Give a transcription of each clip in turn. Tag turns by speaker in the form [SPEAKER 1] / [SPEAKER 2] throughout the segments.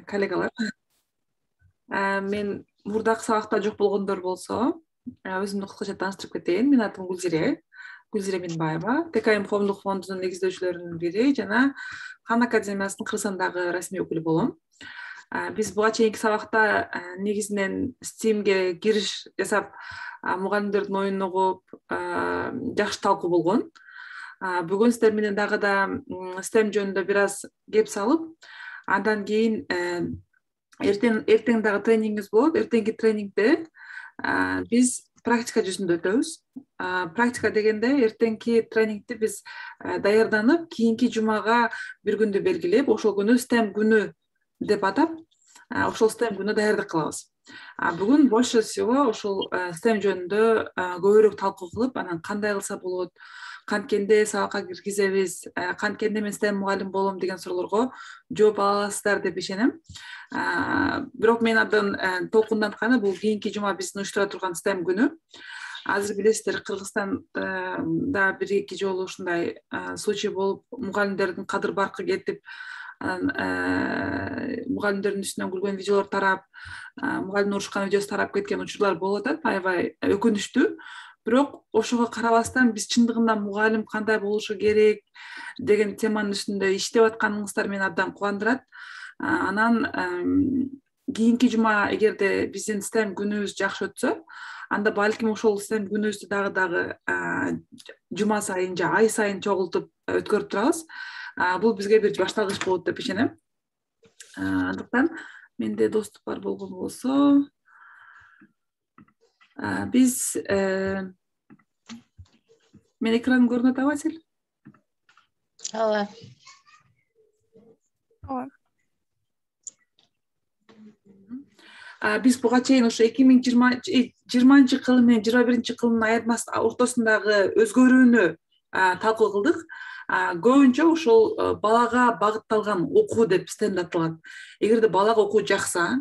[SPEAKER 1] коллегалар. Мен мурдакы сабакта жок болгондор болсо, өзүмдү кыскача тааныштырып кетейин. Менин атым Гүлзире Минбаева, ТКМ коомдук фондунун негиздөөчүлөрүнүн бири жана Кан академиясынын Кыргызстандагы расмий өкүлү болом. Биз буга чейинки сабакта негизинен STEAMге кириш жасап, мугалимдердин оюнун угуп, жакшы талкуу болгон. Бүгүн сиздер менен дагы да STEM жөнүндө бир аз кеп салып, андан кийин эртең дагы тренингибиз болот. Эртеңки тренингде биз практика жүзүндө өтөбүз. Практика дегенде эртеңки тренингди биз даярданып, кийинки жумага бир күндү белгилеп, ошол күнү STEM күнү деп атап, ошол STEM күнү даярдык кылабыз. Бүгүн больше всего ошол STEM жөнүндө көбүрөөк талкуу кылып, анан кандай кылса болот, канткенде сабакка киргизебиз, канткенде мен STEM мугалим болом деген суроолорго жооп ала аласыздар деп ишенем. Бирок мен абдан толкундантканы бул кийинки жума биздин уюштура турган STEM күнү. Азыр билесиздер, Кыргызстанда бир-эки жолу ушундай случай болуп, мугалимдердин кадыр баркы кетип, мугалимдердин үстүнөн күлгөн видеолор тарап, мугалим урушкан видеосу тарап кеткен учурлар болуп атат, аябай өкүнүчтүү. Бирок ошого карабастан биз чындыгында мугалим кандай болушу керек деген теманын үстүндө иштеп атканыңыздар мени абдан кубандырат. Анан кийинки жума эгерде биздин STEM күнүбүз жакшы өтсө, анда балким ошол STEM күнүбүздү дагы жума сайын же ай сайын чогултуп өткөрүп турабыз. Бул бизге бир башталгыч болот деп ишенем. Андыктан менде доступ бар болгон болсо, биз мен экраным көрүнүп атабы, Асель?
[SPEAKER 2] Ооба.
[SPEAKER 1] Биз буга чейин ошо 2020-жылы менен 2021-жылдын айырмасы ортосундагы өзгөрүүнү талкуу кылдык. Көбүнчө ошол балага багытталган окуу деп STEMди аталат. Эгерде балага окуу жакса,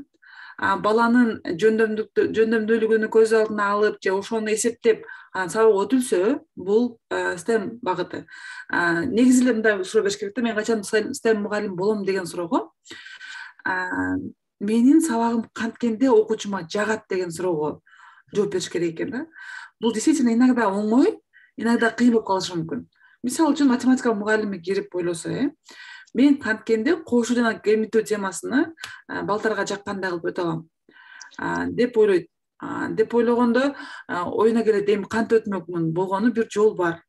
[SPEAKER 1] баланын жөндөмдүүлүгүнү көз алдына алып же ошону эсептеп сабак өтүлсө, бул STEM багыты. Негизи эле мындай суроо бериш керек да, мен качан STEM мугалим болом деген суроого, менин сабагым канткенде окуучума жагат деген суроого жооп бериш керек экен да. Бул действительно иногда оңой, иногда кыйын болуп калышы мүмкүн. Мисалы үчүн математика мугалими кирип ойлосо, мен канткенде кошуу жана кемитүү темасыны балдарга жаккандай кылып өтө алам деп ойлойт. Деп ойлогондо оюна келет, эми кантип өтмөкмүн, болгону бир жол бар,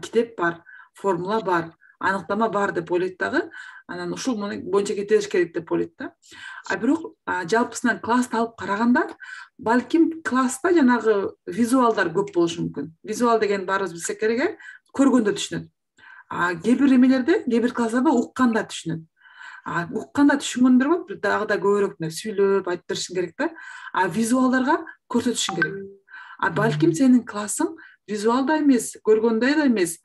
[SPEAKER 1] китеп бар, формула бар, аныктама бар деп ойлойт дагы. Анан ушул боюнча кете бериш керек деп ойлойт да. Бирок жалпысынан классты алып караганда, балким класста жанагы визуалдар көп болушу мүмкүн. Визуал деген баарыбыз билсек керек, көргөндө түшүнөт. Кээ бир эмелерде, кээ бир класстарда укканда түшүнөт. Укканда түшүнгөндөр бар, дагы да көбүрөөк сүйлөп айтып беришиң керек да. Визуалдарга көрсөтүшүң керек. Балким сенин классың визуалда эмес, көргөндө да эмес,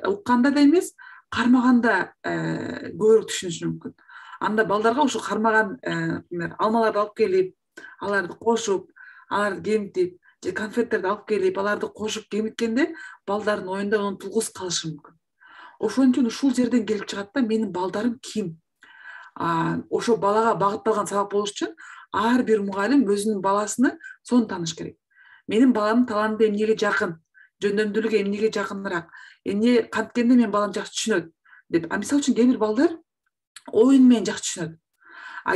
[SPEAKER 1] укканда да эмес, кармаганда көбүрөөк түшүнүшү мүмкүн. Анда балдарга ошо кармаган алмаларды алып келип, аларды кошуп, аларды кемитип, же конфеттерди алып келип, аларды кошуп кемиткенде балдардын оюнда унутулгус калышы мүмкүн. Ошон үчүн ушул жерден келип чыгат да, менин балдарым ким? Ошо балага багытталган сабак болуш үчүн ар бир мугалим өзүнүн баласыны сонун тааныш керек. Менин баламдын таланты эмнеге жакын, жөндөмдүүлүгү эмнеге жакыныраак, эмне канткенде менин балам жакшы түшүнөт деп. Мисалы үчүн кээ бир балдар оюн менен жакшы түшүнөт.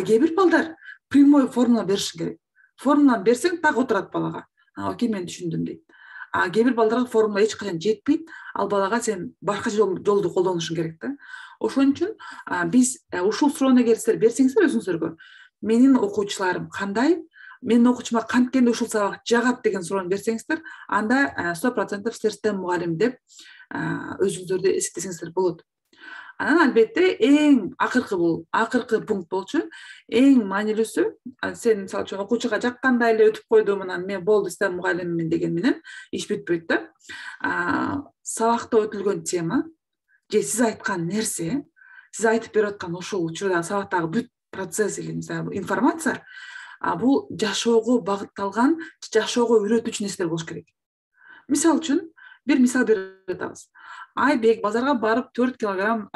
[SPEAKER 1] Кээ бир балдар прямой формула беришиң керек. Формуланы берсең так отурат балага. Окей, мен түшүндүм дейт. Кээ бир балдарга формула эч качан жетпейт, ал балага сен башка жолду колдонушуң керек да. Ошон үчүн биз ушул суроону эгер сиздер берсеңиздер өзүңүзгө, менин окуучуларым кандай, менин окуучума канткенде ушул сабак жагат деген суроону берсеңиздер, анда 100% сиздер STEM мугалим деп өзүңүздөрдү эсептесеңиздер болот. Анан албетте эң акыркы пункт болчу, эң маанилүүсү, сен мисалы үчүн окуучуга жаккандай эле өтүп койдум, анан мен болду STEM мугалимимин деген менен иш бүтпөйт да. Сабакта өтүлгөн тема же сиз айткан нерсе, сиз айтып берип аткан ошол учурда сабактагы бүт процесс или информация, бул жашоого багытталган, жашоого үйрөтүүчү нерселер болуш керек. Мисалы үчүн бир мисал берип атабыз. Айбек базарга барып 4 килограмм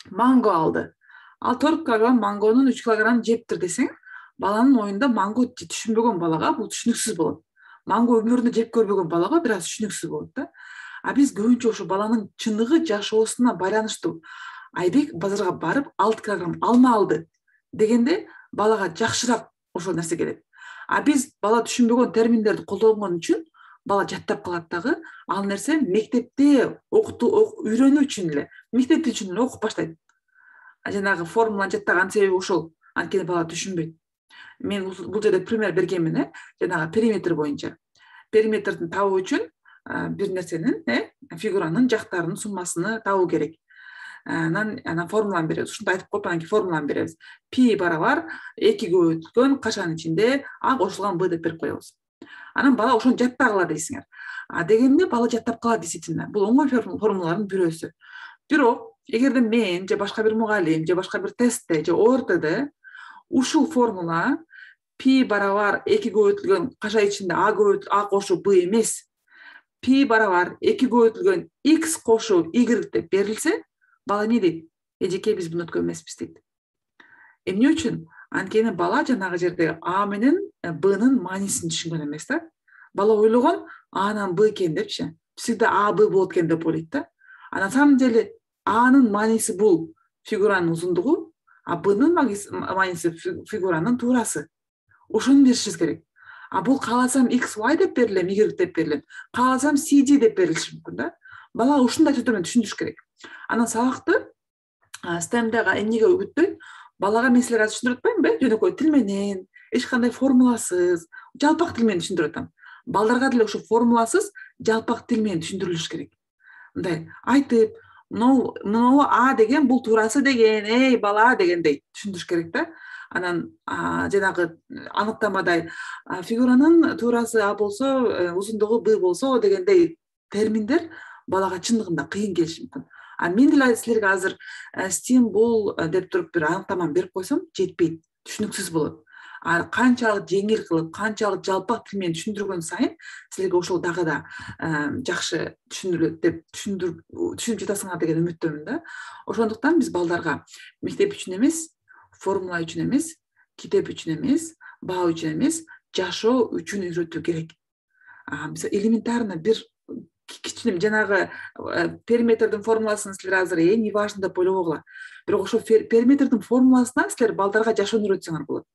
[SPEAKER 1] манго алды. ал 4 килограмм мангонун 3 килограмм жептир десең, баланын оюнда манго түшүнбөгөн балага бул түшүнүксүз болот. Манго өмүрүндө жеп көрбөгөн балага бир аз түшүнүксүз болот да. А биз көбүнчө ошо баланын чыныгы жашоосуна байланыштуу. Айбек базарга барып 6 килограмм алма алды дегенде балага жакшыраак ошол нерсе келет. А биз бала түшүнбөгөн терминдерди колдонгон үчүн бала жаттап калат дагы. Ал нерсе мектепте үйрөнүү үчүн эле, мектеп үчүн эле окуп баштайт. Жанагы формуланы жаттаган себеби ошол. Анткени бала түшүнбөйт. Мен бул жерде пример бергенмин, жанагы периметр боюнча. Периметрдин табуу үчүн бир нерсенин, фигуранын жактарынын суммасыны табуу керек. Анан формуланы беребиз. Ушундай айтып коюп, анан формуланы беребиз. Пи барабар 2 көбөйтүлгөн кашанын ичинде а кошулган б деп берип коебуз. Анан бала ошону жаттагыла дейсиңер. Дегенде бала жаттап калат действительно. Бул оңой формулалардын бирөөсү. Бирок эгерде мен же башка бир мугалим же башка бир тестте же ОРТде ушул формула пи барабар 2 көбөйтүлгөн каша ичинде а кошуу б эмес, пи барабар 2 көбөйтүлгөн x кошуу y деп берилсе, бала эмне дейт? Эжеке, биз буну өткөн эмеспиз дейт. Эмне үчүн? Анткени бала жанагы жерде а менен бнын маанисин түшүнгөн эмес да. Бала ойлогон анан б экен депчи. Всегда а б болот экен деп ойлойт да. На самом деле анын мааниси бул фигуранын узундугу, а бнын мааниси фигуранын туурасы. Ошону беришибиз керек. Бул кааласам x, y деп берилем, y деп берилем. Кааласам cd деп берилиши мүмкүн да. Бала ушундай түрдө түшүндүрүш керек. Анан сабакты STEM-дагы эмнеге үгүттөйт? Балага мен силерге түшүндүрүп атпаймынбы? Жөнөкөй тил менен, эч кандай формуласыз, жалпак тил менен түшүндүрүп атам. Балдарга деле ошо формуласыз, жалпак тил менен түшүндүрүлүш керек. Мындай айтып, мынау а деген бул туурасы деген, эй бала дегендей түшүндүрүш керек да. Анан жанагы аныктамадай фигуранын туурасы а болсо, узундугу б болсо дегендей терминдер балага чындыгында кыйын келиши мүмкүн. Мен деле силерге азыр STEM бул деп туруп бир аныктаманы берип койсом жетпейт, түшүнүксүз болот. Канчалык жеңил кылып, канчалык жалпак тил менен түшүндүргөн сайын силерге ошол дагы да жакшы түшүндүрүлөт деп түшүнүп жатасыңар деген үмүттөмүн да. Ошондуктан биз балдарга мектеп үчүн эмес, формула үчүн эмес, китеп үчүн эмес, баа үчүн эмес, жашоо үчүн үйрөтүү керек. Мисалы элементарно бир кичине жанагы периметрдин формуласын силер азыр не важно деп ойлобогула. Бирок ошо периметрдин формуласына силер балдарга жашоону үйрөтсөңөр болот.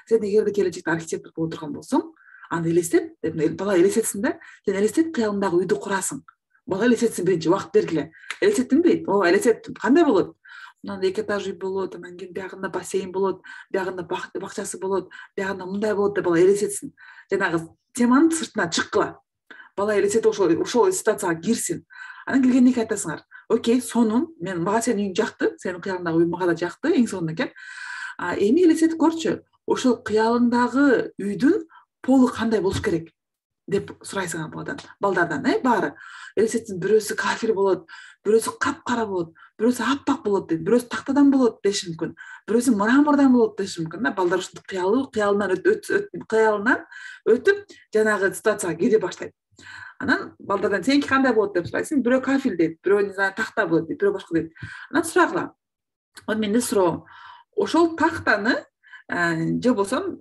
[SPEAKER 1] Сен эгерде келечекте архитектор боло турган болсоң, аны элестет, бала элестетсин да. Сен элестет, кыялыңдагы үйдү курасың. Бала элестетсин, биринчи убакыт бергиле. Элестеттиң дейт. Ооба, элестеттим. Кандай болот? Мындай 2 этаж үй болот, анан кийин биягында бассейн болот, биягында бакчасы болот, биягында мындай болот деп бала элестетсин. Жанагы теманын сыртына чыккыла. Бала элестетип ошол ситуацияга кирсин. Анан келгенде айтасыңар: "Окей, сонун, мага сенин үйүң жакты, сенин кыялыңдагы үй мага да жакты, эң сонун экен. Эми элестетип көрчү, ошол кыялыңдагы үйдүн полу кандай болуш керек?" деп сурайсың балдардан, баары. Элестетсин, бирөөсү кафель болот, бирөөсү капкара болот, бирөөсү аппак болот дейт, бирөөсү тактадан болот деши мүмкүн, бирөөсү мрамордон болот деши мүмкүн да. Балдар ушинтип кыялынан өтүп жанагы ситуацияга кире баштайт. Анан балдардан сеники кандай болот деп сурайсың. Бирөө кафель дейт, бирөө не знаю такта болот дейт, бирөө башка дейт. Анан сурагыла. Менде суроо: ошол тактаны же болсо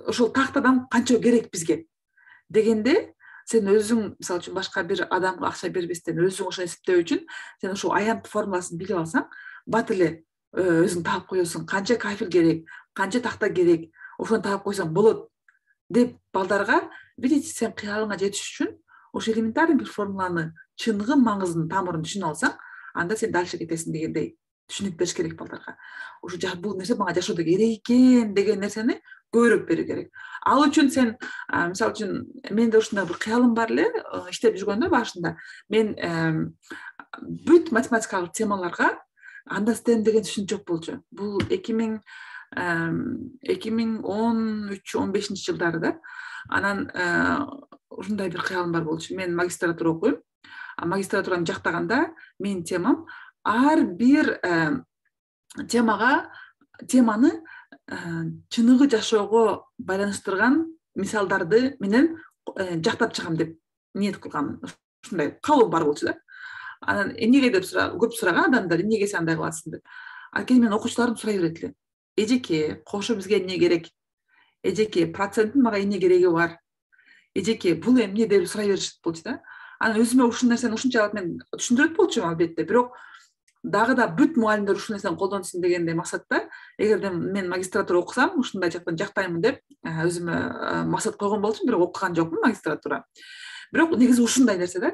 [SPEAKER 1] ошол тактадан канча керек бизге дегенде, сен өзүң мисалы үчүн башка бир адамга акча бербестен өзүң ошо эсептөө үчүн сен ошол аянт формуласын билип алсаң, бат эле өзүң таап коесуң, канча кафель керек, канча такта керек, ошону таап койсоң болот деп балдарга, видите, сен кыялыңа жетиш үчүн ошо элементарный бир формуланы чындыгын, маңызын, тамырын түшүнүп алсаң, анда сен дальше кетесиң дегендей түшүнүк бериш керек балдарга. Ошо бул нерсе мага жашоодо керек экен деген нерсени көбүрөөк берүү керек. Ал үчүн сен мисалы үчүн менде ушундай бир кыялым бар эле, иштеп жүргөндө башында мен бүт математикалык темаларга анда STEM деген түшүнүк жок болчу. Бул 2013-15 жылдары да. Анан ушундай бир кыялым бар болчу. Мен магистратура окуйм. Магистратураны жактаганда менин темам ар бир теманы чыныгы жашоого байланыштырган мисалдарды менен жактап чыгам деп ниет кылгам. Ушундай калуу бар болчу да. Анан эмнеге деп көп сураган адамдар, эмнеге сен андай кыласың деп. Анткени мен окуучуларым сурай берет эле. Эжеке, кошо бизге эмне керек? Эжеке, проценттин мага эмне кереги бар? Эжеке, бул эмне деп сурай беришет болчу да. Анан өзүмө ушул нерсени ушунчалык мен түшүндүрөт болчумун албетте, бирок дагы да бүт мугалимдер ушул нерсени колдонсун дегендей максатта, эгерде мен магистратура окусам, ушундай жактан жактаймын деп өзүмө максат койгон болчумун, бирок окуган жокмун магистратура. Бирок негизи ушундай нерсе да.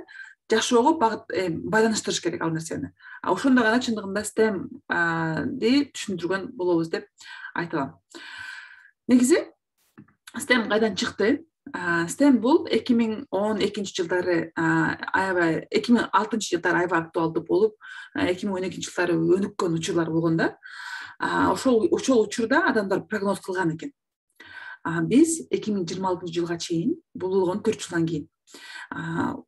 [SPEAKER 1] Жашоого байланыштырыш керек ал нерсени. Ошондо гана чындыгында STEM-ди түшүндүргөн болобуз деп айта алам. Негизи STEM кайдан чыкты? STEM бул 2012-жылдары аябай 2006-жылдары аябай актуалдуу болуп, 2012-жылдары өнүккөн учурлар болгон да. Ошол учурда адамдар прогноз кылган экен. Биз 2026-жылга чейин, бул болгон 4 жылдан кийин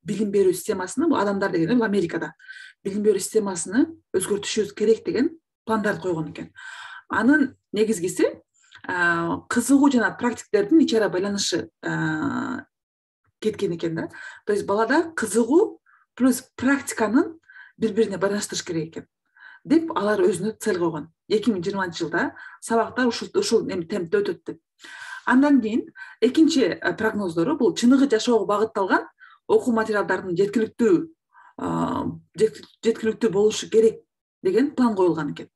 [SPEAKER 1] билим берүү системасыны, бул адамдар деген бул Америкада билим берүү системасыны өзгөртүшүбүз керек деген пландарды койгон экен. Анын негизгиси кызыгуу жана практиктердин ичара байланышы кеткен экен да. То есть балада кызыгуу плюс практиканын бири-бирине байланыштырыш керек экен деп алар өзүнө цель койгон. 2020-жылда сабактар ушул темпте өтөт деп. Андан кийин экинчи прогноздору бул чыныгы жашоого багытталган окуу материалдардын жеткиликтүү болушу керек деген план коюлган экен.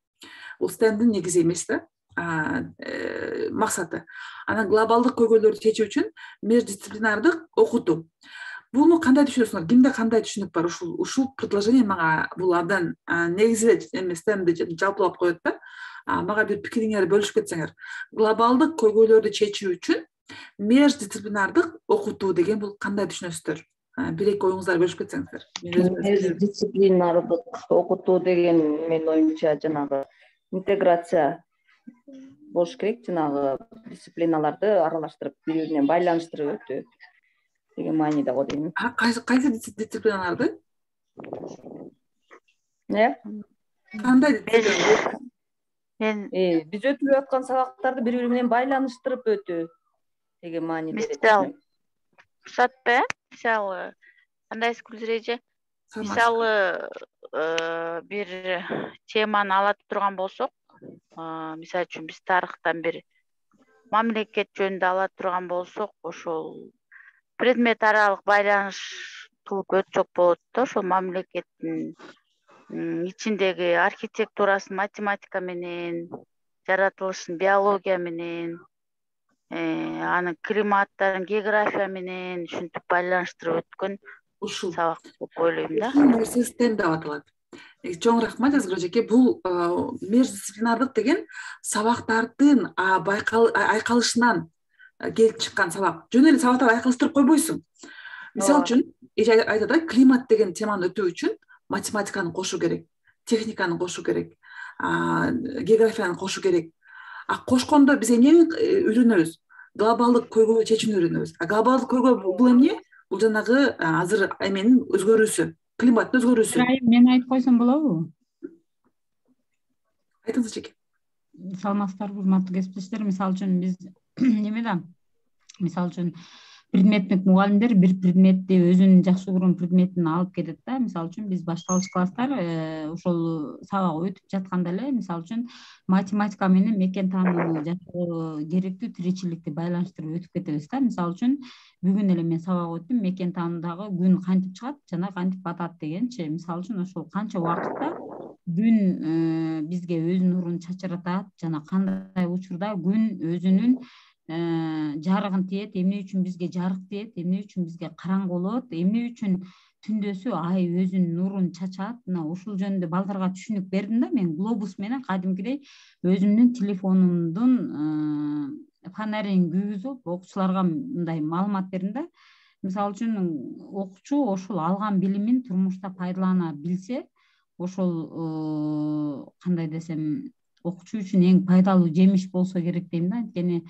[SPEAKER 1] Бул STEM-дин негизи эмес да, максаты. Анан глобалдык көйгөйлөрдү чечүү үчүн междисциплинардык окутуу. Буну кандай түшүнөсүңөр? Кимде кандай түшүнүк бар? Ушул предложение мага бул абдан негизи STEM-ди жалпылап коет да. Мага бир пикириңерди бөлүшүп кетсеңер. Глобалдык көйгөйлөрдү чечүү үчүн междисциплинардык окутуу деген бул кандай түшүнөсүздөр? Бир-эки оюңуздар бөлүшүп кетсеңиздер.
[SPEAKER 2] Междисциплинардык окутуу деген менин оюмча жанагы интеграция болуш керек, жанагы дисциплиналарды аралаштырып, бири-бирине байланыштырып өтүү деген мааниде го дейм.
[SPEAKER 1] Кайсы дисциплиналарды? Кандай дисциплиналарды?
[SPEAKER 2] Биз өтүп аткан сабактарды бири-бири менен байланыштырып өтүү деген мааниде.
[SPEAKER 3] Мисалы, кандай эже? Мисалы, бир теманы ала турган болсок, мисалы үчүн биз тарыхтан бир мамлекет жөнүндө ала турган болсок, ошол предмет аралык байланыш кылып өтсөк болот да. Ошол мамлекеттин ичиндеги архитектурасын математика менен, жаратылышын биология менен, анын климаттарын география менен ушинтип байланыштырып өткөн ушул сабак деп ойлойм да.
[SPEAKER 1] Ушул нерсе STEM деп аталат. Чоң рахмат Жазгыл эжеке. Бул междисциплинардык деген сабактардын айкалышынан келип чыккан сабак. Жөн эле сабактарды айкалыштырып койбойсуң. Мисалы үчүн, эже айтат да, климат деген теманы өтүү үчүн математиканы кошу керек, техниканы кошу керек, географияны кошу керек. Кошкондо биз эмнени үйрөнөбүз? Глобалдык көйгөйдү чечүүнү үйрөнөбүз. Глобалдык көйгөй бул эмне? Бул жанагы азыр эменин өзгөрүүсү, климаттын өзгөрүүсү.
[SPEAKER 4] Мен айтып койсом болобу?
[SPEAKER 1] Айтыңыз эжеке.
[SPEAKER 4] Саламатсыздарбы, урматтуу кесиптештер? Мисалы үчүн биз немеда, мисалы үчүн предметтик мугалимдер бир предметти өзүнүн жакшы көргөн предметин алып кетет да. Мисалы үчүн биз башталгыч класстар ошол сабак өтүп жатканда эле, мисалы үчүн математика менен мекен таанууну жашоого керектүү тиричиликти байланыштырып өтүп кетебиз да. Мисалы үчүн бүгүн эле мен сабак өттүм, мекен таануудагы күн кантип чыгат жана кантип батат дегенчи. Мисалы үчүн ошол канча убакытта күн бизге өз нурун чачыратат жана кандай учурда күн өзүнүн жарыгын тиет, эмне үчүн бизге жарык тиет, эмне үчүн бизге караңгы болот, эмне үчүн түндөсү ай өзүнүн нурун чачат. Мына ушул жөнүндө балдарга түшүнүк бердим да. Мен глобус менен кадимкидей өзүмдүн телефонумдун фонарин күйгүзүп окуучуларга мындай маалымат бердим да. Мисалы үчүн окуучу ошол алган билимин турмушта пайдалана билсе, ошол кандай десем, окуучу үчүн эң пайдалуу жемиш болсо керек дейм да. Анткени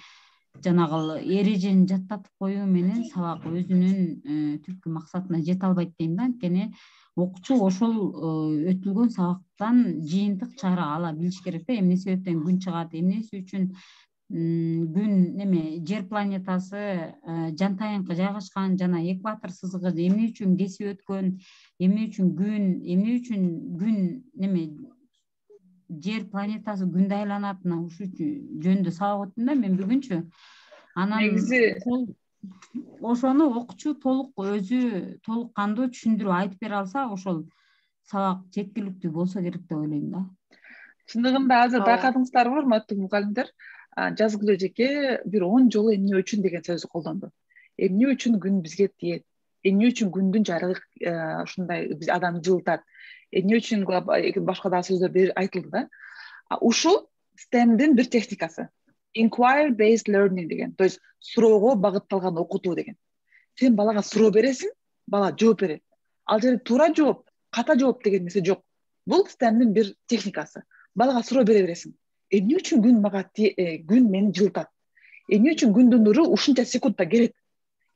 [SPEAKER 4] жанагы эрежени жаттатып коюу менен сабак өзүнүн түпкү максатына жете албайт дейм да. Анткени окуучу ошол өтүлгөн сабактан жыйынтык чыгара ала билиш керек да. Эмне себептен күн чыгат, эмнеси үчүн күн жер планетасы жантайыңкы жайгашкан жана экватор сызыгы эмне үчүн кесип өткөн, эмне үчүн күн жер планетасы күндө айланат, ушул жөнүндө сабак өттүм да мен бүгүнчү. Анан
[SPEAKER 1] негизи
[SPEAKER 4] ошону окуучу өзү толук кандуу түшүндүрүп айтып бере алса, ошол сабак жеткиликтүү болсо керек деп ойлойм да.
[SPEAKER 1] чындыгында азыр байкадыңыздарбы, урматтуу мугалимдер, жазгыл эжеке бир 10 жолу эмне үчүн деген сөздү колдонду. Эмне үчүн күн бизге тиет? Эмне үчүн күндүн жарыгы ушундай адамды жылытат? Эмне үчүн башка дагы сөздөр айтылды да. Ушул STEMдин бир техникасы. Inquiry based learning деген. То есть суроого багытталган окутуу деген. Сен балага суроо бересиң, бала жооп берет. Ал жерде туура жооп, ката жооп деген нерсе жок. Бул STEMдин бир техникасы. Балага суроо бере бересиң. Эмне үчүн күн мени жылытат? Эмне үчүн күндүн нуру ушунча секундта келет?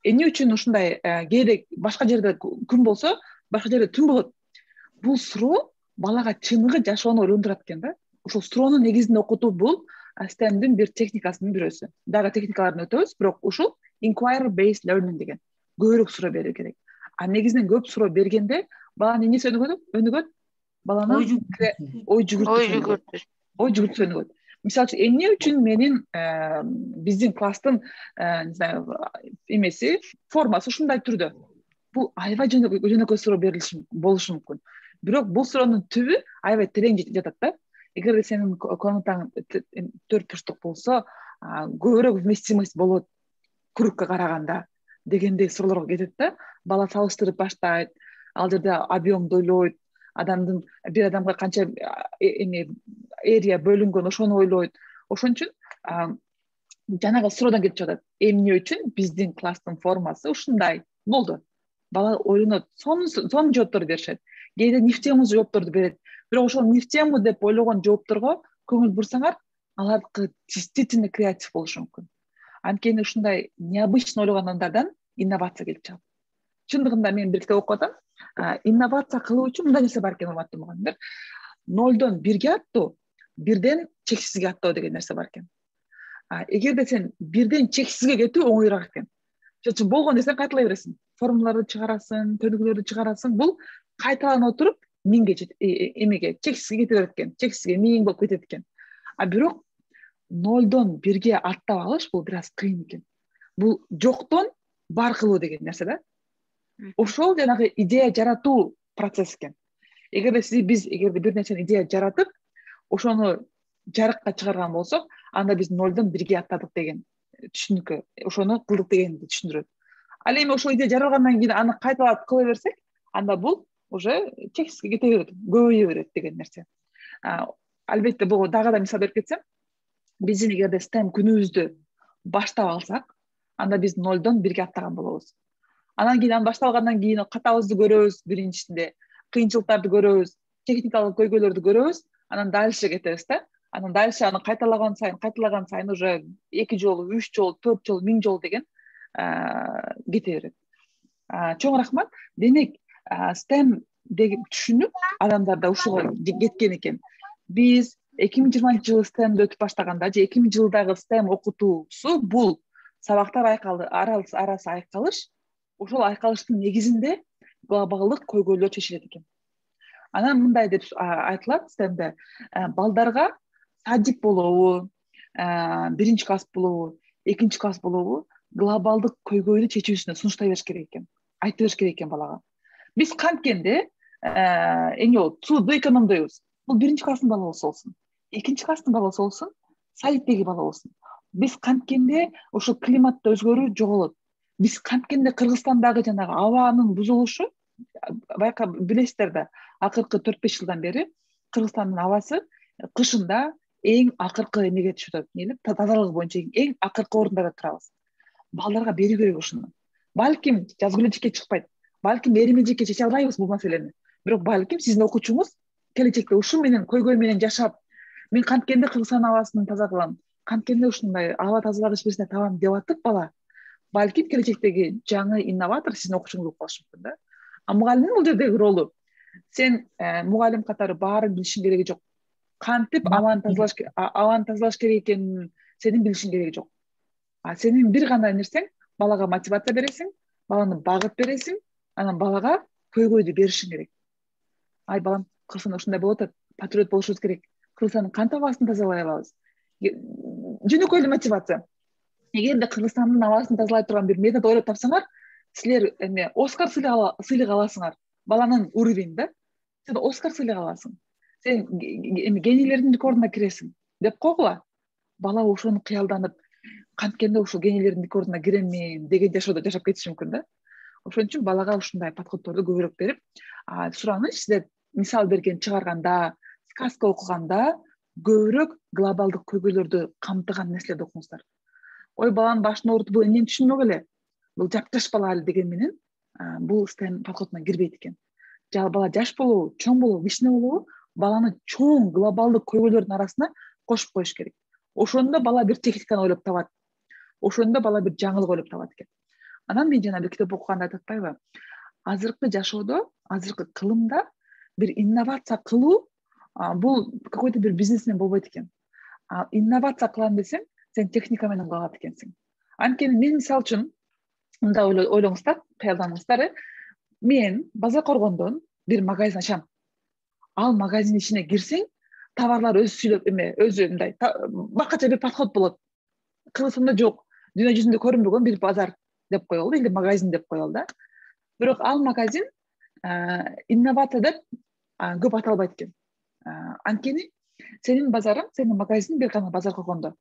[SPEAKER 1] Эмне үчүн ушундай кээде башка жерде күн болсо, башка жерде түн болот? Бул суроо балага чыныгы жашоону ойлондурат экен да. Ошол суроонун негизинде окутуу бул STEMдин бир техникасынын бирөөсү. Дагы техникаларын өтөбүз, бирок ушул inquiry based learning деген. Көбүрөөк суроо берүү керек. Негизинен көп суроо бергенде баланын эмнеси өнүгөт? Баланын ой жүгүртүүсү өнүгөт. Мисалы үчүн эмне үчүн менин биздин класстын эмеси формасы ушундай түрдө? Бул аябай жөнөкөй суроо болушу мүмкүн. Бирок бул суроонун түбү аябай терең жатат да. Эгерде сенин комнатаң 4 бурчтук болсо, көбүрөөк вместимость болот кругка караганда дегендей суроолорго кетет да. Бала салыштырып баштайт, ал жерде объемду ойлойт, бир адамга канча эрия бөлүнгөн ошону ойлойт. Ошон үчүн жанагы суроодон кетип жатат. Эмне үчүн биздин класстын формасы ушундай болду? Бала ойлонот, сонун жоопторду беришет. Кээде нифтему жоопторду берет. Бирок ошол нифтему деп ойлогон жоопторго көңүл бурсаңар, алар действительно креатив болушу мүмкүн. Анткени ушундай необычно ойлогон адамдардан инновация келип чыгат. Чындыгында мен бир китеп окуп атам. Инновация кылуу үчүн мындай нерсе бар экен, урматтуу мугалимдер. 0дон 1ге аттоо, 1ден чексизге аттоо деген нерсе бар экен. Эгерде сен 1ден чексизге кетүү оңоюраак экен. Чөчүн болгон нерсени кайталай бересиң. Формулаларды чыгарасың, көнүгүүлөрдү чыгарасың. Бул кайталанып отуруп эмеге чексизге кете берет экен. Чексизге 1000 болуп кетет экен. Бирок 0дон 1ге аттап алыш бул бир аз кыйын экен. Бул жоктон бар кылуу деген нерсе да. Ошол жанагы идея жаратуу процесс экен. Эгерде бир нерсени идея жаратып, ошону жарыкка чыгарган болсок, анда биз 0дон 1ге аттадык деген түшүнүккө, ошону кылдык дегенди түшүндүрөт. Ал эми ошол идея жаралгандан кийин аны кайталап кыла берсек, анда бул уже чексизге кете берет, көбөйө берет деген нерсе. Албетте бул дагы да мисал берип кетсем, биздин эгерде STEM күнүбүздү баштап алсак, анда биз 0дон 1ге аттаган болобуз. Анан кийин башталгандан кийин катабызды көрөбүз, биринчисинде кыйынчылыктарды көрөбүз, техникалык көйгөйлөрдү көрөбүз, анан дальше кетебиз да. Анан дальше аны кайталаган сайын уже 2 жолу, 3 жолу, 4 жолу, 1000 жолу деген кете берет. Чоң рахмат. Демек, STEM деген түшүнүп, адамдарда ушуга кеткен экен. Биз 2020-жылы STEMди өтүп баштаганда, же 2000-жылдагы STEM окутуусу бул сабактар арасы айкалыш, ошол айкалыштын негизинде глобалдык көйгөйлөр чечилет экен. Анан мындай деп айтылат STEMде, балдарга садик болобу, 1-чи класс болобу, 2-чи класс болобу, глобалдык көйгөйдү чечүүсүнө сунуштай бериш керек экен. Айтып бериш керек экен балага. Биз канткенде сууду экономдойбуз. Бул 1-чи класстын баласы болсун, 2-чи класстын баласы болсун, садиктеги бала болсун. Биз канткенде ошо климатта өзгөрүү жоголот. Биз канткенде Кыргызстандагы жанагы абанын бузулушу, байкап билесиздер да, акыркы 4-5 жылдан бери Кыргызстандын абасы кышында эң акыркы эмеге түшүп атат, тазалыгы боюнча эң акыркы орундарда турабыз. Балдарга берүү керек ушуну. Балким жазгыл эжекке чыкпайт, балким эрим эжекке чече албайбыз бул маселени. Бирок балким сиздин окуучуңуз келечекте ушу менен көйгөй менен жашап, мен канткенде Кыргызстан абасын таза кылам, канткенде ушундай аба тазалагыч нерсе табам деп атып бала, балким келечектеги жаңы инноватор сиздин окуучуңуз болуп калышы мүмкүн да. Мугалимдин бул жердеги ролу, сен мугалим катары баарын билишиң кереги жок. Кантип абаны тазалаш керек экенин сенин билишиң кереги жок. Сенин бир гана нерсең балага мотивация бересиң, баланы багыт бересиң, анан балага көйгөйдү беришиң керек. Ай балам, Кыргызстанда ушундай болуп атат, патриот болушубуз керек. Кыргызстандын кан табаасын тазалай алабыз. Жөнөкөй эле мотивация. Эгерде Кыргызстандын абасын тазалай турган бир метод ойлоп тапсаңар, силер Оскар сыйлыгы аласыңар. Баланын уровеньде сен Оскар сыйлыгы аласың. Сен генийлердин рекордуна киресиң деп койгула. Бала ошону кыялданып, канткенде ушул генийлердин рекордуна киремин деген жашоодо жашап кетиши мүмкүн да. Ошон үчүн балага ушундай подходторду көбүрөөк берип, сураныч силер мисал берген чыгарганда, сказка окуганда көбүрөөк глобалдык көйгөйлөрдү камтыган нерселерди окуңуздар. Ой, баланын башын оорутуп, бул эмнени түшүнмөк эле. Бул жапташ бала эле деген менен бул STEM подходуна кирбейт экен. Бала жаш болобу, чоң болобу, кичине болобу, баланы чоң глобалдык көйгөйлөрдүн арасына кошуп коюш керек. Ошондо бала бир техниканы ойлоп табат. Ошондо бала бир жаңылык ойлоп табат экен. Анан мен жана бир китеп окуганда айтып атпайбы? Азыркы жашоодо, азыркы кылымда бир инновация кылуу бул какой-то бир бизнесмен болбойт экен. Инновация кылам десең, сен техника менен кылат экенсиң. Анткени мен мисалы үчүн мындай ойлоңуздар, кыялданыңыздар, мен Базар Коргондон бир магазин ачам. Ал магазин ичине кирсең, товарлар өзү сүйлөп өзү мындай башкача бир подход болот. Кыргызстанда жок, дүйнө жүзүндө көрүнбөгөн бир базар деп коелу, или магазин деп коелу да. Бирок ал магазин инновация деп көп аталбайт экен. Анткени сенин базарың, сенин магазиниң бир гана Базар Коргондо.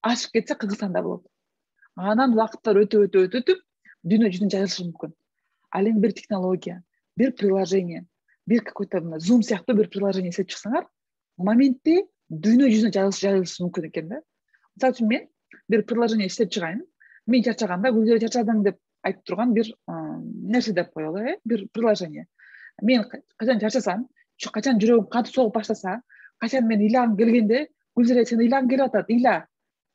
[SPEAKER 1] Ашып кетсе Кыргызстанда болот. Анан убакыттар өтүп, дүйнө жүзүнө жайылышы мүмкүн. Ал эми бир технология, бир приложение, бир какой-то Zoom сыяктуу бир приложение эсеп чыксаңар, моментте дүйнө жүзүнө жайылышы мүмкүн экен да. Мисалы үчүн мен бир приложение иштеп чыгайын, мен чарчаганда Гүлзира чарчадым деп айтып турган бир нерсе деп коелу, бир приложение. Мен качан чарчасам, качан жүрөгүм катып согуп баштаса, качан мен ыйлагым келгенде, Гүлзира сен ыйлагың келип атат, ыйла.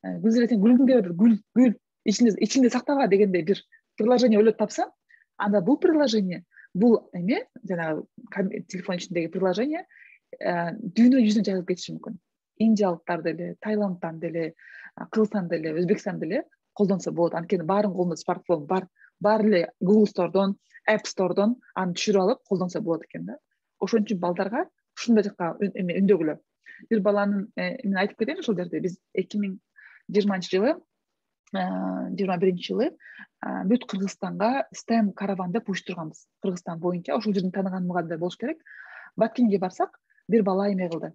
[SPEAKER 1] Гүлзира сен күлгүң келип атат, гүл, ичиңде сактаба дегенде бир приложение ойлоп тапсам, анда бул приложение, бул жанагы телефон ичиндеги приложение дүйнө жүзүнө жайылып кетиши мүмкүн. Индиялыктар деле, Таиландтан деле, Кыргызстан деле, Өзбекстан деле колдонсо болот. Анткени баарынын колунда смартфон бар. Баары эле Google Store'дон, App Store'дон аны түшүрүп алып колдонсо болот экен да. Ошон үчүн балдарга ушундай жакка үндөгүлө. Бир баланын мен айтып кетейин ушул жерде, биз 2020 21-жылы бүт Кыргызстанга STEM караван деп уюштурганбыз. Кыргызстан боюнча ошол жердин тааныган мугалимдер болуш керек. Баткенге барсак, бир бала эме кылды.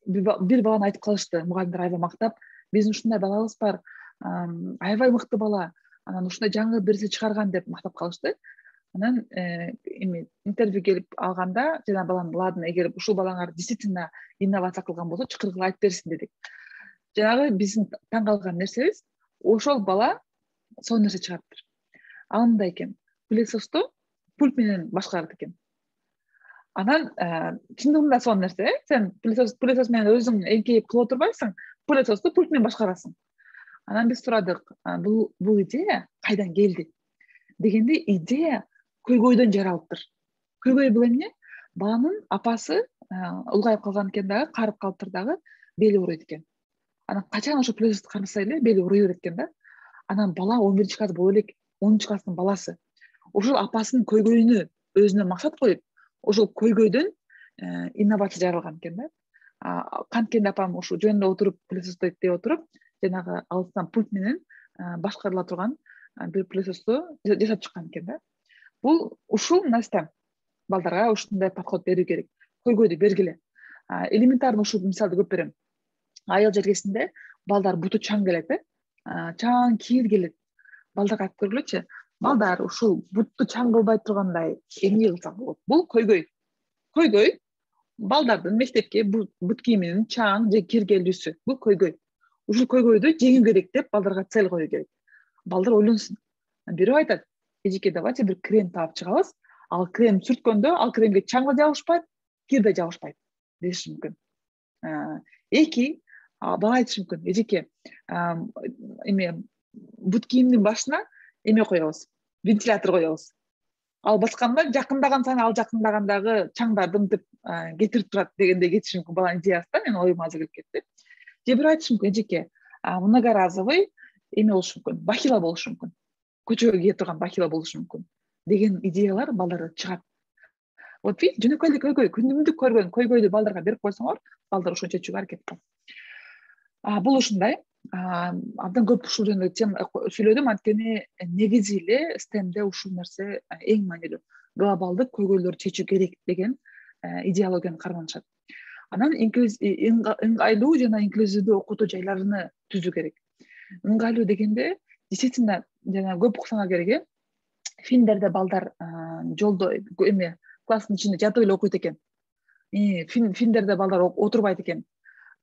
[SPEAKER 1] Бир баланы айтып калышты, мугалимдер аябай мактап, биздин ушундай балабыз бар, аябай мыкты бала, анан ушундай жаңы берсе чыгарган деп мактап калышты. Анан интервью келип алганда, жана балам, ладно, эгер ушул балаңар действительно инновация кылган болсо, чакыргыла айтып берсин дедик. Жанагы биздин таң калган нерсебиз, ошол бала сонун нерсе чыгарыптыр. Ал мындай экен, пылесосту пульт менен башкарат экен. Анан чындыгында сонун нерсе, сен пылесос менен өзүң эңкейип кылып отурбайсың, пылесосту пульт менен башкарасың. Анан биз сурадык, бул идея кайдан келди? Дегенде идея көйгөйдөн жаралыптыр. Көйгөй бул эмне? Баланын апасы улгайып калган экен дагы, карып калыптыр дагы, бели ооруйт экен. Анан качан ошо пылесосту кармаса эле бели ооруй берет экен да. Анан бала 11 класс боло элек, 10 класстын баласы. Ошол апасынын көйгөйүнө өзүнө максат коюп, ошол көйгөйдөн инновация жаралган экен да. Канткенде апам ушу жөнүндө отуруп, пылесосту иттеп отуруп, жанагы алыстан пульт менен башкарыла турган бир пылесосту жасап чыккан экен да. Бул ушул наста балдарга ушундай подход берүү керек. Көйгөйдү бергиле. Элементарный ушул мисалды көп берем. Айыл жергесинде балдар буту чаң келет, чаң кийил келет. Балдарга айтып көргүлөчү. Балдар ушул бутту чаң кылбай тургандай эмне кылсак болот? Бул көйгөй. Көйгөй балдардын мектепке бут кийиминин чаң же киргелүүсү. Бул көйгөй. Ушул көйгөйдү жеңүү керек деп балдарга цель коюу керек. Балдар ойлонсун. Бирөө айтат, эжеке, давайте бир крем таап чыгабыз. Ал крем сүрткөндө, ал кремге чаң да жабышпайт, кир да жабышпайт деши мүмкүн. Эки, бала айтышы мүмкүн, эжеке, бут кийимдин башына эме коебуз, вентилятор коебуз. Ал басканда жакындаган сайын ал жакындагандагы чаңдарды мынтип кетирип турат дегенде кетиши мүмкүн баланын идеясы да, менин оюма азыр келип кетти. же бирөө айтышы мүмкүн эжеке многоразовый эме болушу мүмкүн, бахила болушу мүмкүн, көчөгө кие турган бахила болушу мүмкүн деген идеялар балдарда чыгат. Вот видите, жөнөкөй эле көйгөй, күнүмдүк көргөн көйгөйдү балдарга берип койсоңор, балдар ошону чечүүгө аракет кылат. Бул ушундай. Абдан көп ушул жөнүндө сүйлөдүм, анткени негизи эле STEMде ушул нерсе эң маанилүү. Глобалдык көйгөйлөрдү чечүү керек деген идеологияны карманышат. Анан ыңгайлуу жана инклюзивдүү окутуу жайларыны түзүү керек. Ыңгайлуу дегенде действительно жана көп уксаңар керек. Фильмдерде балдар жолдо эме класстын ичинде жатып эле окуйт экен. Фильмдерде балдар отурбайт экен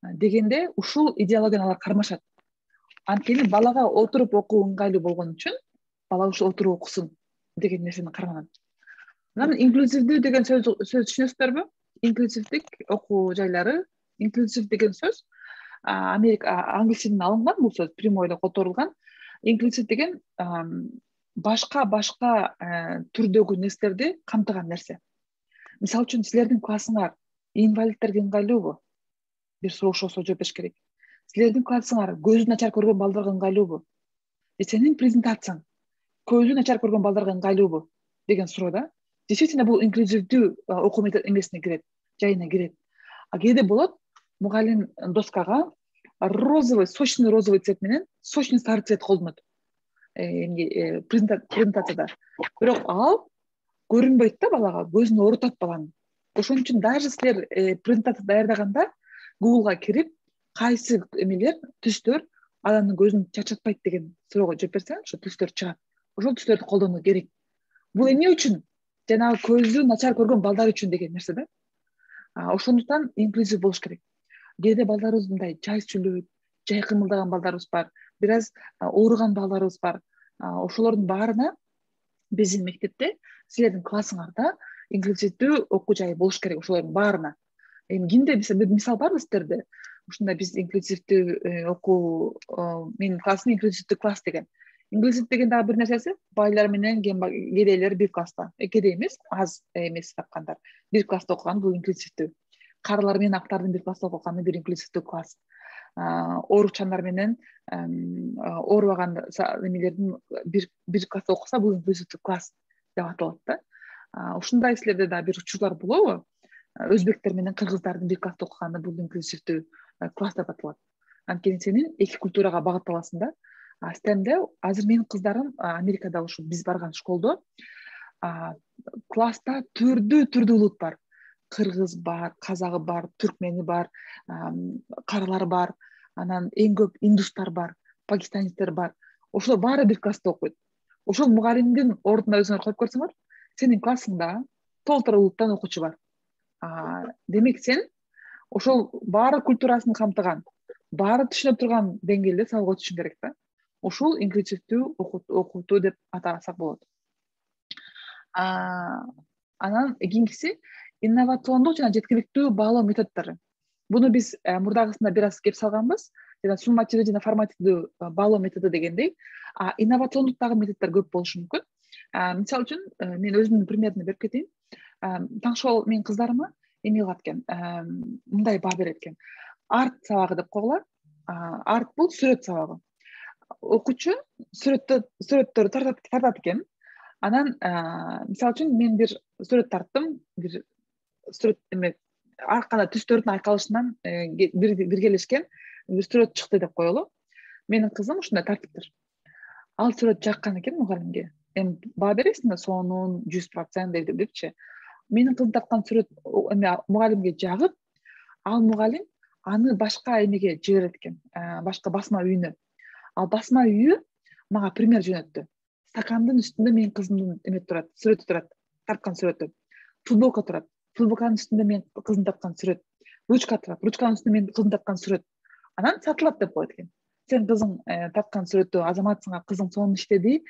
[SPEAKER 1] дегенде ушул идеологияны алар кармашат. Анткени балага отуруп окуу ыңгайлуу болгон үчүн бала ушул отуруп окусун деген нерсени карманат. Анан инклюзивдүү деген сөз түшүнөсүздөрбү? Инклюзивдик окуу жайлары, инклюзив деген сөз англис тилинен алынган бул сөз, прямой эле которулган. Инклюзив деген башка түрдөгү нерселерди камтыган нерсе. Мисалы үчүн силердин классыңар инвалидтерге ыңгайлуубу? Бир суроош болсо жооп бериш керек. Силердин классыңар көзү начар көргөн балдарга ыңгайлуубу? Сенин презентацияң көзү начар көргөн балдарга ыңгайлуубу деген суроо да. Действительно бул инклюзивдүү окуу эмесине кирет, жайына кирет. Кээде болот мугалим доскага розовый, сочный розовый цвет менен сочный сары цвет колдонот презентацияда. Бирок ал көрүнбөйт да балага, көзүн оорутат баланын. Ошон үчүн даже силер презентация даярдаганда Google'га кирип, кайсы эмелер, түстөр адамдын көзүн чачатпайт деген суроого жооп берсең, ошо түстөр чыгат. Ошол түстөрдү колдонуу керек. Бул эмне үчүн? Жанагы көзү начар көргөн балдар үчүн деген нерсе да. Ошондуктан инклюзив болуш керек. Кээде балдарыбыз мындай жай сүйлөйт, жай кымылдаган балдарыбыз бар, бир аз ооруган балдарыбыз бар. Ошолордун баарына биздин мектепте, силердин классыңарда инклюзивдүү окуу жайы болуш керек ошолордун баарына. Кимде мисал барбы сиздерде? Ушундай биз инклюзивдүү окуу, менин классым инклюзивдүү класс деген. Инклюзив деген дагы бир нерсеси, байлар менен кедейлер бир класста. Кедей эмес, аз эмес тапкандар. Бир класста окуган бул инклюзивдүү. Карылар менен актардын бир класста окуганы бир инклюзивдүү класс. Оорукчандар менен оорубаган эмелердин бир класста окуса бул инклюзивдүү класс деп аталат да. Ушундай силерде да бир учурлар болобу? Өзбектер менен кыргыздардын бир класста окуганы бул инклюзивдүү класс деп аталат. Анткени сенин эки культурага багытталасың да. STEMде азыр менин кыздарым Америкада ушу биз барган школдо класста түрдүү улут бар. Кыргыз бар, казагы бар, түркмени бар, карылар бар, анан эң көп индустар бар, пакистанецтер бар. Ошолор баары бир класста окуйт. Ошол мугалимдин ордуна өзүңөр коюп көрсөңөр, сенин классыңда толтура улуттан окуучу бар. Демек сен ошол баары культурасын камтыган, баары түшүнүп турган деңгээлде сабак өтүшүң керек да. Ушул инклюзивдүү окутуу деп атасак болот. Анан кийинкиси инновациондук жана жеткиликтүү баалоо методдору. Буну биз мурдагысында бир аз кеп салганбыз. Жана суммативдүү жана формативдүү баалоо методу дегендей, инновациондук дагы методдор көп болушу мүмкүн. Мисалы үчүн мен өзүмдүн примерине берип кетейин. Таңшол менин кыздарыма эме кылат экен, мындай баа берет экен. Арт сабагы деп койгула. Арт бул сүрөт сабагы. Окуучу сүрөттөрдү тартат экен. Анан мисалы үчүн мен бир сүрөт тарттым, бир сүрөт эме ар кандай түстөрдүн айкалышынан биргелешкен бир сүрөт чыкты деп коелу. Менин кызым ушундай тартыптыр. Ал сүрөт жаккан экен мугалимге. Эми баа бересиң да сонун 100% депчи. Менин кызым тарткан сүрөт мугалимге жагып, ал мугалим аны башка эмеге жиберет экен, башка басма үйүнө. Ал басма үйү мага пример жөнөттү. Стакандын үстүндө менин кызымдын эме турат, сүрөтү турат, тарткан сүрөтү. Футболка турат. Футболканын үстүндө менин кызым тарткан сүрөт. Ручка турат. Ручканын үстүндө менин кызым тарткан сүрөт. Анан сатылат деп коет экен. Сен кызың тарткан сүрөттү азаматсыңа, кызың сонун иштеди.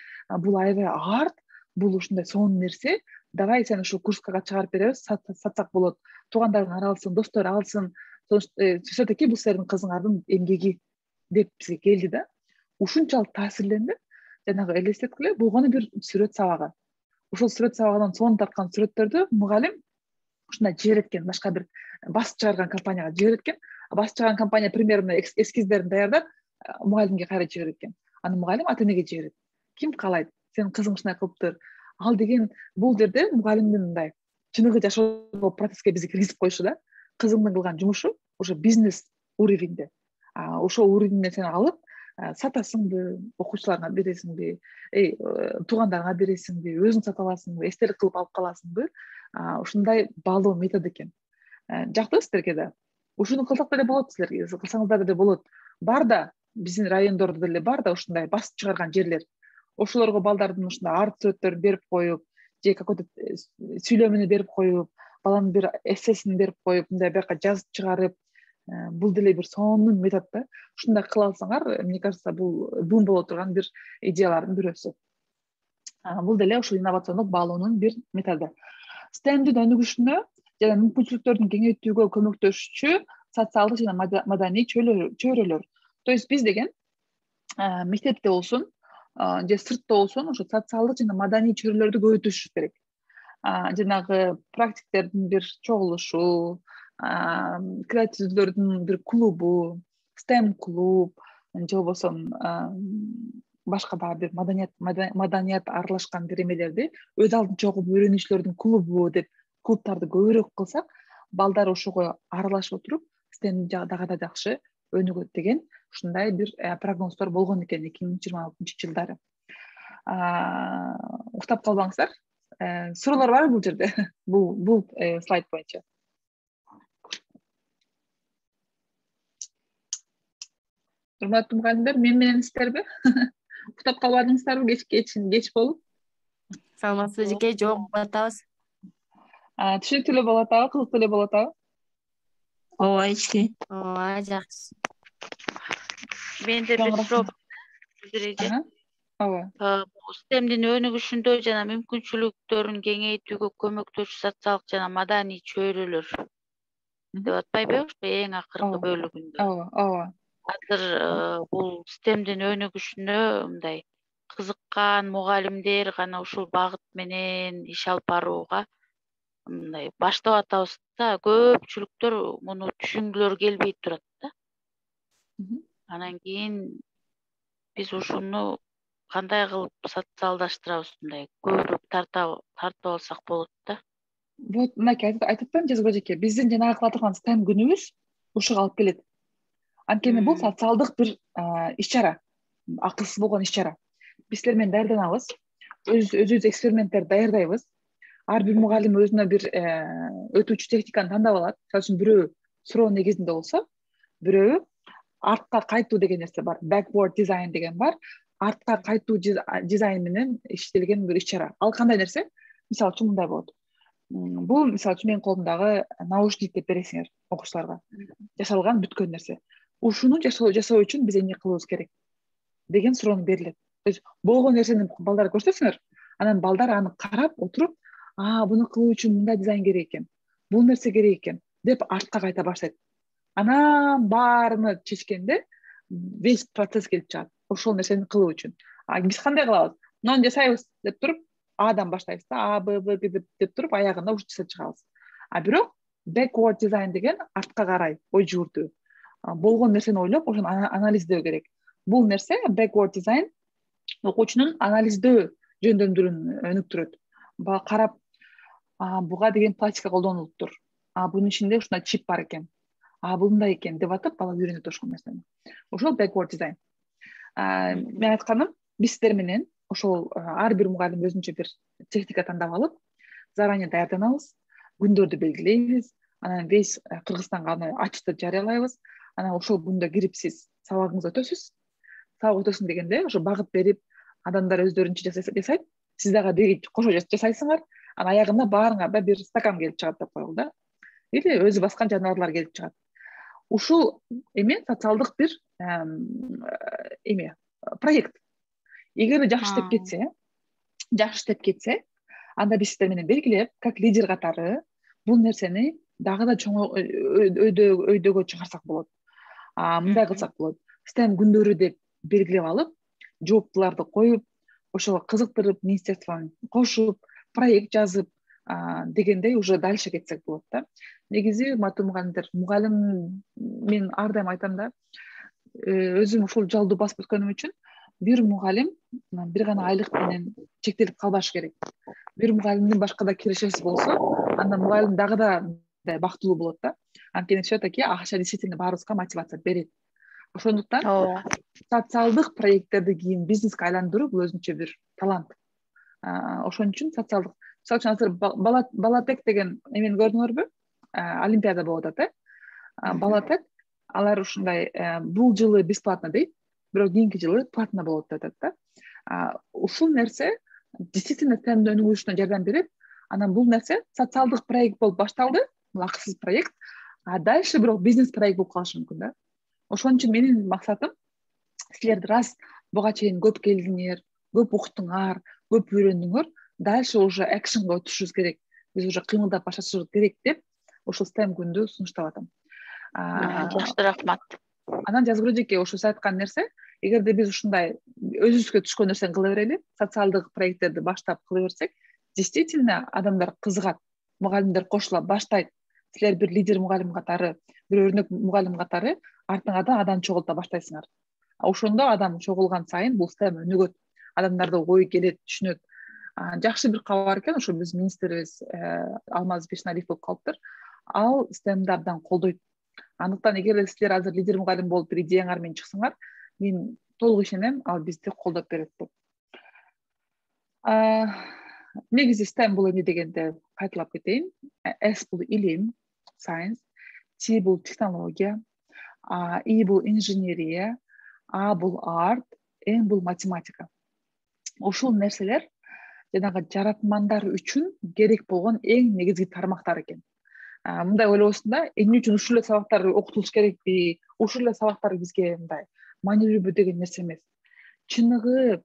[SPEAKER 1] Бул аябай арт, бул ушундай сонун нерсе. Давай сен ушул курска чыгарып беребиз, сатсак болот. Туугандарың алсын, достор алсын. Все-таки бул силердин кызыңардын эмгеги деп бизге келди да. Ушунчалык таасирленди. Жанагы элестеткиле болгону бир сүрөт сабагы. Ошол сүрөт сабагынан сонун тарткан сүрөттөрдү мугалим ушундай жиберет экен башка бир басып чыгарган компанияга жиберет экен. Басып чыгарган компания примерно эскиздерин даярдап мугалимге кайра жиберет экен. Аны мугалим ата энеге жиберет. Ким каалайт? Сенин кызың ушундай кылыптыр. Ал деген бул жерде мугалимдин мындай чыныгы жашоодо процесске бизди киргизип коюшу да. Кызыңдын кылган жумушу уже бизнес уровеньде. Ошол уровеньден сен алып сатасыңбы, окуучуларыңа бересиңби, туугандарыңа бересиңби, өзүң сатып аласыңбы, эстелик кылып алып каласыңбы? Ушундай баалоо методу экен. Жактыбы силерге да? Ушуну кылсак деле болот, силер кылсаңыздар деле болот. Бар да биздин райондордо деле бар да ушундай басып чыгарган жерлер. Ошолорго балдардын ушундай арт сүрөттөрүн берип коюп, же какой-то сүйлөмүнү берип коюп, баланын бир эссесин берип коюп, мындай бияка жазып чыгарып, бул деле бир сонун метод да. Ушундай кыла алсаңар, мне кажется, бул бум боло турган бир идеялардын бирөөсү. Бул деле ушул инновациондук баалоонун бир методу. STEMдин өнүгүшүнө жана мүмкүнчүлүктөрдүн кеңейтүүгө көмөктөшүүчү социалдык жана маданий чөйрөлөр. То есть биз деген мектепте болсун же сыртта болсун ошо социалдык жана маданий чөйрөлөрдү көбөйтүшүбүз керек. Жанагы практиктердин бир чогулушу, креативдүүлөрдүн бир клубу, STEM клуб же болбосо башка дагы бир маданият аралашкан бир эмелерди өз алдынча чогуу үйрөнүүчүлөрдүн клубу деп клубтарды көбүрөөк кылсак, балдар ошого аралашып отуруп STEM дагы да жакшы өнүгөт деген ушундай бир прогноздор болгон экен 2026-жылдары. Уктап калбаңыздар. Суроолор барбы бул жерде? Бул слайд боюнча. Урматтуу мугалимдер, мен менен сиздерби? Уктап калбадыңыздарбы? Кеч болуп?
[SPEAKER 5] Саламатсызбы эжеке? Жок, угуп атабыз.
[SPEAKER 1] Түшүнүктүү эле болуп атабы? Кызыктуу эле болуп атабы?
[SPEAKER 5] Ооба, эжеке. Ооба, жакшы.
[SPEAKER 3] Менде бир суроо бар.
[SPEAKER 1] Ооба.
[SPEAKER 3] STEMдин өнүгүшүндө жана мүмкүнчүлүктөрүн кеңейтүүгө көмөктөшүү социалдык жана маданий чөйрөлөр деп атпайбы? Эң акыркы бөлүгүндө.
[SPEAKER 1] Ооба.
[SPEAKER 3] Азыр бул STEMдин өнүгүшүнө мындай кызыккан мугалимдер гана ушул багыт менен иш алып барууга мындай баштап атабыз да, көпчүлүктөр муну түшүнгүлөрү келбей турат да. Анан кийин биз ушуну кандай кылып социалдаштырабыз, мындай көбүрөөк тартып алсак болот да.
[SPEAKER 1] Вот мынакей айтып атпаймынбы Жазгы эжеке, биздин жанагы кыла турган STEM күнүбүз ушуга алып келет. Анткени бул социалдык бир иш-чара, акылсыз болгон иш-чара. Биз силер менен даярданабыз, өзүбүз эксперименттер даярдайбыз. Ар бир мугалим өзүнө бир өтүүчү техниканы тандап алат. Мисалы үчүн бирөө суроо негизинде болсо, бирөө артка кайтуу деген нерсе бар, backward design деген бар. Артка кайтуу дизайн менен иштелген бир иш-чара. Ал кандай нерсе? Мисалы үчүн мындай болот. Бул мисалы үчүн менин колумдагы наушник деп бересиңер окуучуларга. Жашалган бүткөн нерсе. Ушуну жашоо үчүн биз эмне кылыбыз керек деген суроо берилет. То есть болгон нерсени балдарга көрсөтсөңөр, анан балдар аны карап отуруп, буну кылуу үчүн мындай дизайн керек экен, бул нерсе керек экен деп артка кайта баштайт. Анан баарыны чечкенде весь процесс келип чыгат. Ошол нерсени кылуу үчүн. Биз кандай кылабыз? Муну жасайбыз деп туруп, Адан баштайбыз да, Б, Б деп туруп, аягында уже жасап чыгабыз. Бирок backward design деген артка карай ой жүгүртүү. Болгон нерсени ойлоп, ошону анализдөө керек. Бул нерсе backward design окуучунун анализдөө жөндөмдүрүн өнүктүрөт. Карап, буга деген пластика колдонулуптур. Бунун ичинде ушундай чип бар экен. Бул мындай экен деп атып, бала үйрөнөт ошол нерсени. Ошол backward design. Мен айтканым, биз сиздер менен ошол ар бир мугалим өзүнчө бир техника тандап алып, заранее даярданабыз, күндөрдү белгилейбиз, анан весь Кыргызстанга аны ачтып жарыялайбыз. Анан ошол күндө кирип сиз сабагыңызды өтөсүз. Сабак өтөсүң дегенде ошо багыт берип, адамдар өздөрүнчө жасайт, сиз дагы кошо жасайсыңар. Анан аягында баарыңарда бир стакан келип чыгат деп коелу да. Или өзү баскан жаныбарлар келип чыгат. Ушул социалдык бир проект. Эгер жакшы иштеп кетсе, анда биз сиздер менен белгилеп, как лидер катары бул нерсени дагы да чоң өйдөгө чыгарсак болот. Мындай кылсак болот. STEM күндөрү деп белгилеп алып, жооптуларды коюп, ошого кызыктырып, министерствону кошуп, проект жазып, дегендей уже дальше кетсек болот да. Негизи мату мугалим мен ар дайым айтам да, өзүм ушул жолду басып өткөнүм үчүн бир мугалим бир гана айлык менен чектелип калбаш керек. Бир мугалимдин башка да кирешеси болсо, анда мугалим дагы да бактылуу болот да. Анткени все-таки акча действительно баарыбызга мотивация берет. Ошондуктан социалдык проекттерди кийин бизнеске айландыруу бул өзүнчө бир талант. Ошон үчүн социалдык, мисалы үчүн азыр Балатек деген эмени көрдүңөрбү? Олимпиада болуп атат, Балатек. Алар ушундай бул жылы бесплатно дейт, бирок кийинки жылы платно болот деп атат да. Ушул нерсе действительно темдин өнүгүшүнө жардам берет. Анан бул нерсе социалдык проект болуп башталды, бул акысыз проект, а дальше бирок бизнес проект болуп калышы мүмкүн да. Ошон үчүн менин максатым силер раз буга чейин көп келдиңер, көп уктуңар, көп үйрөндүңөр, дальше уже экшенге өтүшүбүз керек. Биз уже кыймылдап башташыбыз керек деп ошол STEM күндү сунуштап атам.
[SPEAKER 3] Жакшы, рахмат.
[SPEAKER 1] Анан Жазгүл эжеке, ошо сиз айткан нерсе, эгерде биз ушундай өзүбүзгө түшкөн нерсени кыла берели, социалдык проекттерди баштап кыла берсек, действительно адамдар кызыгат, мугалимдер кошула баштайт. Силер бир лидер мугалим катары, бир өрнөк мугалим катары артыңардан адам чогулта баштайсыңар. Ошондо адам чогулган сайын бул STEM өнүгөт, адамдарда ой келет, түшүнөт. Жакшы бир кабар экен, ошо биз министрибиз Алмаз Бешналиев болуп калыптыр. Ал STEMди абдан колдойт. Андыктан эгерде силер азыр лидер мугалим болуп бир идеяңар менен чыксаңар, мен толук ишенем, ал бизди колдоп берет деп. Негизи STEM бул эмне дегенде кайталап кетейин. S бул илим, science, T бул технология, I бул инженерия, A бул арт, N бул математика. Ушул нерселер жанагы жаратмандар үчүн керек болгон эң негизги тармактар экен. Мындай ойлобосун да, эмне үчүн ушул эле сабактар окутулуш керекпи, ушул эле сабактар бизге мындай маанилүүбү деген нерсе эмес. Чыныгы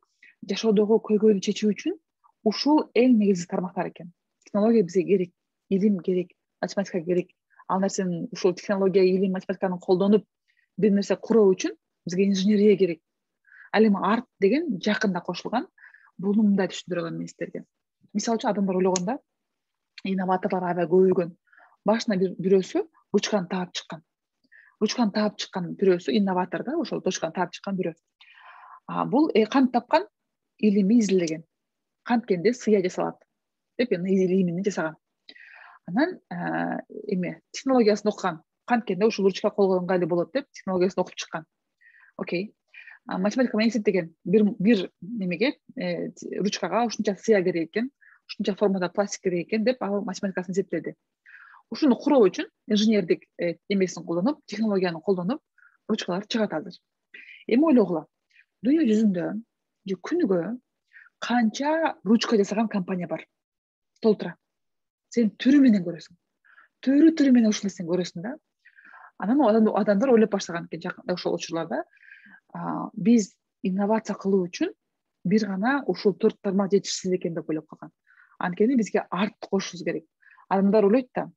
[SPEAKER 1] жашоодогу көйгөйдү чечүү үчүн ушул эң негизги тармактар экен. Технология бизге керек, илим керек, математика керек. Ал нерсени ушул технология, илим, математиканы колдонуп бир нерсе куруу үчүн бизге инженерия керек. Ал эми арт деген жакында кошулган. Буну мындай түшүндүрө алам мен силерге. Мисалы үчүн адамдар ойлогондо инноваторлор аябай көбөйгөн. Башына бирөөсү ручканы таап чыккан. Ручканы таап чыккан бирөөсү инноватор да, ошол ручканы таап чыккан бирөө. Бул кантип тапкан? Илимди изилдеген. Канткенде сыя жасалат деп илимини жасаган. Анан технологиясын окуган. Канткенде ушул ручка колго ыңгайлуу болот деп технологиясын окуп чыккан. Окей. Математика менен эсептеген. Бир немеге ручкага ушунча сыя керек экен, ушунча формада пластик керек экен деп ал математикасын эсептеди. Ушуну куруу үчүн инженердик эмесин колдонуп, технологияны колдонуп, ручкалар чыгат азыр. Эми ойлогула. Дүйнө жүзүндө же күнүгө канча ручка жасаган компания бар? Толтура. Сен түрү менен көрөсүң. Түрү менен ушул нерсени көрөсүң да. Анан адамдар ойлоп баштаган экен жакында ошол учурларда. Биз инновация кылуу үчүн бир гана ушул 4 тармак жетишсиз экен деп ойлоп калган. Анткени бизге арт кошушубуз керек. Адамдар ойлойт да,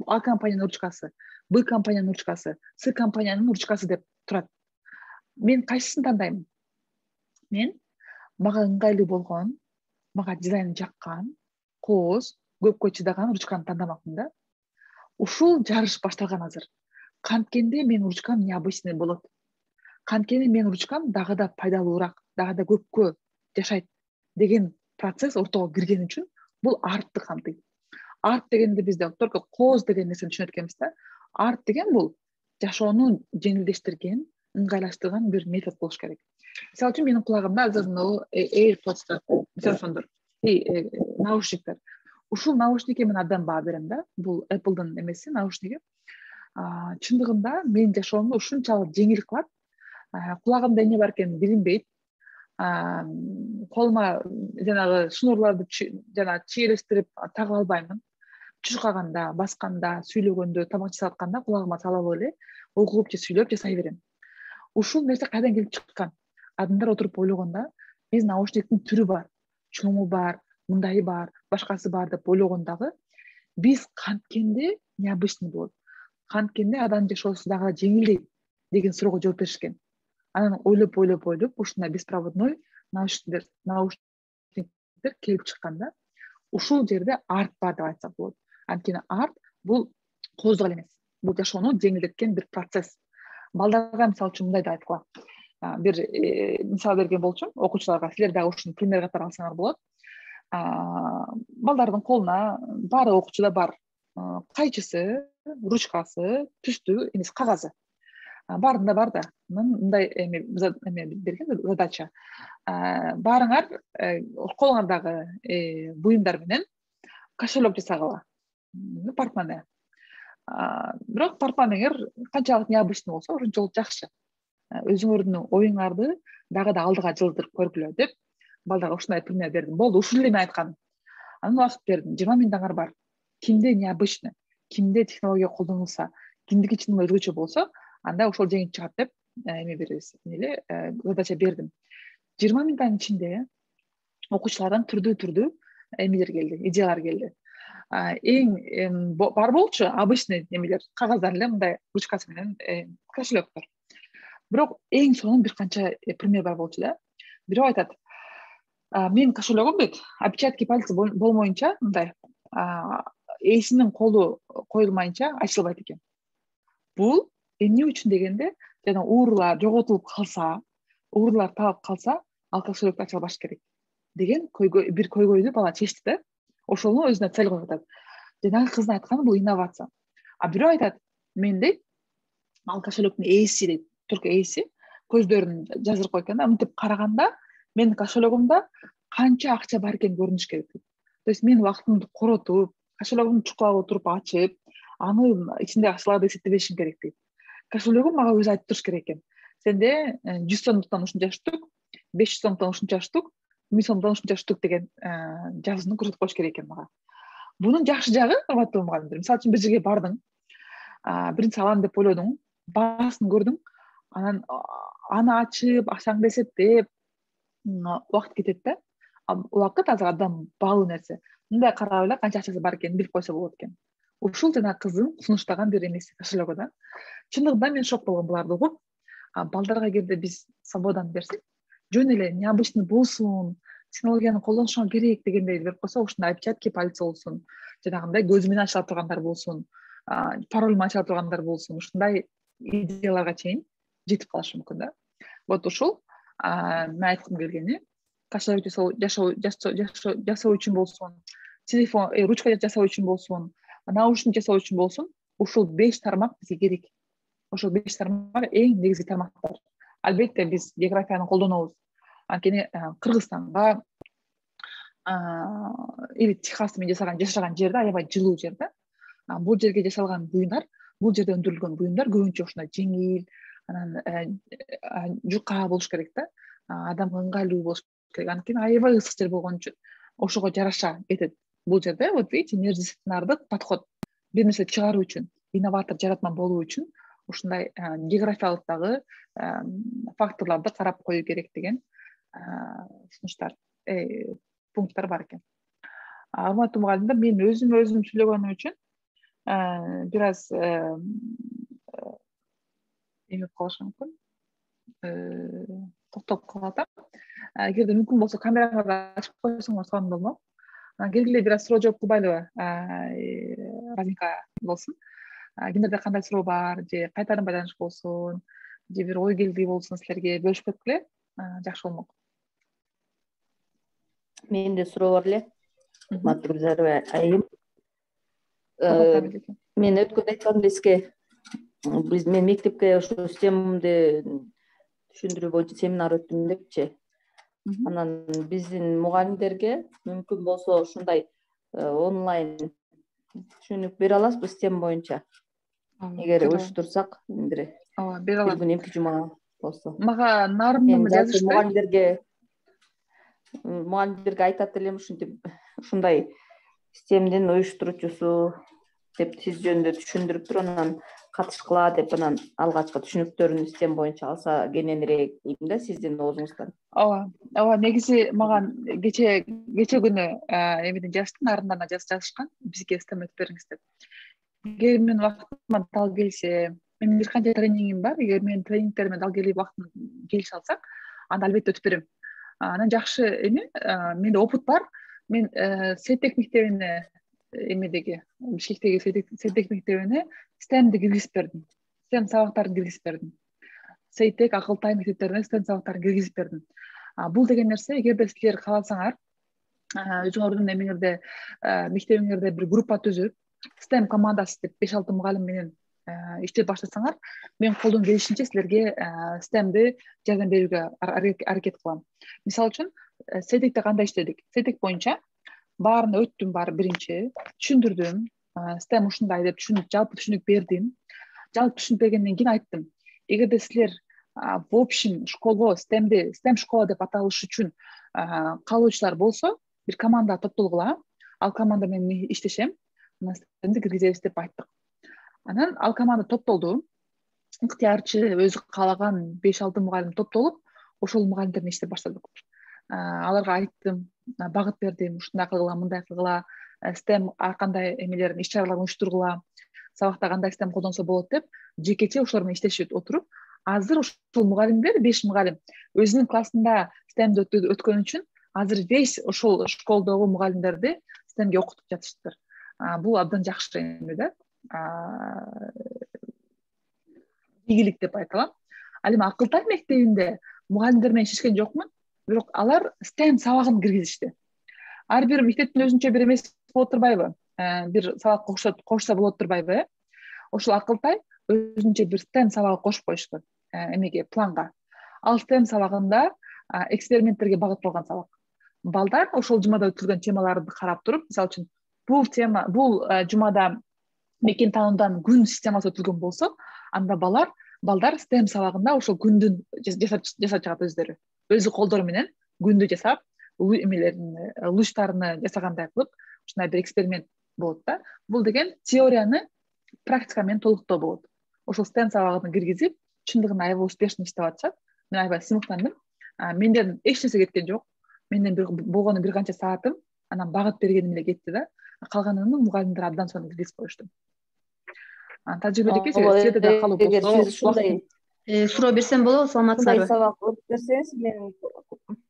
[SPEAKER 1] А компаниянын ручкасы, Б компаниянын ручкасы, С компаниянын ручкасы деп турат. Мен кайсысын тандайм? Мен мага ыңгайлуу болгон, мага дизайны жаккан, кооз, көпкө чыдаган ручканы тандамакмын да. Ушул жарыш башталган азыр. Канткенде менин ручкам необычный болот. Канткени менин ручкам дагы да пайдалуураак, дагы да көпкө жашайт деген процесс ортого кирген үчүн бул артты камтыйт. Арт дегенде бизде только кооз деген нерсени түшүнөт экенбиз да. Арт деген бул жашоону жеңилдештирген, ыңгайлаштырган бир метод болуш керек. Мисалы үчүн менин кулагымда азыр AirPods телефондор, наушниктер. Ушул наушникке мен абдан баа берем да. Бул Apple'дын эмеси, наушниги. Чындыгында менин жашоомду ушунчалык жеңил кылат. Кулагымда эмне бар экенин билинбейт. Колума жанагы шнурларды чиелештирип тагып албаймын. Чуркаганда, басканда, сүйлөгөндө, тамак жасап атканда кулагыма салып эле окуп же сүйлөп жасай берем. Ушул нерсе кайдан келип чыккан? Адамдар отуруп ойлогондо, биз наушниктин түрү бар, чоңу бар, мындайы бар, башкасы бар деп ойлогондагы, биз канткенде необычный болот. Канткенде адам жашоосу дагы жеңилдейт деген суроого жооп беришкен. Анан ойлоп ушундай беспроводной наушниктер келип чыккан да.
[SPEAKER 6] ушул жерде арт бар деп айтсак болот. Анткени арт бул кооздук эле эмес, бул жашоону жеңилдеткен бир процесс. Балдарга мисалы үчүн мындай да айткыла. Бир мисал берген болчумун окуучуларга, силер дагы ушуну пример катары алсаңар болот. Балдардын колуна баары окуучуда бар кайчысы, ручкасы, түстүү эмес кагазы. Баарында бар да. Мындай эме берген задача. Баарыңар колуңардагы буюмдар менен кошелек жасагыла. Портмоне. Бирок портмонеңер канчалык необычный болсо, ошончолук жакшы. Өзүңөрдүн оюңарды дагы да алдыга жылдырып көргүлө деп балдарга ушундай пример бердим. Болду, ушул эле мен айтканым. Анан убакыт бердим. 20 минуттаңар бар. Кимде необычный, кимде технология колдонулса, кимдики чын өзгөчө болсо, анда ошол жеңип чыгат деп эме беребиз. Задача бердим. 20 минуттун ичинде окуучулардан түрдүү эмелер келди, идеялар келди. Эң бар болчу обычный эмелер, кагаздар эле мындай ручкасы менен кошелектор. Бирок эң сонун бир канча пример бар болчу да. Бирөө айтат: "Менин кошелегим бит отпечатки пальца болмоюнча, мындай эсинин колу коюлмайынча ачылбайт экен." Бул эмне үчүн дегенде, жана уурлар жоготулуп калса, уурлар таап калса, ал кошелекту ача албаш керек деген бир көйгөйдү бала чечти да. Ошону өзүнө цель коюп атат. Жанагы кыздын айтканы бул инновация. Бирөө айтат: "Мен дейт, ал кошелектин ээси дейт, только ээси көздөрүн жаздырып койгон да, мынтип караганда менин кошелегимде канча акча бар экени көрүнүш керек дейт. То есть мен убактымды коротуп, кошелегимди чукулап отуруп ачып, анын ичиндеги акчаларды эсептебешим керек дейт. Кошелегим мага өзү айтып туруш керек экен. Сенде 100 сомдуктан ушунча штук, 500 сомдуктан ушунча штук, 1000 сомдуктан ушунча штук деген жазууну көрсөтүп коюш керек экен мага. Бунун жакшы жагы, урматтуу мугалимдер, мисалы үчүн бир жерге бардың, биринчи алам деп ойлодуң, баасын көрдүң, анан аны ачып, акчаңды эсептеп, убакыт кетет да. Убакыт азыр адам баалуу нерсе. Мындай карап эле канча акчасы бар экенин билип койсо болот экен. Ушул жана кыздын сунуштаган бир эмеси кошелегу да. Чындыгында мен шок болгом буларды угуп. Балдарга эгерде биз свободаны берсек, жөн эле необычный болсун, технологияны колдонушуңа керек дегендей берип койсо, ушундай отпечатки пальца болсун, жанагындай көзү менен ачыла тургандар болсун, пароль менен ачыла тургандар болсун, ушундай идеяларга чейин жетип калышы мүмкүн да. Вот ушул мен айткым келгени, кошелек жасоо үчүн болсун, телефон, ручка жасоо үчүн болсун, наушник жасоо үчүн болсун, ушул 5 тармак бизге керек. Ошол 5 тармак эң негизги тармактар. Албетте биз географияны колдонобуз. Анткени Кыргызстанга или Техаста мен жашаган жерде аябай жылуу жер да. Бул жерге жасалган буюмдар, бул жерде өндүрүлгөн буюмдар көбүнчө ушундай жеңил, анан жука болуш керек да. Адамга ыңгайлуу болуш керек. Анткени аябай ысык жер болгон үчүн ошого жараша кетет. Бул жерде вот видите, междисциплинардык подход, бир нерсе чыгаруу үчүн, инноватор, жаратман болуу үчүн ушундай географиялык дагы факторлорду карап коюу керек деген сунуштар, пункттар бар экен. Урматтуу мугалимдер, мен өзүм сүйлөгөнүм үчүн бир аз эме кылышы мүмкүн, токтоп калат. Эгерде мүмкүн болсо камераңарды ачып койсоңор сонун болмок. Келгиле бир аз суроо жооп кылбайлыбы? Разинка болсун. Кимдерде кандай суроо бар, же кайтарым байланыш болсун, же бир ой келди болсун, силерге бөлүшүп кеткиле, жакшы болмок.
[SPEAKER 2] Менде суроо бар эле. Урматтуу Гүлзарова айым. Мен өткөндө айтканым эске. Мен мектепке ошо системамды түшүндүрүү боюнча семинар өттүм депчи. Анан биздин мугалимдерге мүмкүн болсо ушундай онлайн түшүнүк бере аласызбы система боюнча? Эгер уюштурсак, бир
[SPEAKER 6] бере алам.
[SPEAKER 2] Күн эмки жума болсо.
[SPEAKER 6] Мага нарымдын жазышты.
[SPEAKER 2] Мугалимдерге айтат элем ушинтип, ушундай системдин уюштуруучусу деп сиз жөнүндө түшүндүрүптүр, анан катышкыла деп, анан алгачкы түшүнүктөрүн система боюнча алса кененирээк дейм да сиздин оозуңуздан.
[SPEAKER 6] Ооба, негизи мага кече күнү эмеден жазышты, нарымдарына жазышкан, бизге система өтүп бериңиз деп. Эгер мен убактыма дал келсе, менин бир канча тренингим бар, эгер менин тренингтериме дал келип убактым келише алсак, анда албетте өтүп берем. Анан жакшы эме, менде опыт бар, мен Сейтек мектебине эмедеги Бишкектеги Сейтек мектебине STEMди киргизип бердим. STEM сабактарын киргизип бердим. Сейтек, Акылтай мектептерине STEM сабактарын киргизип бердим. Бул деген нерсе, эгерде силер кааласаңар, өзүңөрдүн эмеңерде мектебиңерде бир группа түзүп, STEM командасы деп 5-6 мугалим менен иштеп баштасаңар, мен колдон келишинче силерге STEMди жардам берүүгө аракет кылам. Мисалы үчүн, Сейтекте кандай иштедик? Сейтек боюнча баарын өттүм, биринчи түшүндүрдүм. STEM ушундай деп жалпы түшүнүк бердим. Жалпы түшүнүк бергенден кийин айттым. Эгерде силер в общем школго STEM школа деп аталыш үчүн каалоочулар болсо, бир команда топтолгула. Ал команда менен иштешем. STEMди киргизебиз деп айттык. Анан ал команда топтолду. Ыктыярчы, өзү каалаган 5-6 мугалим топтолуп, ошол мугалимдер менен иштеп баштадык. Аларга айттым, багыт бердим, ушундай кылгыла, мындай кылгыла, STEM ар кандай эмелерин, иш-чараларын уюштургула, сабакта кандай STEM колдонсо болот деп, жекече ошолор менен иштешип отуруп, азыр ушул мугалимдер 5 мугалим өзүнүн классында STEMди өткөн үчүн азыр весь ошол школдогу мугалимдерди STEMге окутуп жатышыптыр. Бул абдан жакшы эме да. Ийгилик деп айта алам. Ал эми Акылтай мектебинде мугалимдер менен иштешкен жокмун, бирок алар STEM сабагын киргизишти. Ар бир мектептин өзүнчө бир эмеси болот турбайбы? Бир сабак кошсо болот турбайбы? Ошол Акылтай өзүнчө бир STEM сабагы кошуп коюшту эмеге, планга. Ал STEM сабагында эксперименттерге багытталган сабак. Балдар ошол жумада өтүлгөн темаларды карап туруп, мисалы үчүн, бул жумада мекен таануудан күн системасы өтүлгөн болсо, анда балдар STEM сабагында ошол күндүн жасап чыгат өздөрү. Өзү колдору менен күндү жасап, лучтарыны жасагандай кылып, ушундай бир эксперимент болот да. Бул деген теорияны практика менен толуктоо болот. Ошол STEM сабагын киргизип, чындыгында аябай успешно иштеп атышат. Мен аябай сыймыктандым. Менден эч нерсе кеткен жок. Менден болгону бир канча саатым, анан багыт бергеним эле кетти да. Калганын мугалимдер абдан сонун киргизип коюшту. Тажрыйбедеги силерде да калуу болсо,
[SPEAKER 5] суроо берсем болобу, саламатсыздарбы?
[SPEAKER 2] Сабак өтүп берсеңиз, менин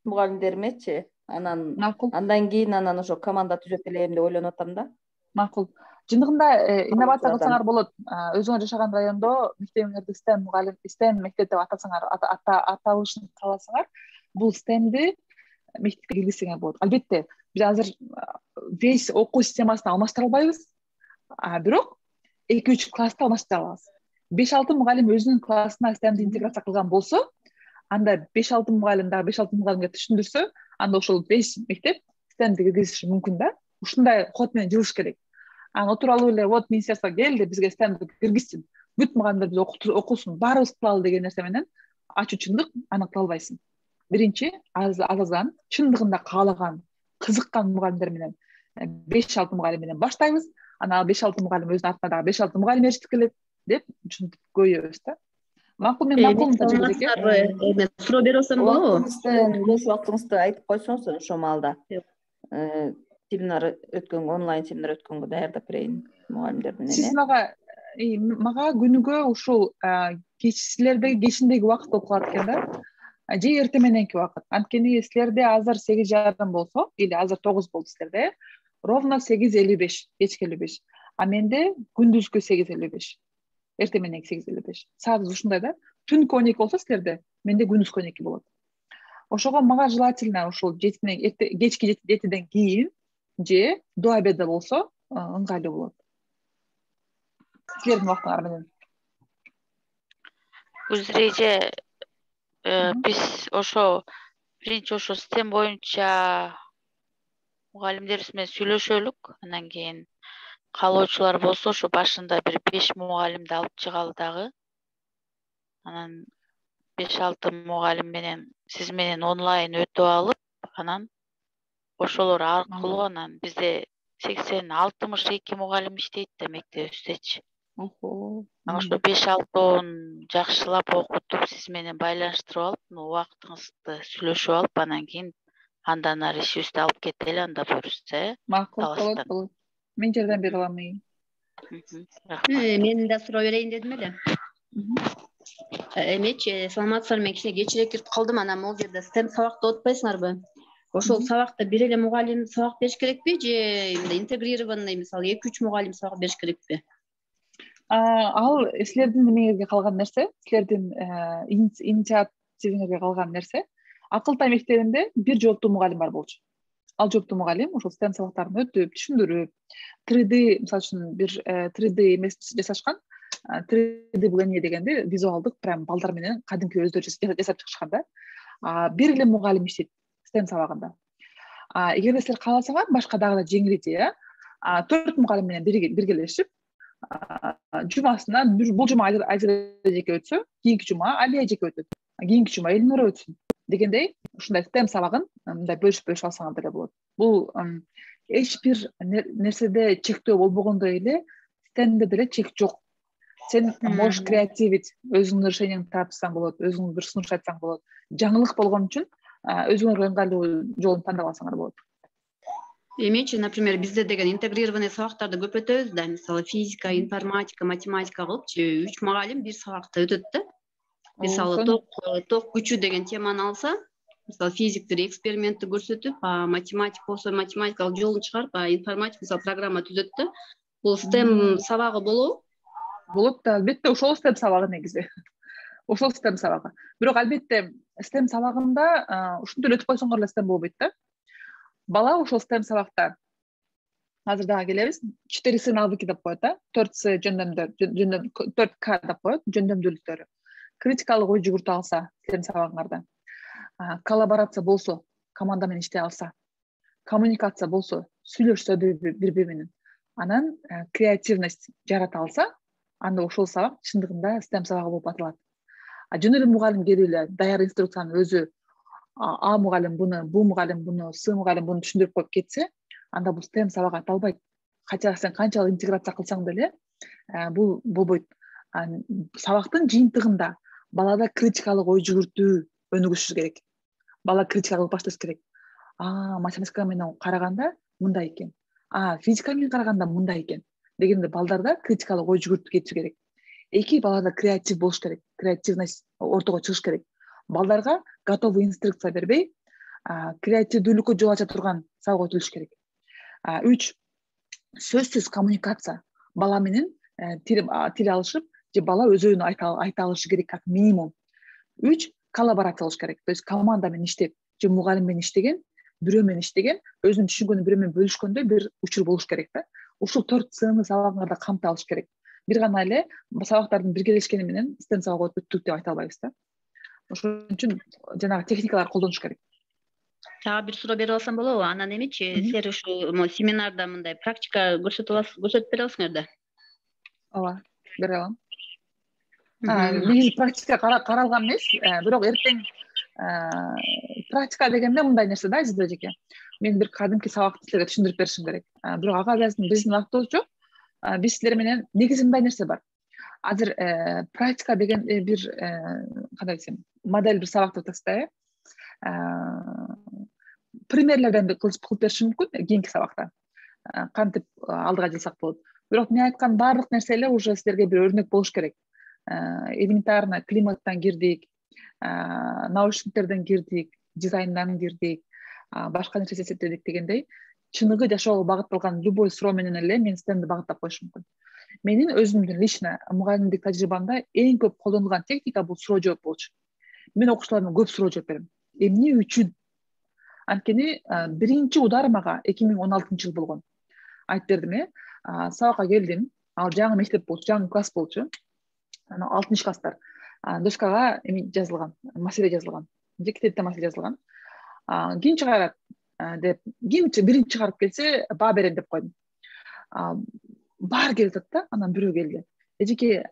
[SPEAKER 2] мугалимдеримечи, андан кийин ошо команда түзөп элем деп ойлонуп атам да.
[SPEAKER 6] Макул. Чындыгында инновация кылсаңар болот. Өзүңөр жашаган райондо мектебиңерди STEM мектеп деп атасаңар, аталышын кааласаңар, бул STEMди мектепке киргизсеңер болот. Албетте, биз азыр весь окуу системасын алмаштыра албайбыз. Бирок 2-3 класста алмаштыра алабыз. 5-6 мугалим өзүнүн классына STEMди интеграция кылган болсо, анда 5-6 мугалим дагы 5-6 мугалимге түшүндүрсө, анда ошол 5 мектеп STEMди киргизиши мүмкүн да. Ушундай код менен жылыш керек. Отуруп алып эле, вот министерство келди, бизге STEMди киргизсин. Бүт мугалимдер биз окусун, баарыбыз кылалы деген нерсе менен ачуу-чындык аны кыла албайсың. Биринчи, аздан чындыгында каалаган, кызыккан мугалимдер менен 5-6 мугалим менен баштайбыз. Анан 5-6 мугалим өзүнүн артына дагы 5-6 мугалим эришип келет деп ушинтип көбөйөбүз да. Макул, мен
[SPEAKER 5] Мен суроо берип атсам болобу?
[SPEAKER 2] Бош убактыңызды айтып койсоңуз, ошол маалда онлайн семинар өткөнгө даярдап берейин мугалимдер менен.
[SPEAKER 6] Сиз мага күнүгө ушул силердеги кечиндеги убакыт болуп калат экен да. Же эртең мененки убакыт. Анткени силерде азыр 8:30 болсо, или азыр 9 болду силерде, ровно 8:55, кечки 55. А менде күндүзгү 8:55. Эртең мененки 8:55. Саатыбыз ушундай да. Түнкү 12 болсо силерде, менде күндүзгү 12 болот. Ошого мага желательно ушул кечки 7ден кийин же до обеда болсо ыңгайлуу болот. Силердин убактыңар менен.
[SPEAKER 3] Өзүреже биз биринчи STEM боюнча мугалимдерибиз менен сүйлөшөлүк, анан кийин каалоочулар болсо ошо башында бир 5 мугалимди алып чыгалы дагы. Анан 5-6 мугалим менен сиз менен онлайн өтүп алып, анан ошолор аркылуу анан бизде 80-62 мугалим иштейт да мектебибиздечи. Ошо 5-6 жакшылап окутуп, сиз менен байланыштырып алып, убактыңызды сүйлөшүп алып, анан кийин андан ары ишибизди алып кетели, анда буюрса.
[SPEAKER 6] Макул, болот. Мен жардам бере алам.
[SPEAKER 5] Мен да суроо берейин дедим эле. Эмечи, саламатсыздарбы, мен кичине кечирээк кирип калдым, анан могул жерде STEM сабакты отпайсыңарбы? ошол сабакта бир эле мугалим сабак бериш керекпи же мындай интегрированный мисалы 2-3 мугалим сабак бериш керекпи?
[SPEAKER 6] Ал силердин немеңерге калган нерсе, силердин инициативиңерге калган нерсе. Акылтай мектебинде бир жооптуу мугалим бар болчу. Ал жооптуу мугалим ошол STEM сабактарын өтүп, түшүндүрүп, 3D мисалы үчүн бир 3D эмес жасашкан. 3D бул эмне дегенде визуалдык прям балдар менен кадимки өздөрү жасап чыгышкан да. Бир эле мугалим иштейт STEM сабагында. Эгерде силер кааласаңар, башка дагы да жеңилдетип, 4 мугалим менен биргелешип, жумасына бул жума Айзада эжеке өтсө, кийинки жума Алия эжеке өтөт, кийинки жума Элнура өтсүн дегендей, ушундай STEM сабагын мындай бөлүшүп алсаңар деле болот. Бул эч бир нерседе чектөө болбогондой эле STEMде деле чек жок. Сен можешь креативить, өзүңдүн решениеңди тапсаң болот, өзүң бир сунуш айтсаң болот. Жаңылык болгон үчүн өзүңөргө ыңгайлуу жолун тандап алсаңар болот.
[SPEAKER 5] Эмечи, например, бизде деген интегрированный сабактарды көп өтөбүз да, мисалы физика, информатика, математика кылыпчы 3 мугалим бир сабакта өтөт да. Мисалы ток күчү деген теманы алса, мисалы физиктер экспериментти көрсөтүп, математик болсо математикалык жолун чыгарып, информатик мисалы программа түзөт да. Бул STEM сабагы болобу?
[SPEAKER 6] Болот да, албетте ошол STEM сабагы негизи. Ошол STEM сабагы. Бирок албетте STEM сабагында ушинтип эле өтүп койсоңор эле STEM болбойт да. Бала ошол STEM сабакта азыр дагы келебиз. 4С навыки деп коет да. 4С жөндөмдөр, 4К деп коет, жөндөмдүүлүктөрү. Критикалык ой жүгүртүп алса, STEM сабагыңарда. Коллаборация болсо, команда менен иштей алса, коммуникация болсо, сүйлөшсө бири менен, анан креативность жарата алса, анда ошол сабак чындыгында STEM сабагы болуп аталат. Жөн эле мугалим келип эле даяр инструкцияны өзү А мугалим буну, Б мугалим буну, С мугалим буну түшүндүрүп коюп кетсе, анда бул STEM сабак аталбайт. Кача сен канчалык интеграция кылсаң деле, бул болбойт. Сабактын жыйынтыгында балада критикалык ой жүгүртүү өнүгүшү керек. Бала критика кылып башташ керек. Математика менен караганда мындай экен. Физика менен караганда мындай экен. Дегенде балдарда критикалык ой жүгүртүп кетиши керек. Эки балада креатив болуш керек. Креативность ортого чыгыш керек. Балдарга готовый инструкция бербей, креативдүүлүккө жол ача турган сабак өтүлүш керек. 3 сөзсүз коммуникация. Бала менен тил алышып, же бала өз оюн айта алышы керек как минимум. 3 коллаборация болуш керек. То есть команда менен иштеп, же мугалим менен иштеген, бирөө менен иштеген, өзүнүн түшүнгөнүн бирөө менен бөлүшкөндөй бир учур болуш керек да. Ушул 4 Цны сабагыңарда камтып алыш керек. Бир гана эле сабактардын биргелешкени менен STEM сабак өттүк деп айта албайбыз да. Ошон үчүн жанагы техникалар колдонуш керек.
[SPEAKER 5] Бир суроо берип алсам болобу? Анан эмечи, силер ушул семинарда мындай практика көрсөтүп бере аласыңар да?
[SPEAKER 6] Ооба, бере алам. Негизи практика каралган эмес, бирок эртең практика дегенде мындай нерсе да, Айзада эжеке. Мен бир кадимки сабакты силерге түшүндүрүп беришим керек. Бирок ага биздин убактыбыз жок. Биз силер менен негизи мындай нерсе бар. Азыр практика деген бир кандай десем, модель бир сабак деп атасыздар, примерлерден кылып беришим мүмкүн кийинки сабакта. Кантип алдыга жылсак болот. Бирок мен айткан баардык нерсе эле уже силерге бир өрнөк болуш керек. Элементарно климаттан кирдик, научниктерден кирдик, дизайндан кирдик, башка нерсе эсептедик дегендей, чыныгы жашоого багытталган любой суроо менен эле мен STEMди багыттап коюшум мүмкүн. Менин өзүмдүн лично мугалимдик тажрыйбамда эң көп колдонулган техника бул суроо жооп болчу. Мен окуучуларыма көп суроо жооп берем. Эмне үчүн? Анткени биринчи удар мага 2016 болгон. Айтып бердим, сабакка келдим. Ал жаңы мектеп болчу, жаңы класс болчу. Анан 6 класстар. Доскага эми жазылган, маселе жазылган. Же китепте маселе жазылган. Ким чыгарат деп, ким биринчи чыгарып келсе, баа берем деп койдум. Баары келип атат да, анан бирөө келди. Эжеке,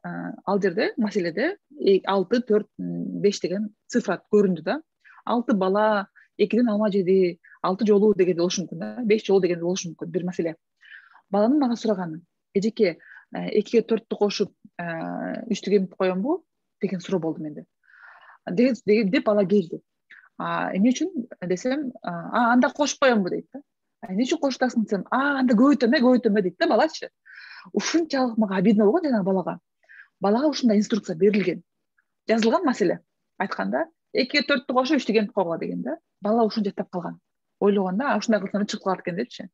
[SPEAKER 6] ал жерде маселеде 6, 4, 5 деген цифра көрүндү да. 6 бала 2ден алма жеди, 6 жолу деген болушу мүмкүн да, 5 жолу деген болушу мүмкүн бир маселе. Баланын мага сураганы, эжеке, 2ге 4тү кошуп 3тү кемип коембу деген суроо болду менде. Деп бала келди. Эмне үчүн десем, анда кошуп коембу дейт да. Эмне үчүн кошуп атасың десем, анда көбөйтөмө дейт да балачы. Ушунчалык мага обидно болгон жанагы балага. Балага ушундай инструкция берилген. Жазылган маселе. Айтканда 2ге 4тү кошуп 3тү кемип койгула деген да. Бала ушуну жаттап калган. ойлогондо ушундай кылсам чыгып калат экен депчи.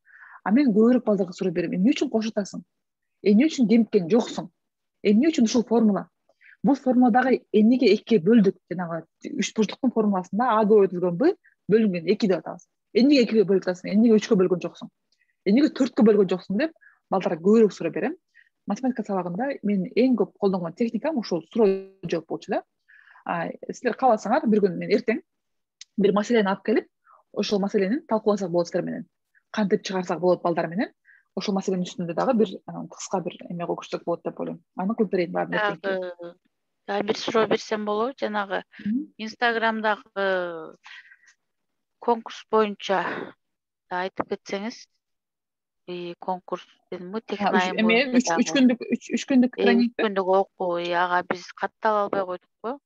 [SPEAKER 6] А мен көбүрөөк балдарга суроо берем: эмне үчүн кошуп атасың? Эмне үчүн кемиккен жоксуң? Эмне үчүн ушул формула? Бул формуладагы эмнеге экиге бөлдүк? Жанагы үч бурчтуктун формуласында А көбөйтүлгөн Б бөлүнгөн 2 деп атабыз. Эмнеге 2ге бөлүп атасың? Эмнеге 3кө бөлгөн жоксуң? Эмнеге 4кө бөлгөн жоксуң деп балдарга көбүрөөк суроо берем. Математика сабагында мен эң көп колдонгон техникам ушул суроо жооп болчу да. Силер кааласаңар бир күн мен эртең бир маселени алып келип, ошол маселени талкууласак болот силер менен. Кантип чыгарсак болот балдар менен. Ошол маселенин үстүндө дагы бир кыска бир эме көрсөтсөк болот деп ойлойм. Аны кылып берейин баарын эртең.
[SPEAKER 3] Дагы бир суроо берсем болобу? Жанагы Инстаграмдагы конкурс боюнча айтып кетсеңиз. Конкурс дедимби? Технайм
[SPEAKER 6] боюнча 3 күндүк тренинг.
[SPEAKER 3] 3 күндүк окуу. Ага биз каттала албай койдукпу?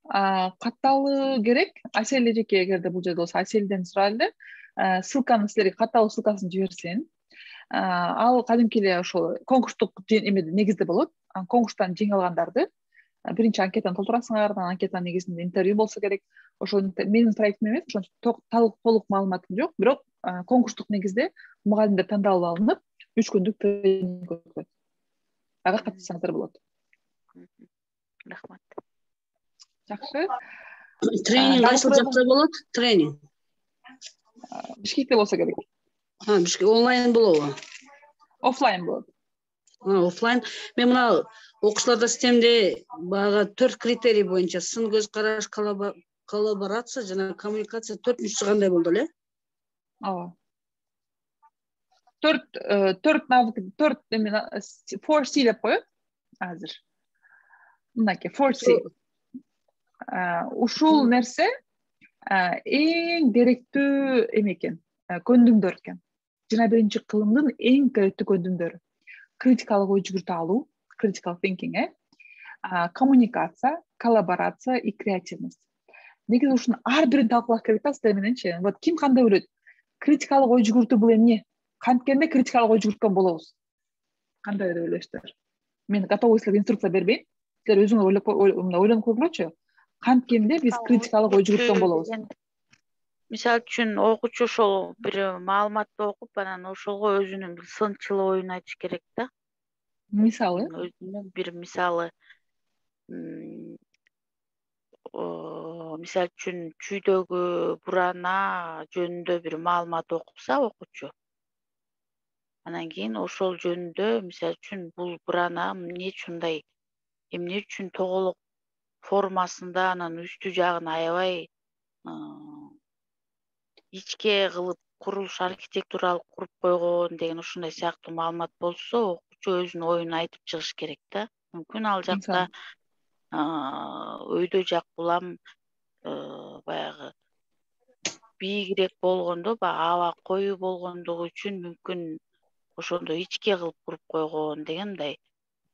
[SPEAKER 6] Катталуу керек. Асель эжеке эгерде бул жерде болсо Аселден сурайлы. Ссылканы силерге катталуу ссылкасын жиберсин. Ал кадимки эле ошол конкурстук эмеде негизде болот. Конкурстан жеңип алгандарды биринчи анкетаны толтурасыңар, анкетанын негизинде интервью болсо керек. Ошол менин проектим эмес, ошон толук маалыматым жок, бирок конкурстук негизде мугалимдер тандалып алынып, 3 күндүк тренинг өтөт. Ага катышсаңыздар болот.
[SPEAKER 3] Рахмат.
[SPEAKER 6] Жакшы.
[SPEAKER 7] Тренинг кайсы жакта болот? Тренинг
[SPEAKER 6] Бишкекте болсо керек.
[SPEAKER 7] Бишкек онлайн болобу?
[SPEAKER 6] Офлайн болот.
[SPEAKER 7] Офлайн. Мен мына окуучуларда системде баягы 4 критерий боюнча сын көз караш, коллаборация жана коммуникация 4-үчүсү кандай болду эле?
[SPEAKER 6] Ооба. 4 навык, 4C деп коет азыр. Мынакей 4C. Ушул нерсе эң керектүү эме экен, көндүмдөр экен. 21 кылымдын эң керектүү көндүмдөрү. Критикалык ой жүгүртүп алуу, critical thinking, коммуникация, коллаборация и креативность. Негизи ушунун ар бирин талкуулаш керек да сиздер мененчи. Вот ким кандай ойлойт? Критикалык ой жүгүртүү бул эмне? Канткенде критикалык ой жүгүрткөн болобуз. Кандай деп ойлойсуздар? Мен готовый силерге инструкция бербейм. Силер өзүңөр ойлонуп көргүлөчү. Канткенде биз критикалык ой жүгүрткөн болобуз.
[SPEAKER 3] Мисалы үчүн окуучу ошол бир маалыматты окуп, анан ошого өзүнүн бир сынчыл оюн айтыш керек да.
[SPEAKER 6] Мисалы?
[SPEAKER 3] Өзүнүн бир мисалы мисалы үчүн чүйдөгү бурана жөнүндө бир маалымат окупса окуучу. Анан кийин ошол жөнүндө мисалы үчүн бул бурана эмне үчүндай, эмне үчүн тоголок формасында анан үстү жагын аябай ичке кылып курулуш архитектуралык куруп койгон деген ушундай сыяктуу маалымат болсо, окуучу өзүнүн оюн айтып чыгыш керек да. Мүмкүн ал жакта өйдө жак улам баягы бийигирээк болгондо, аба коюу болгондугу үчүн мүмкүн ошондо ичке кылып куруп койгон деген мындай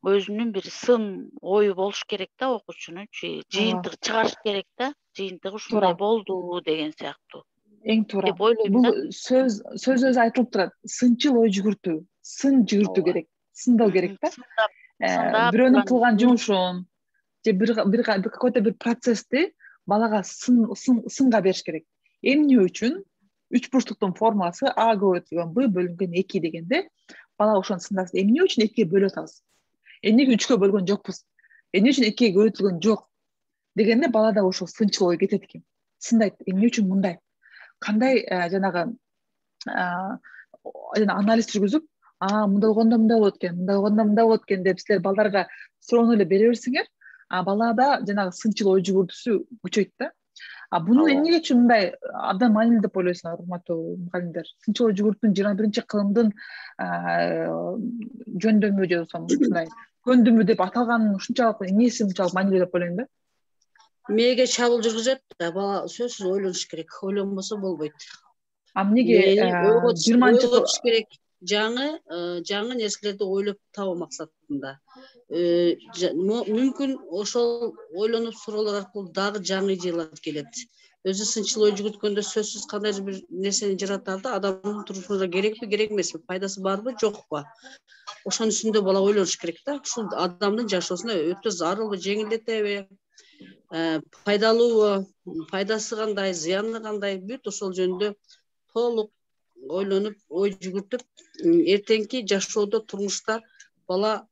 [SPEAKER 3] өзүнүн бир сын ою болуш керек да окуучунун, жыйынтык чыгарыш керек да. Жыйынтыгы ушундай болду деген сыяктуу.
[SPEAKER 6] Эң туура. Бул сөз өзү айтылып турат. Сынчыл ой жүгүртүү, сын жүгүртүү керек, сындоо керек да. Бирөөнүн кылган жумушун же бир какой-то бир процессти балага сынга бериш керек. Эмне үчүн 3 бурчтуктун формуласы А көбөйтүлгөн Б бөлүнгөн 2 дегенде бала ошону сындасын. Эмне үчүн 2ге бөлүп атабыз? Эмнеге 3кө бөлгөн жокпуз? Эмне үчүн 2ге көбөйтүлгөн жок? Дегенде балада ошол сынчыл ой кетет экен. Сындайт. Эмне үчүн мындай? Кандай жанагы анализ жүргүзүп, мындай болгондо мындай болот экен, мындай болгондо мындай болот экен деп силер балдарга суроону эле бере берсеңер, балада жанагы сынчыл ой жүгүртүүсү күчөйт да. Бунун эмне үчүн мындай абдан маанилүү деп ойлойсуңар, урматтуу мугалимдер? Сынчыл ой жүгүртүүнүн 21 кылымдын жөндөмү же болбосо ушундай көндүмү деп аталганын ушунчалык эмнеси ушунчалык маанилүү деп ойлойм да.
[SPEAKER 7] Мээге чабуул жүргүзөт да, бала сөзсүз ойлонуш керек. Ойлонбосо болбойт.
[SPEAKER 6] Эмнеге
[SPEAKER 7] 20-чы керек? Жаңы нерселерди ойлоп табуу максатында. Мүмкүн ошол ойлонуп суроолор аркылуу дагы жаңы идеялар келет. Өзү сынчыл ой жүгүрткөндө сөзсүз кандайдыр бир нерсени жаратар да, адамдын турмушуна керекпи, керек эмеспи, пайдасы барбы, жокпу? Ошонун үстүндө бала ойлонуш керек да. Ушул адамдын жашоосуна өтө зарылбы, жеңилдетеби? пайдалуубу, пайдасы кандай, зыяны кандай, бүт ошол жөнүндө толук ойлонуп, ой жүгүртүп, эртеңки жашоодо, турмушта бала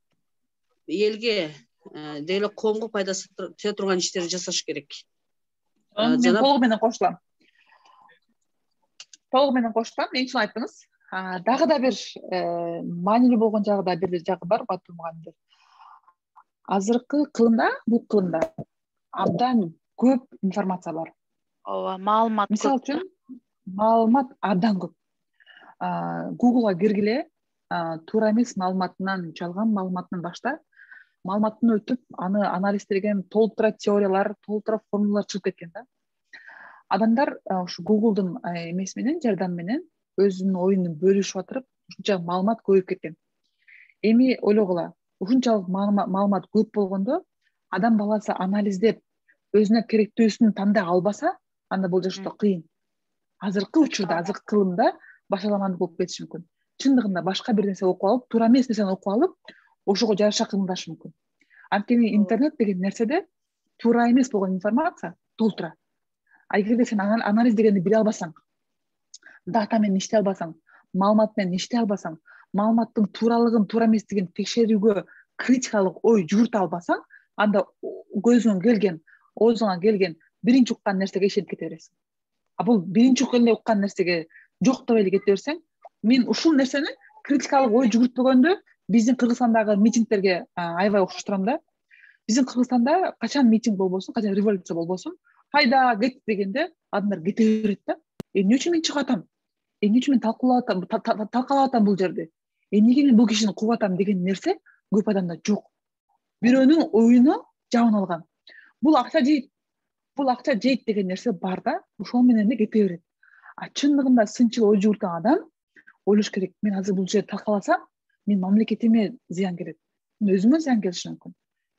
[SPEAKER 7] элге деги эле коомго пайдасы тие турган иштерди жасаш керек.
[SPEAKER 6] Мен толугу менен кошулам. Эң чын айттыңыз. Дагы да бир маанилүү болгон жагы да бир жагы бар, батыр мугалимдер. Азыркы кылымда, бул кылымда абдан көп информация бар.
[SPEAKER 3] Ооба, маалымат көп.
[SPEAKER 6] Мисалы үчүн, маалымат абдан көп. Google'га киргиле, туура эмес маалыматынан, жалган маалыматынан башта маалыматтын өтүп, аны анализдеген толтура теориялар, толтура формулалар чыгып кеткен да. Адамдар ушу Google'дун эмеси менен, жардамы менен өзүнүн оюн бөлүшүп атырып, ушунча маалымат көбөйүп кеткен. Эми ойлогула, ушунчалык маалымат көп болгондо, адам баласы анализдеп, өзүнө керектүүсүн тандай албаса, анда бул жашоодо кыйын. Азыркы учурда, азыркы кылымда башаламандык болуп кетиши мүмкүн. Чындыгында башка бир нерсе окуп алып, туура эмес нерсени окуп алып, ошого жараша кыймылдашы мүмкүн. Анткени интернет деген нерседе туура эмес болгон информация толтура. Эгерде сен анализдегенди биле албасаң, дата менен иштей албасаң, маалымат менен иштей албасаң, маалыматтын тууралыгын, туура эместигин текшерүүгө критикалык ой жүгүртө албасаң, анда көзүңө келген, оозуңа келген биринчи уккан нерсеге ишенип кете бересиң. Бул биринчи эле уккан нерсеге жоктоп эле кете берсең, мен ушул нерсени критикалык ой жүгүртпөгөндө биздин Кыргызстандагы митингтерге аябай окшоштурам да. Биздин Кыргызстанда качан митинг болбосун, качан революция болбосун, хайда кет дегенде адамдар кете берет да. Эмне үчүн мен чыгып атам? Эмне үчүн мен талкалап атам бул жерде? Эмнеге мен бул кишини кууп атам деген нерсе көп адамда жок. Бирөөнүн оюну жабын алган. Бул акча жейт деген нерсе бар да, ошол менен эле кете берет. Чындыгында сынчыл ой жүгүрткөн адам ойлош керек. Мен азыр бул жерде талкаласам, мен мамлекетиме зыян келет. Мен өзүмө зыян келиши мүмкүн.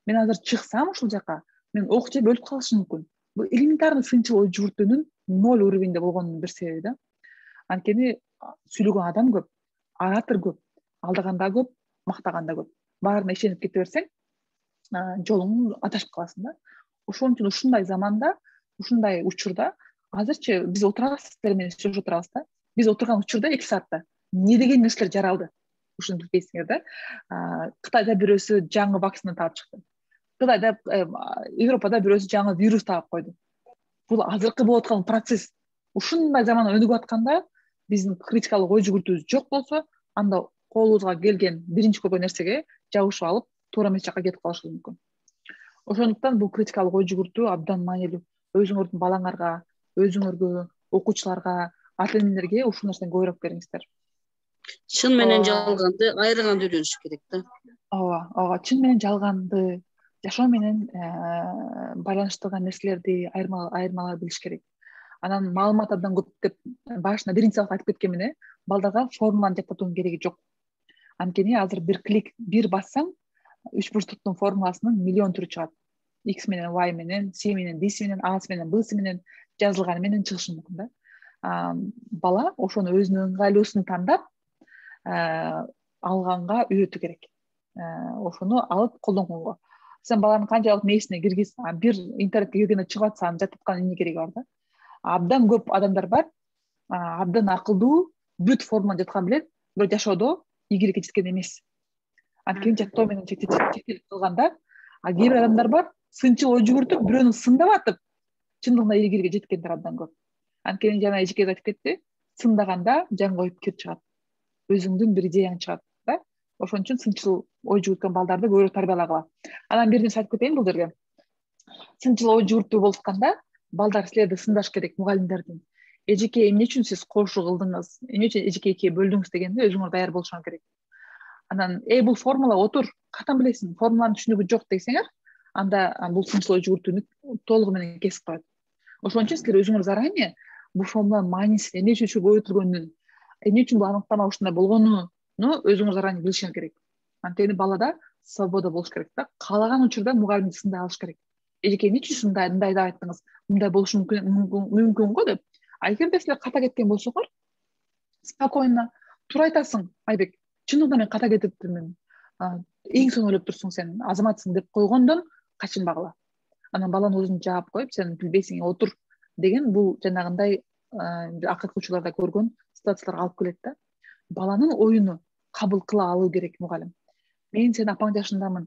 [SPEAKER 6] Мен азыр чыксам ушул жака, мен ок жеп өлүп калышым мүмкүн. Бул элементарный сынчыл ой жүгүртүүнүн 0 уровеньде болгонунун бир себеби да. Анткени сүйлөгөн адам көп, оратор көп, алдаганда көп, мактаганда көп. Баарына ишенип кете берсең, жолуң адашып каласың да. Ошон үчүн ушундай заманда, ушундай учурда азырчы биз отурабыз, сиздер менен сүйлөшүп отурабыз да. Биз отурган учурда 2 саатта эмне деген нерселер жаралды? Ушуну билбейсиңер да. Кытайда бирөөсү жаңы вакцина таап чыкты. Кытайда, Европада бирөөсү жаңы вирус таап койду. Бул азыркы болуп аткан процесс. Ушундай заман өнүгүп атканда, биздин критикалык ой жүгүртүүбүз жок болсо, анда колубузга келген биринчи көргөн нерсеге жабышып алып, туура эмес жакка кетип калышыбыз мүмкүн. Ошондуктан бул критикалык ой жүгүртүү абдан маанилүү. Өзүңөрдүн балаңарга, өзүңөргө, окуучуларга, ата энелерге ушул нерсени көбүрөөк бериңиздер.
[SPEAKER 7] Чын менен жалганды айырганды үйрөнүш керек да.
[SPEAKER 6] Ооба, чын менен жалганды, жашоо менен байланыштырган нерселерди айырмалай билиш керек. Анан маалымат абдан көп деп башында биринчи сабакта айтып кеткенмин, балдарга формуланы жаттатуунун кереги жок. Анткени азыр бир клик, бир бассаң, 3 бурчтуктун формуласынын миллион түрү чыгат. X менен, Y менен, C менен, D менен, A менен, B менен жазылганы менен чыгышы мүмкүн да. Бала ошону өзүнүн ыңгайлуусун тандап алганга үйрөтүү керек. Ошону алып колдонгонго. Сен баланын канчалык мээсине киргиз, бир интернетке киргенде чыгып атса, аны жаттаткан эмне кереги бар да? Абдан көп адамдар бар, абдан акылдуу, бүт формуланы жаткан билет, бирок жашоодо ийгиликке жеткен эмес. Анткени жаттоо менен чектелип калганда, кээ бир адамдар бар, сынчыл ой жүгүртүп, бирөөнү сындап атып, чындыгында ийгиликке жеткендер абдан көп. Анткени жана эжекең айтып кетти, сындаганда жан коюп кирип чыгат. Өзүңдүн бир идеяң чыгат да. Ошон үчүн сынчыл ой жүгүрткөн балдарды көбүрөөк тарбиялагыла. Анан бир нерсе айтып кетейин бул жерге. Сынчыл ой жүгүртүү болуп атканда, балдар силерди сындаш керек, мугалимдердин. Эжеке, эмне үчүн сиз кошуу кылдыңыз? Эмне үчүн эжеке экиге бөлдүңүз дегенде өзүңөр даяр болушуңар керек. Анан, бул формула отур, катан билесиң, формуланын түшүнүгү жок десеңер, анда бул сынчыл ой жүгүртүүнү толугу менен кесип коет. Ошон үчүн силер өзүңөр заранее бул формуланын маанисин, эмне үчүн көбөйтүлгөнүн, эмне үчүн бул аныктама ушундай болгонуну өзүңөр заранее билишиңер керек. Анткени балада свобода болуш керек да. Каалаган учурда мугалимди сындай алыш керек. Эжеке, эмне үчүн мындай деп айттыңыз? Мындай болушу мүмкүн го деп. Эгерде силер ката кеткен болсоңор, спокойно туура айтасың, Айбек. Чындыгында мен ката кетиптирмин. Эң соң ойлоп турсуң сен, азаматсың деп койгондон качынбагыла. анан баланын өзүн жаап коюп сен билбейсиң отур деген бул жанагындай акыркы учурларда көргөн ситуацияларга алып келет да. Баланын оюну кабыл кыла алуу керек мугалим. Мен сен апаң жашындамын,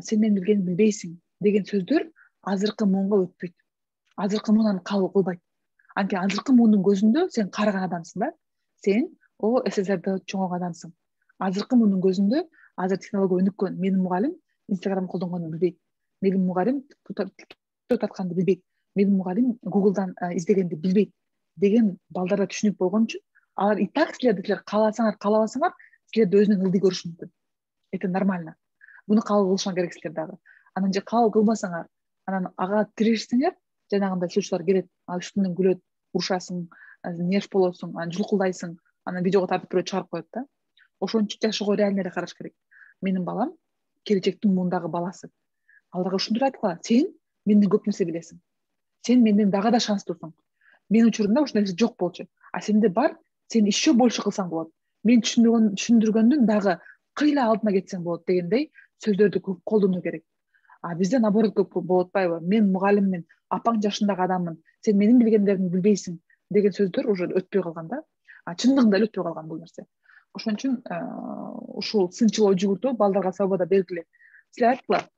[SPEAKER 6] сен менин билгенимди билбейсиң деген сөздөр азыркы муунга өтпөйт. Азыркы муун аны кабыл кылбайт. Анткени азыркы муундун көзүндө сен карыган адамсың да. Сен СССРде чоңойгон адамсың. Азыркы муундун көзүндө азыр технология өнүккөн. Менин мугалим Инстаграм колдонгонду билбейт. Менин мугалим татканды билбейт. Менин мугалим Google'дан издегенди билбейт деген балдарда түшүнүк болгон үчүн алар и так силер кааласаңар каалабасаңар силерди өзүнөн ылдый көрүшү мүмкүн. Это нормально. Буну кабыл кылышыңар керек силер дагы. Анан же кабыл кылбасаңар, анан ага тирешсеңер, жанагындай случайлар келет. Үстүнөн күлөт, урушасың, нерв болосуң, анан жулкулдайсың, анан видеого тартып бирөө чыгарып коет да. Ошон үчүн жашоого реально эле караш керек. Менин балам келечектин муундагы баласы. Аларга ушундур айткыла, сен менден көп нерсе билесиң. Сен менден дагы да шанстуусуң. Менин учурумда ушундай нерсе жок болчу. А сенде бар, сен еще больше кылсаң болот. Мен түшүндүргөндүн дагы кыйла алдына кетсең болот дегендей сөздөрдү көп колдонуу керек. Бизде наоборот көп болуп атпайбы? Мен мугалиммин, апаң жашындагы адаммын, сен менин билгендеримди билбейсиң деген сөздөр уже өтпөй калган да. Чындыгында эле өтпөй калган бул нерсе. Ошон үчүн ушул сынчыл ой жүгүртүү балдарга свобода бергиле. Силер айткыла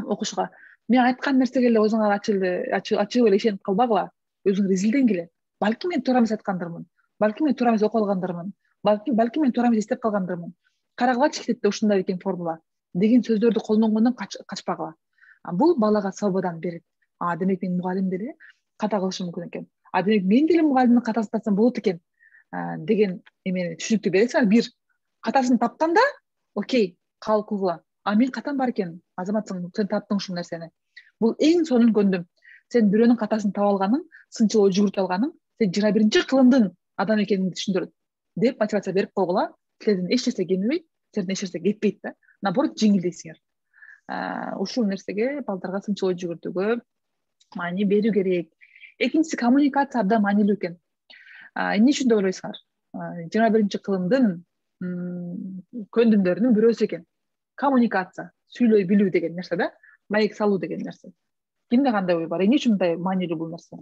[SPEAKER 6] окушуга. Мен айткан нерсеге эле өзүңөр ачык эле ишенип калбагыла. Өзүңөр изилдеңгиле. Балки мен туура эмес айткандырмын. Балки мен туура эмес окуп алгандырмын. Балки мен туура эмес эстеп калгандырмын. Карагылачы китепте ушундай экен формула деген сөздөрдү колдонгондон качпагыла. Бул балага свободаны берет. Демек менин мугалим деле ката кылышы мүмкүн экен. Демек мен деле мугалимдин катасын тапсам болот экен деген эмени түшүнүктү бересиңер. Бир катасын тапканда, окей, кабыл кылгыла. Мен катам бар экен, азаматсың, сен таптың ушул нерсени. Бул эң сонун көндүм. Сен бирөөнүн катасын таап алганың, сынчыл ой жүгүртүп алганың, сен 21 кылымдын адам экениңди түшүндүрөт деп мотивация берип койгула. Силерден эч нерсе кемибейт, силерден эч нерсе кетпейт да. Наоборот, жеңилдейсиңер. Ушул нерсеге балдарга сынчыл ой жүгүртүүгө маани берүү керек. Экинчиси, коммуникация абдан маанилүү экен. Эмне үчүн деп ойлойсуңар? 21 кылымдын көндүмдөрүнүн бирөөсү экен. Коммуникация, сүйлөй билүү деген нерсе да, маек салуу деген нерсе. Кимде кандай ой бар? Эмне үчүн мындай маанилүү бул нерсе?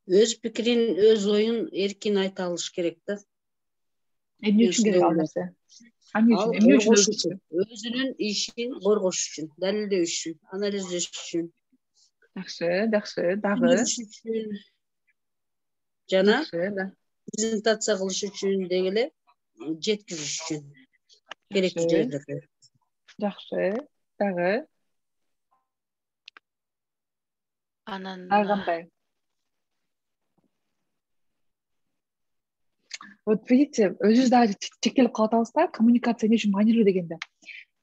[SPEAKER 7] Өз пикирин, өз оюн эркин айта алыш керек да.
[SPEAKER 6] Эмне үчүн керек ал нерсе?
[SPEAKER 7] Өзүнүн ишин коргош үчүн, далилдөө үчүн, анализдеш үчүн.
[SPEAKER 6] Жакшы, дагы.
[SPEAKER 7] Жана презентация кылыш үчүн дегеле жеткизиш үчүн керектүү жерлерге.
[SPEAKER 6] Жакшы, дагы.
[SPEAKER 3] Анан
[SPEAKER 6] кандай? Вот видите, өзүбүз дагы чектелип калып атабыз да, коммуникация эмне үчүн маанилүү дегенде.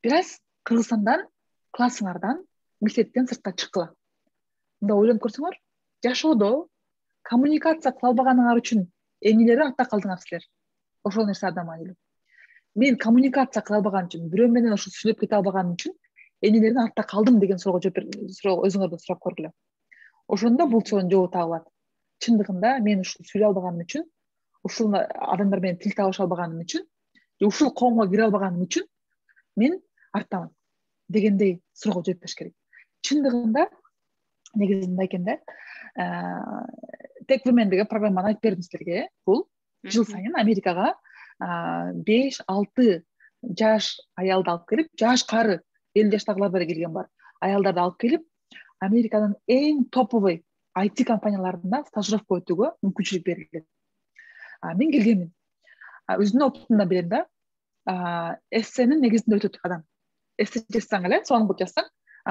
[SPEAKER 6] Бир аз Кыргызстандан, классыңардан, мектептен сыртка чыккыла. Мында ойлонуп көрсөңөр, жашоодо коммуникация кыла албаганыңар үчүн эмнелерди артта калдыңар силер? Ошол нерсе абдан маанилүү. Мен коммуникация кыла албаган үчүн, бирөө менен ошо сүйлөп кете албаганым үчүн эмнелердин артта калдым деген суроого өзүңөрдөн сурап көргүлө. Ошондо бул суроонун жообу табылат. Чындыгында мен ушул сүйлөй албаганым үчүн, ушул адамдар менен тил табыша албаганым үчүн, ушул коомго кире албаганым үчүн мен арттамын дегендей суроого жооп бериш керек. Чындыгында негизи мындай экен да, Tech Women деген программаны айтып бердим силерге. Бул жыл сайын Америкага 5-6 жаш аялды алып келип, жаш кары 50 жаштагылар да келген бар. Аялдарды алып келип, Американын эң топовый IT компанияларында стажировка өтүүгө мүмкүнчүлүк берилет. Мен келгенмин. Өзүмдүн опытымдан билем да. Эссенин негизинде өтөт адам. Эссе жазсаң эле, сонун кылып жазсаң,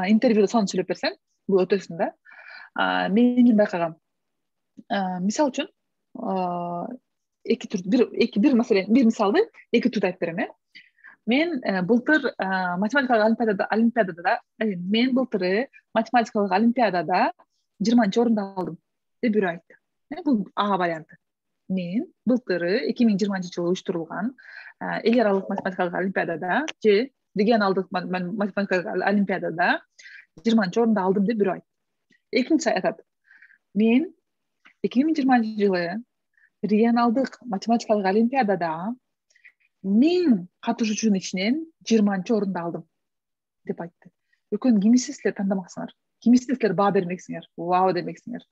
[SPEAKER 6] интервьюда сонун сүйлөп берсең, бул өтөсүң да. Мен эмне байкагам? Мисал үчүн, бир мисалды эки түрдө айтып берем. Мен былтыр математикалык олимпиадада 20 орунду алдым деп бирөө айтты. Бул А варианты. Мен былтыры 2020 жылы уюштурулган эл аралык математикалык олимпиадада же регионалдык математикалык олимпиадада 20 орунду алдым деп бирөө айтты. Экинчиси айтат: мен 2020 жылы регионалдык математикалык олимпиадада 1000 катышуучунун ичинен 20-орунду алдым деп айтты. Экөөнүн кимиси силер тандамаксыңар? Кимисине силер баа бермексиңер? Вау демексиңер?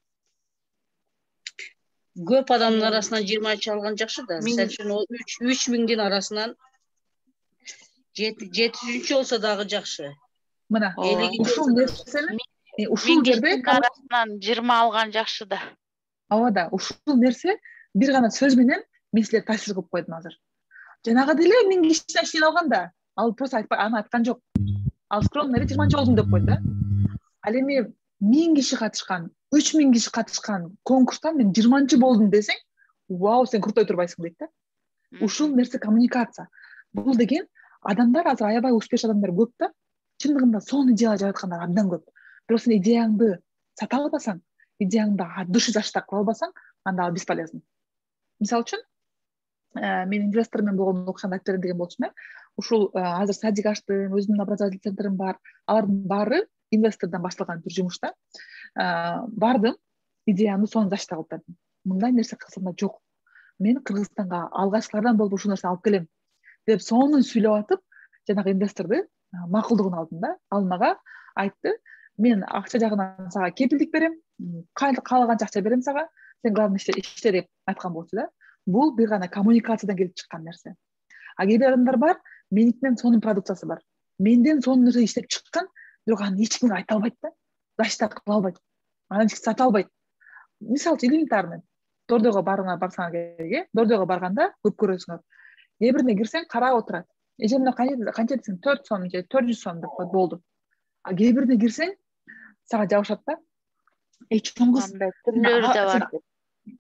[SPEAKER 7] Көп адамдын арасынан 20 алган жакшы да. Сен үчүн ол 3000'дин арасынан 700 болсо дагы жакшы.
[SPEAKER 6] Мына ушул нерсени
[SPEAKER 3] ушул жерде арасынан 20 алган жакшы да.
[SPEAKER 6] Ооба да, ушул нерсе бир гана сөз менен мен силерди таасир кылып койдум азыр. Жанагы деле 1000 кишиден ичинен алган да. Ал просто аны айткан жок. Ал скромный 20 болдум деп койду да. Ал эми 1000 киши катышкан, 3000 киши катышкан конкурстан мен 20 болдум десең, вау, сен крутой турбайсың дейт да. Ушул нерсе коммуникация. Бул деген адамдар азыр аябай успешный адамдар көп да. Чындыгында сонун идея жараткандар абдан көп. Бирок сен идеяңды сата албасаң, идеяңды от души заштап кыла албасаң, анда ал бесполезный. Мисалы үчүн, мен инвестор менен болгон окшондо айтып берем деген болчумун. Ушул азыр садик аштым, өзүмдүн образовательный центрим бар. Алардын баары инвестордон башталган бир жумушта. Бардым, идеямды сонун заштап алып бердим. Мындай нерсе Кыргызстанда жок. Мен Кыргызстанга алгачкылардан болуп ушул нерсени алып келем деп сонун сүйлөп атып, жанагы инвесторду макулдугун алдым да. Ал мага айтты: "Мен акча жагынан сага кепилдик берем, каалаганча акча берем сага, сен главный иште" деп айткан болчу да. Бул бир гана коммуникациядан келип чыккан нерсе. А кээ бир адамдар бар, меникинен сонун продукциясы бар. Менден сонун нерсе иштеп чыккан, бирок аны эч кимге айта албайт да. Заштап кыла албайт. Анан эч ким сата албайт. Мисалы элементарный. Дордойго барсаңар керек, Дордойго барганда көп көрөсүңөр. Кээ бирине кирсең карап отурат. Эжемде канча десең 4 сом же 400 сом деп коет, болду. А кээ бирине кирсең сага жабышат да. Чоң кыз,
[SPEAKER 3] түрлөрү да бар.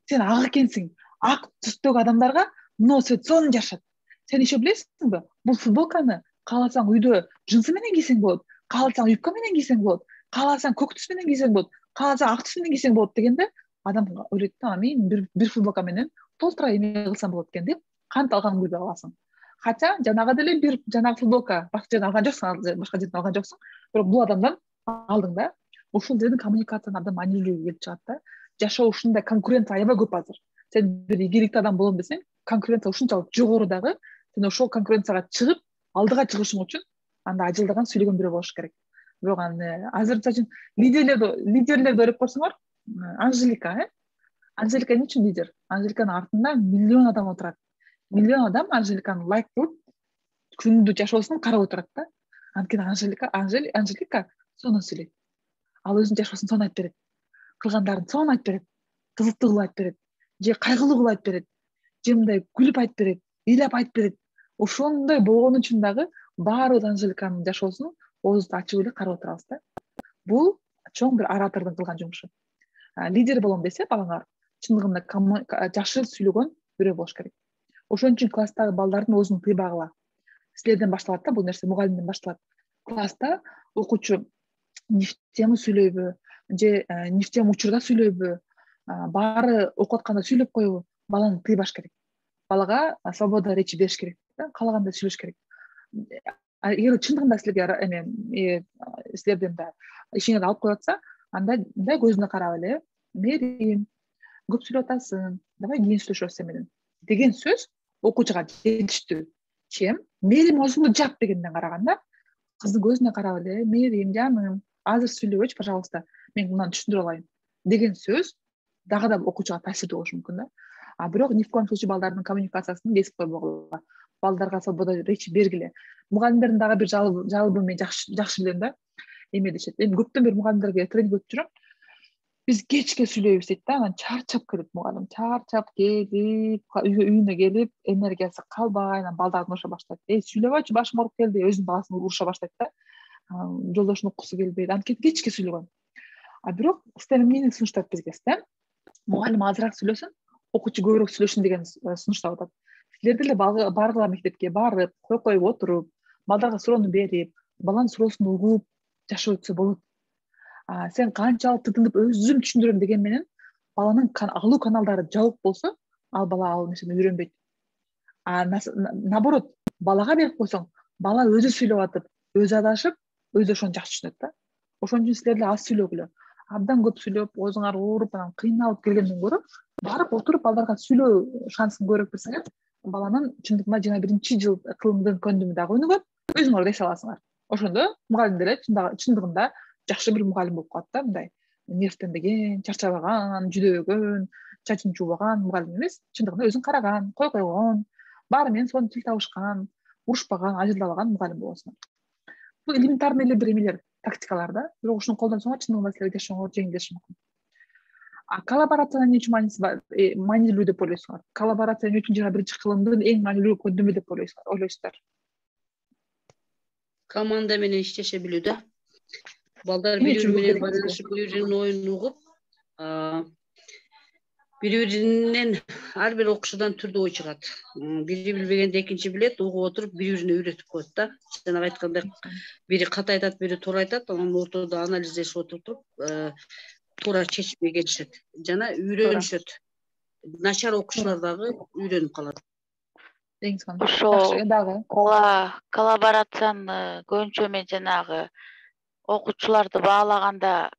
[SPEAKER 6] Сен ак экенсиң. Ак түстөгү адамдарга мына свет сонун жашат. Сен еще билесиңби? Бул футболканы кааласаң үйдө джинсы менен кийсең болот, кааласаң юбка менен кийсең болот, кааласаң көк түс менен кийсең болот, кааласаң ак түс менен кийсең болот дегенде адам ойлойт да, мен бир футболка менен толтура эме кылсам болот экен деп кантип алганын билбей каласың. Хотя жанагы деле бир жанагы футболка башка жерден алган жоксуң, башка жерден алган жоксуң, бирок бул адамдан алдың да. Ушул жерден коммуникацияны абдан маанилүү келип чыгат да. Жашоо ушундай, конкуренция аябай көп азыр. Сен бир ийгиликтүү адам болом десең, конкуренция ушунчалык жогору дагы, сен ошол конкуренцияга чыгып, алдыга чыгышың үчүн анда ажылдаган сүйлөгөн бирөө болуш керек. Бирок азыр үчүн лидерлерди ойлоп көрсөңөр, Анжелика, Анжелика эмне үчүн лидер? Анжеликанын артында миллион адам отурат. Миллион адам Анжеликаны лайк кылып, күндү жашоосун карап отурат да. Анткени Анжелика сонун сүйлөйт. Ал өзүнүн жашоосун сонун айтып берет. Кылгандарын сонун айтып берет. Кызыктуу кылып айтып берет. Же кайгылуу кылып айтып берет. Же мындай күлүп айтып берет, ыйлап айтып берет. Ошондой болгон үчүн дагы баары Анжеликанын жашоосун оозду ачып эле карап отурабыз да. Бул чоң бир оратордун кылган жумушу. Лидер болом десе балаңар, чындыгында жакшы сүйлөгөн бирөө болуш керек. Ошон үчүн класстагы балдардын өзүнүн тыйбагыла. Силерден башталат да, бул нерсе мугалимден башталат. Класста окуучу нефтем сүйлөйбү, же нефтем учурда сүйлөйбү, баары окуп атканда сүйлөп коебу, баланы тыйбаш керек. Балага свобода речи бериш керек, каалагандай сүйлөш керек. Эгер чындыгында силерге силерден да ишиңерди алып коюп атса, анда мындай көзүнө карап эле, "Мерим, көп сүйлөп атасың, давай кийин сүйлөшөбүз сен менен" деген сөз окуучуга жетиштүү. Чем "Мерим, оозуңду жап" дегенден караганда, кыздын көзүнө карап эле "Мерим, жаным, азыр сүйлөбөчү, пожалуйста, мен мынаны түшүндүрө алайын" деген сөз дагы да окуучуга таасирдүү болушу мүмкүн да. А бирок ни в коем случае балдардын коммуникациясын кесип койбогула. Балдарга свобода речи бергиле. Мугалимдердин дагы бир жалобун мен жакшы билем да. Эме дешет. Эми көптөн бери мугалимдерге тренинг өтүп жүрөм. Биз кечке сүйлөйбүз дейт да. Анан чарчап келет мугалим. Чарчап келип, үйүнө келип, энергиясы калбай, анан балдарды уруша баштайт. Сүйлөбөчү, башым ооруп келди, өзүнүн баласын уруша баштайт да. Жолдошун уккусу келбейт. Анткени кечке сүйлөгөн. А бирок система эмнени сунуштайт бизге? Мугалим азыраак сүйлөсүн, окуучу көбүрөөк сүйлөшүн деген сунуштап атат. Силер деле баргыла мектепке барып, коюп отуруп, балдарга суроону берип, баланын суроосун угуп жашоо өтсө болот. Сен канчалык тытынып өзүм түшүндүрөм деген менен баланын алуу каналдары жабык болсо, ал бала ал нерсени үйрөнбөйт. Наоборот, балага берип койсоң, бала өзү сүйлөп атып, өзү адашып, өзү ошону жакшы түшүнөт да. Ошон үчүн силер деле аз сүйлөгүлө. Абдан көп сүйлөп, оозуңар ооруп, анан кыйналып келгенден көрө, барып отуруп балдарга сүйлөө шансын көрүп берсеңер, баланын чындыгында 21-жыл кылымдын көндүмү дагы өнүгөт, өзүңөр да эсе аласыңар. Ошондо мугалим деле чындыгында жакшы бир мугалим болуп калат да, мындай нервтенбеген, чарчабаган, жүдөбөгөн, чачын чуубаган мугалим эмес, чындыгында өзүн караган, койгон, баары менен сонун тил табышкан, урушпаган, ажылдабаган мугалим болосуңар. Бул элементарный эле бир эмелер, тактикалар да, бирок ушуну колдонсоңор чындыгында силерге жашооңор жеңилдеши мүмкүн. Коллаборациянын эмне үчүн маанилүү деп ойлойсуңар? Коллаборация эмне үчүн 21 кылымдын эң маанилүү көндүмү деп ойлойсуздар?
[SPEAKER 7] Команда менен иштеше билүү да. Балдар бири-бири менен байланышып, бири-биринин оюн угуп, бири-биринен ар бир окуучудан түрдүү ой чыгат. Бири билбегенди экинчи билет, угуп отуруп бири-бирине үйрөтүп коет да. Жанагы айткандай, бири ката айтат, бири туура айтат, анан ортодо анализдешип отуруп, туура чечимге келишет жана үйрөнүшөт. Начар окуучулар дагы үйрөнүп калат.
[SPEAKER 3] Ошо коллаборацияны көбүнчө мен жанагы окуучуларды баалаганда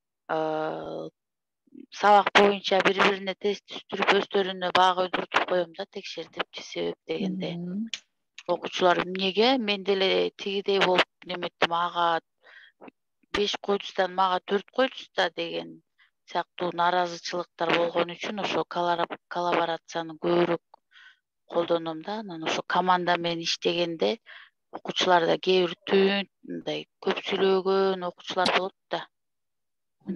[SPEAKER 3] сабак боюнча бири-бирине тест түстүрүп, өздөрүнө баага өйдүртүп коем да, текшертипчи себеп дегенде. Окуучулар эмнеге мен деле тигидей болуп неметтим, ага 5 койдусдан мага 4 койдуста деген сыяктуу нааразычылыктар болгон үчүн ошо коллаборацияны көбүрөөк колдоном да. Анан ошо команда менен иштегенде окуучуларда кээ бир түн мындай көп сүйлөгөн окуучулар болот да.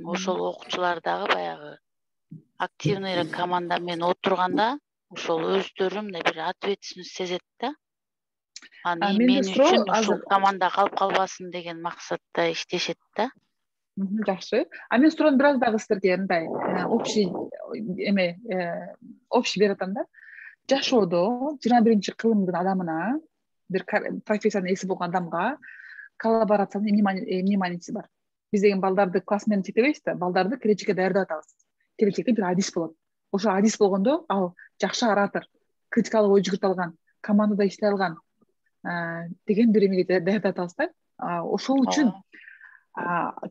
[SPEAKER 3] Ошол окуучулар дагы баягы активныйраак команда менен отурганда ошол өздөрү мындай бир ответственность сезет да. Анан мен үчүн ушул команда калып калбасын деген максатта иштешет да.
[SPEAKER 6] Жакшы. Мен суроом бир аз дагы силерге мындай общий берип атам да. Жашоодо 21 кылымдын адамына, бир профессиянын ээси болгон адамга коллаборациянын эмне мааниси бар? Биз деген балдарды класс менен чектебейбиз да, балдарды келечекке даярдап атабыз. Келечекте бир адис болот. Ошо адис болгондо ал жакшы оратор, критикалык ой жүгүртө алган, командада иштей алган деген бир эмеге даярдап атабыз да. Ошол үчүн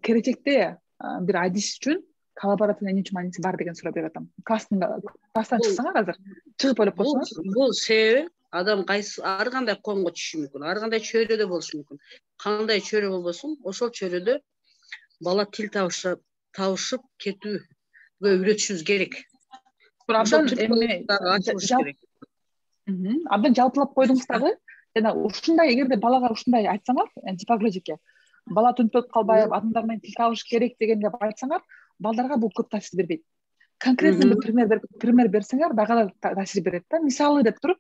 [SPEAKER 6] келечекте бир адис үчүн коллаборациянын эмне үчүн мааниси бар деген суроо берип атам. Класстан чыксаңар азыр, чыгып ойлоп койсоңор.
[SPEAKER 7] Бул себеби адам ар кандай коомго түшүшү мүмкүн, ар кандай чөйрөдө болушу мүмкүн. Кандай чөйрө болбосун, ошол чөйрөдө бала тил табышып кетүүгө үйрөтүшүбүз керек.
[SPEAKER 6] Абдан жалпылап койдуңуз дагы. Жана ушундай, эгерде балага ушундай айтсаңар, типографике, бала түнтөп калбай, адамдар менен тил табыш керек дегенде айтсаңар, балдарга бул көп таасир бербейт. Конкретный бир пример берсеңер, дагы таасир берет да. Мисалы деп туруп.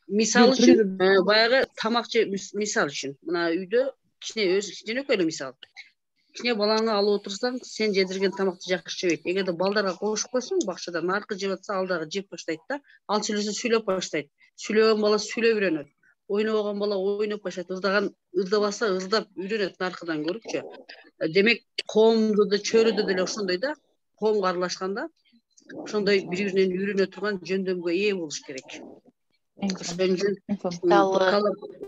[SPEAKER 7] Мисалы үчүн, баягы тамак мисал үчүн. Мына үйдө кичинекей эле мисал. Кичине балаңы алып отурсаң, сен жедирген тамакты жакшы жебейт. Эгерде балдарга кошуп койсоң, бакчада наркы жеп атса, ал дагы жеп баштайт да. Ал сүйлөсө сүйлөп баштайт. Сүйлөгөн бала сүйлөп үйрөнөт. Ойнобогон бала ойноп баштайт. Ырдабаса ырдап үйрөнөт наркыдан көрүпчү. Демек, коомдо да, чөйрөдө деле ошондой да. Коомго аралашканда ошондой бири-биринен үйрөнө турган жөндөмгө ээ болуш керек.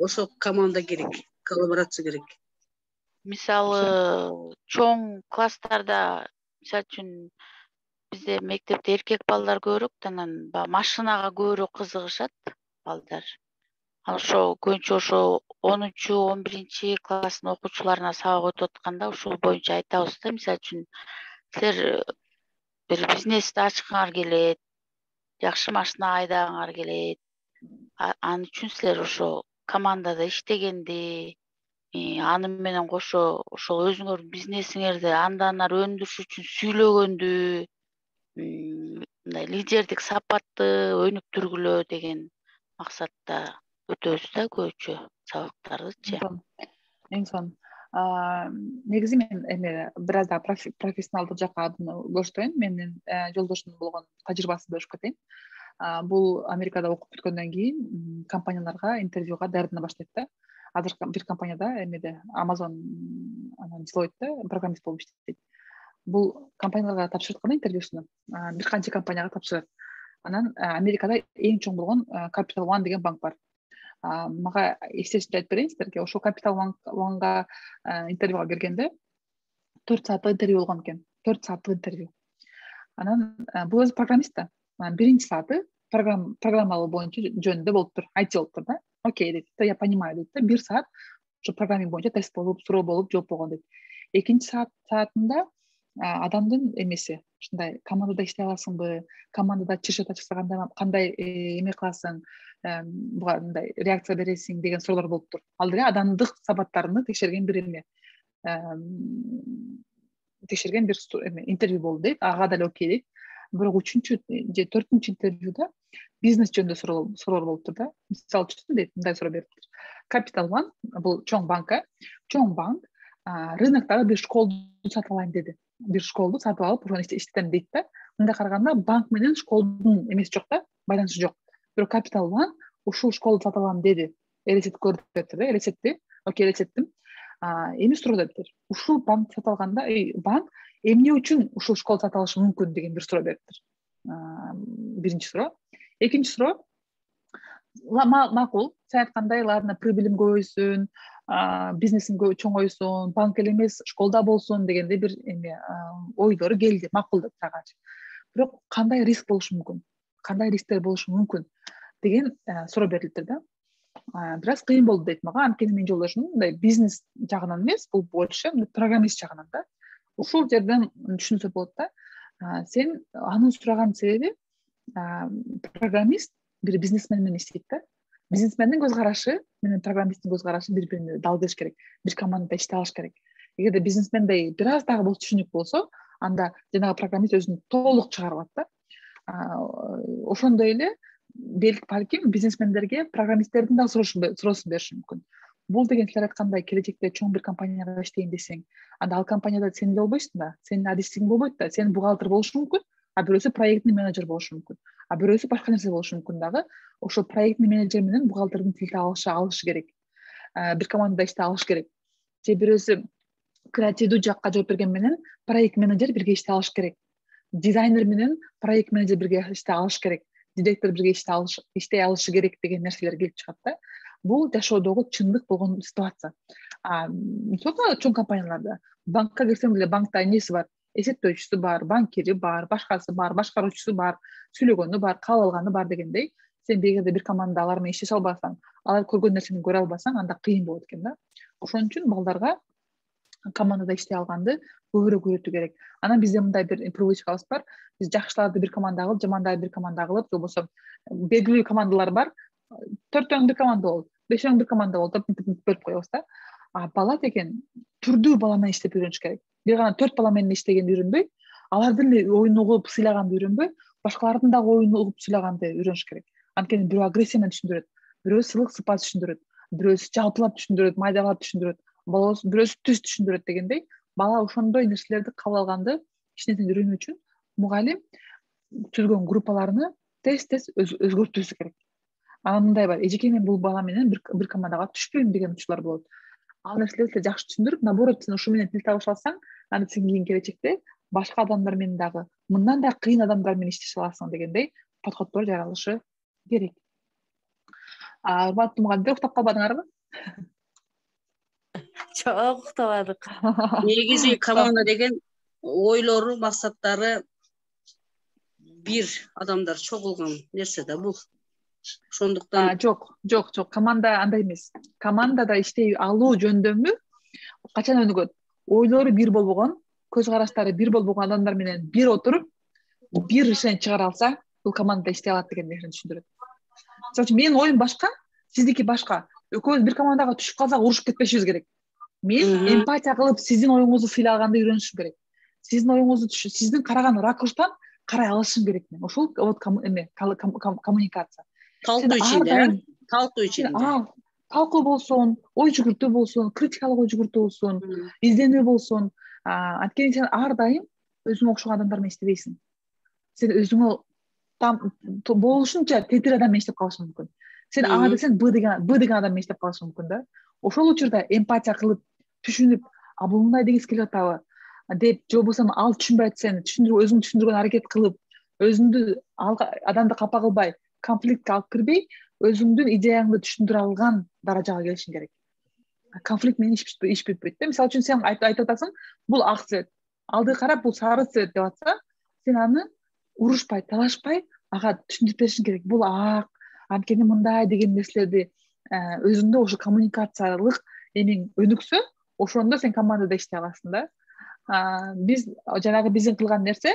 [SPEAKER 7] Ошо команда керек, коллаборация керек.
[SPEAKER 3] Мисалы, чоң класстарда, мисалы үчүн бизде мектепте эркек балдар көбүрөөк, анан машинага көбүрөөк кызыгышат балдар. Ошо көбүнчө ошо 10-11 класстын окуучуларына сабак өтүп атканда ушул боюнча айтабыз да. Мисалы үчүн силер бир бизнести ачкыңар келет, жакшы машина айдагыңар келет. Ал үчүн силер ошо командада иштегенди, аны менен кошо ошол өзүңөрдүн бизнесиңерди андан ары өндүрүш үчүн сүйлөгөндү, мындай лидердик сапатты өнүктүргүлө деген максатта өтөбүз да көбүнчө сабактардычы.
[SPEAKER 6] Эң сонун. Негизи мен бир аз да профессионалдык жакка адымды көчтөйүн. Менин жолдошум болгон тажрыйбасын бөлүшүп кетейин. Бул Америкада окуп бүткөндөн кийин компанияларга интервьюга даярдана баштайт да. Азыр бир компанияда Amazon, анан Deloitte программист болуп иштейт. Бул компанияларга тапшырат кана интервьюсуну. Бир канча компанияга тапшырат. Анан Америкада эң чоң болгон Capital One деген банк бар. Мага эстетип айтып берейин силерге. Ошол Capital One'га интервьюга келгенде 4 сааттык интервью болгон экен. 4 сааттык интервью. Анан бул өзү программист да. Биринчи сааты программалоо боюнча жөнүндө болуптур, IT болуптур да. Окей дейт, я понимаю дейт да. 1 саат ошо программинг боюнча тест болуп, суроо болуп, жооп болгон дейт. Экинчи саатында адамдын эмеси, ушундай командада иштей аласыңбы, командада чыр чыкса кандай эме кыласың, буга мындай реакция бересиң деген суроолор болуптур. Ал деле адамдык сабаттарını текшерген бир эме, текшерген бир интервью болду дейт. Ага деле окей дейт. Бирок 3-чү же 4-чү интервьюда бизнес жөнүндө суроолор болуптур да. Мисалы үчүн дейт, мындай суроо бериптир. Capital One бул чоң банк, чоң банк рыноктогу бир школду сатып алайын деди. Бир школду сатып алып, ошону иштетем дейт да. Мындай караганда банк менен школдун эмеси жок да, байланышы жок. Бирок Capital One ушул школду сатып алам деди. Элестетип көрдүк дептир да, элестетти. Окей, элестеттим. Эми суроо дептир. Ушул банк сатып алганда, банк эмне үчүн ушул школду сатып алышы мүмкүн деген бир суроо бериптир. Биринчи суроо. Экинчи суроо, макул, сен айткандай, ладно, прибылим көбөйсүн, бизнесин чоңойсун, банк эле эмес, школда болсун дегенде бир эме ойлору келди, макул деп тагачы. Бирок кандай риск болушу мүмкүн? Кандай рисктер болушу мүмкүн деген суроо берилиптир да. Бир аз кыйын болду дейт мага, анткени менин жолдошум мындай бизнес жагынан эмес, бул больше программист жагынан да. Ушул жерден түшүнсө болот да. Сен анын сураган себеби программист бир бизнесмен менен иштейт да. Бизнесмендин көз карашы менен программисттин көз карашы бири-бирине дал келиш керек. Бир командада иштей алыш керек. Эгерде бизнесмендей бир аз дагы түшүнүк болсо, анда жанагы программист өзүн толук чыгарып алат да. Ошондой эле балким бизнесмендерге программисттердин дагы суроосун бериши мүмкүн. Бул деген силер айткандай келечекте чоң бир компанияга иштейин десең, анда ал компанияда сен эле болбойсуң да, сенин адистигиң болбойт да, сен бухгалтер болушу мүмкүн, а бирөөсү проектный менеджер болушу мүмкүн, а бирөөсү башка нерсе болушу мүмкүн дагы. Ошо проектный менеджер менен бухгалтердин тилди алышы керек. Бир командада иштей алыш керек. Же бирөөсү креативдүү жакка жооп берген менен проект менеджер бирге иштей алыш керек. Дизайнер менен проект менеджер бирге иштей алыш керек. Директор бирге иштей алышы керек деген нерселер келип чыгат да. Бул жашоодогу чындык болгон ситуация. Мисалы чоң компанияларда банкка кирсең деле банкта эмеси бар, эсептөөчүсү бар, банкири бар, башкасы бар, башкаруучусу бар, сүйлөгөнү бар, кабыл алганы бар дегендей. Сен эгерде бир командада алар менен иштеше албасаң, алар көргөн нерсени көрө албасаң, анда кыйын болот экен да. Ошон үчүн балдарга командада иштей алганды көбүрөөк үйрөтүү керек. Анан бизде мындай бир привычкабыз бар. Биз жакшыларды бир командага алып, жамандарды бир командага алып, болбосо белгилүү командалар бар. 4-өң бир команда бол, 5-өң бир команда бол деп бөлүп коебуз да. Бала деген түрдүү бала менен иштеп үйрөнүш керек. Бир гана 4 бала менен иштегенди үйрөнбөй, алардын оюн угуп сыйлаганды үйрөнбөй, башкалардын дагы оюн угуп сыйлаганды үйрөнүш керек. Анткени бирөө агрессия менен түшүндүрөт, бирөө сылык сыпат түшүндүрөт, бирөөсү жалпылап түшүндүрөт, майдалап түшүндүрөт, бирөөсү түз түшүндүрөт дегендей. Бала ошондой нерселерди кабыл алганды эч нерсени үйрөнүү үчүн мугалим түзгөн группаларны тез өзгөртүүсү керек. Анан мындай бар, эжеке мен бул бала менен бир командага түшпөйм деген учурлар болот. Ал нерселерди жакшы түшүндүрүп, наоборот, сен ушу менен тил табыша алсаң, анда сен кийин келечекте башка адамдар менен дагы мындан да кыйын адамдар менен иштеше аласың дегендей подходдор жаралышы керек. Урматтуу мугалимдер, уктап калбадыңарбы?
[SPEAKER 3] Жок, уктабадык.
[SPEAKER 7] Негизи команда деген ойлору, максаттары бир адамдар чогулган нерсе да бул. Ошондуктан
[SPEAKER 6] жок, команда андай эмес. Командада иштей алуу жөндөмү качан өнүгөт? Ойлору бир болбогон, көз караштары бир болбогон адамдар менен бир отуруп, бир решение чыгара алса, бул командада иштей алат деген нерсени түшүндүрөт. Мисалы үчүн менин оюм башка, сиздики башка. Экөөбүз бир командага түшүп калсак, урушуп кетпешибиз керек. Мен эмпатия кылып, сиздин оюңузду сыйлаганды үйрөнүшүм керек. Сиздин оюңузду сиздин караган ракурстан карай алышым керек мен. Ошол вот коммуникация.
[SPEAKER 7] Талкуу ичинде, талкуу ичинде.
[SPEAKER 6] Талкуу болсун, ой жүгүртүү болсун, критикалык ой жүгүртүү болсун, изденүү болсун. Анткени сен ар дайым өзүңө окшогон адамдар менен иштебейсиң. Сен өзүңө болушунча тетир адам менен иштеп калышың мүмкүн. Сен А десең Б деген адам менен иштеп калышың мүмкүн да. Ошол учурда эмпатия кылып, түшүнүп, бул мындай дегиси келип атабы деп, же болбосо ал түшүнбөй атса, өзүң түшүндүргөн аракет кылып, өзүңдү адамды капа кылбай, конфликтке алып кирбей, өзүңдүн идеяңды түшүндүрө алган даражага келишиң керек. Конфликт менен иш бүтпөйт да. Мисалы үчүн сен айтып атасың, бул ак цвет, алды карап бул сары цвет деп атса, сен аны урушпай, талашпай, ага түшүндүрүп беришиң керек. Бул ак, анткени мындай деген нерселерди өзүңдө ошо коммуникациялык эмең өнүксө, ошондо сен командада иштей аласың да. Биз жанагы биздин кылган нерсе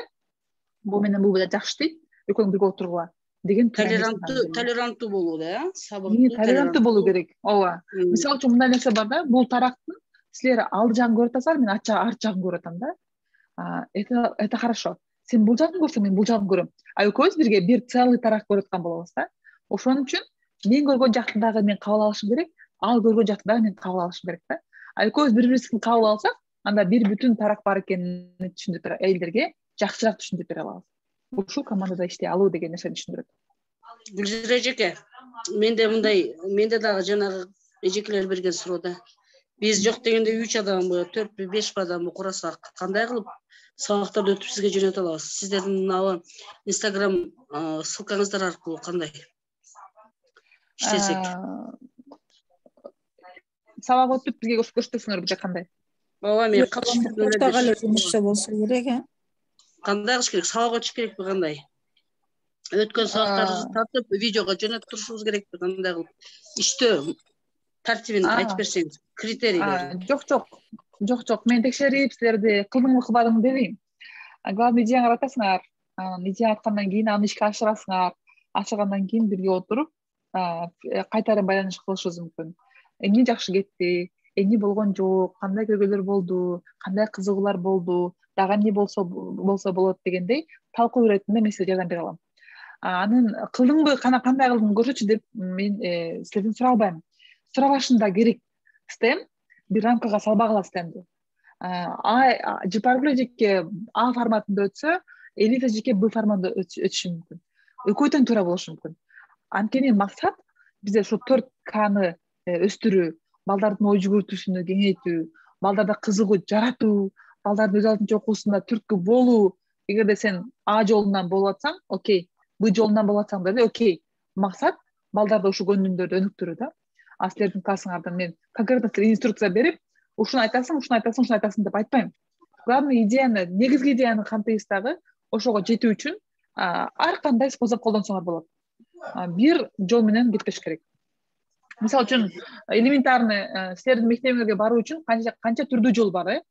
[SPEAKER 6] бул менен бул жакшы дейт, экөөң бирге отургула деген
[SPEAKER 7] толеранттуу болуу да, сабырдуу,
[SPEAKER 6] толеранттуу болуу керек. Ооба. Мисалы үчүн мындай нерсе бар да, бул тарактын силер алды жагын көрүп атасыңар, мен арт жагын көрүп атам да. Это хорошо. Сен бул жагын көрсөң, мен бул жагын көрөм. Экөөбүз бирге бир целый тарак көрүп аткан болобуз да. Ошон үчүн мен көргөн жакты дагы мен кабыл алышым керек, ал көргөн жакты дагы мен кабыл алышым керек да. Экөөбүз бири-бирибизди кабыл алсак, анда бир бүтүн тарак бар экенин түшүндүрүп элдерге жакшыраак түшүндүрүп бере алабыз. Ушул командада иштей алуу деген нерсени түшүндүрөт.
[SPEAKER 7] Гүлзира эжеке, менде дагы жанагы эжекелер берген суроо. Биз жок дегенде 3 адамбы, 4-5 адамбы курасак, кандай кылып сабактарды өтүп сизге жөнөтө алабыз? Сиздердин мына Instagram ссылкаңыздар аркылуу кандай иштесек?
[SPEAKER 6] Сабак өтүп бизге көрсөтөсүңөрбү же кандай?
[SPEAKER 7] Ооба, мен катышып
[SPEAKER 8] ортогалы жумушчу болсо керек,
[SPEAKER 7] Кандай кылыш керек? Сабак өтүш керекпи кандай? Өткөн сабактарды тартып видеого жөнөтүп турушубуз керекпи кандай кылып? Иштөө тартибин айтып берсеңиз, критерийлерин.
[SPEAKER 6] Жок, мен текшерип силерди кылдыңбы кылбадыңбы дебейм. Главный идеяңарды айтасыңар, идея айткандан кийин аны ишке ашырасыңар. Ашыргандан кийин бирге отуруп кайтадан байланыш кылышыбыз мүмкүн. Эмне жакшы кетти, эмне болгон жок, кандай көйгөйлөр болду, кандай кызыгуулар болду, дагы эмне болсо болот дегендей талкуу иретинде мен сизге жардам бере алам. Анын кылдыңбы, кандай кылдың көрсөтчү деп мен силерден сурабайм. Сурабашың да керек. Стем бир рамкага салбагыла стемди. Жапаргүл эжеке А форматында өтсө, Элиз эжеке Б форматында өтүшү мүмкүн. Экөө тең туура болушу мүмкүн. Анткени максат бизде ошо 4K'ны өстүрүү, балдардын ой жүгүртүүсүнү кеңейтүү, балдарда кызыгуу жаратуу, балдардын өз алдынча окуусунда түрткү болуу. Эгерде сен А жолунан болуп атсаң, окей. Б жолунан болуп атсаң да, окей. Максат балдарда ушул көңүлүндөрдү өнүктүрүү да. Силердин классыңардан мен конкретно инструкция берип, ушуну айтасың деп айтпайм. Главный идеяны, негизги идеяны кантайбыз дагы ошого жетүү үчүн ар кандай способ колдонсоңор болот. Бир жол менен кетпеш керек. Мисалы үчүн элементарный силердин мектебиңерге баруу үчүн канча түрдүү жол бар,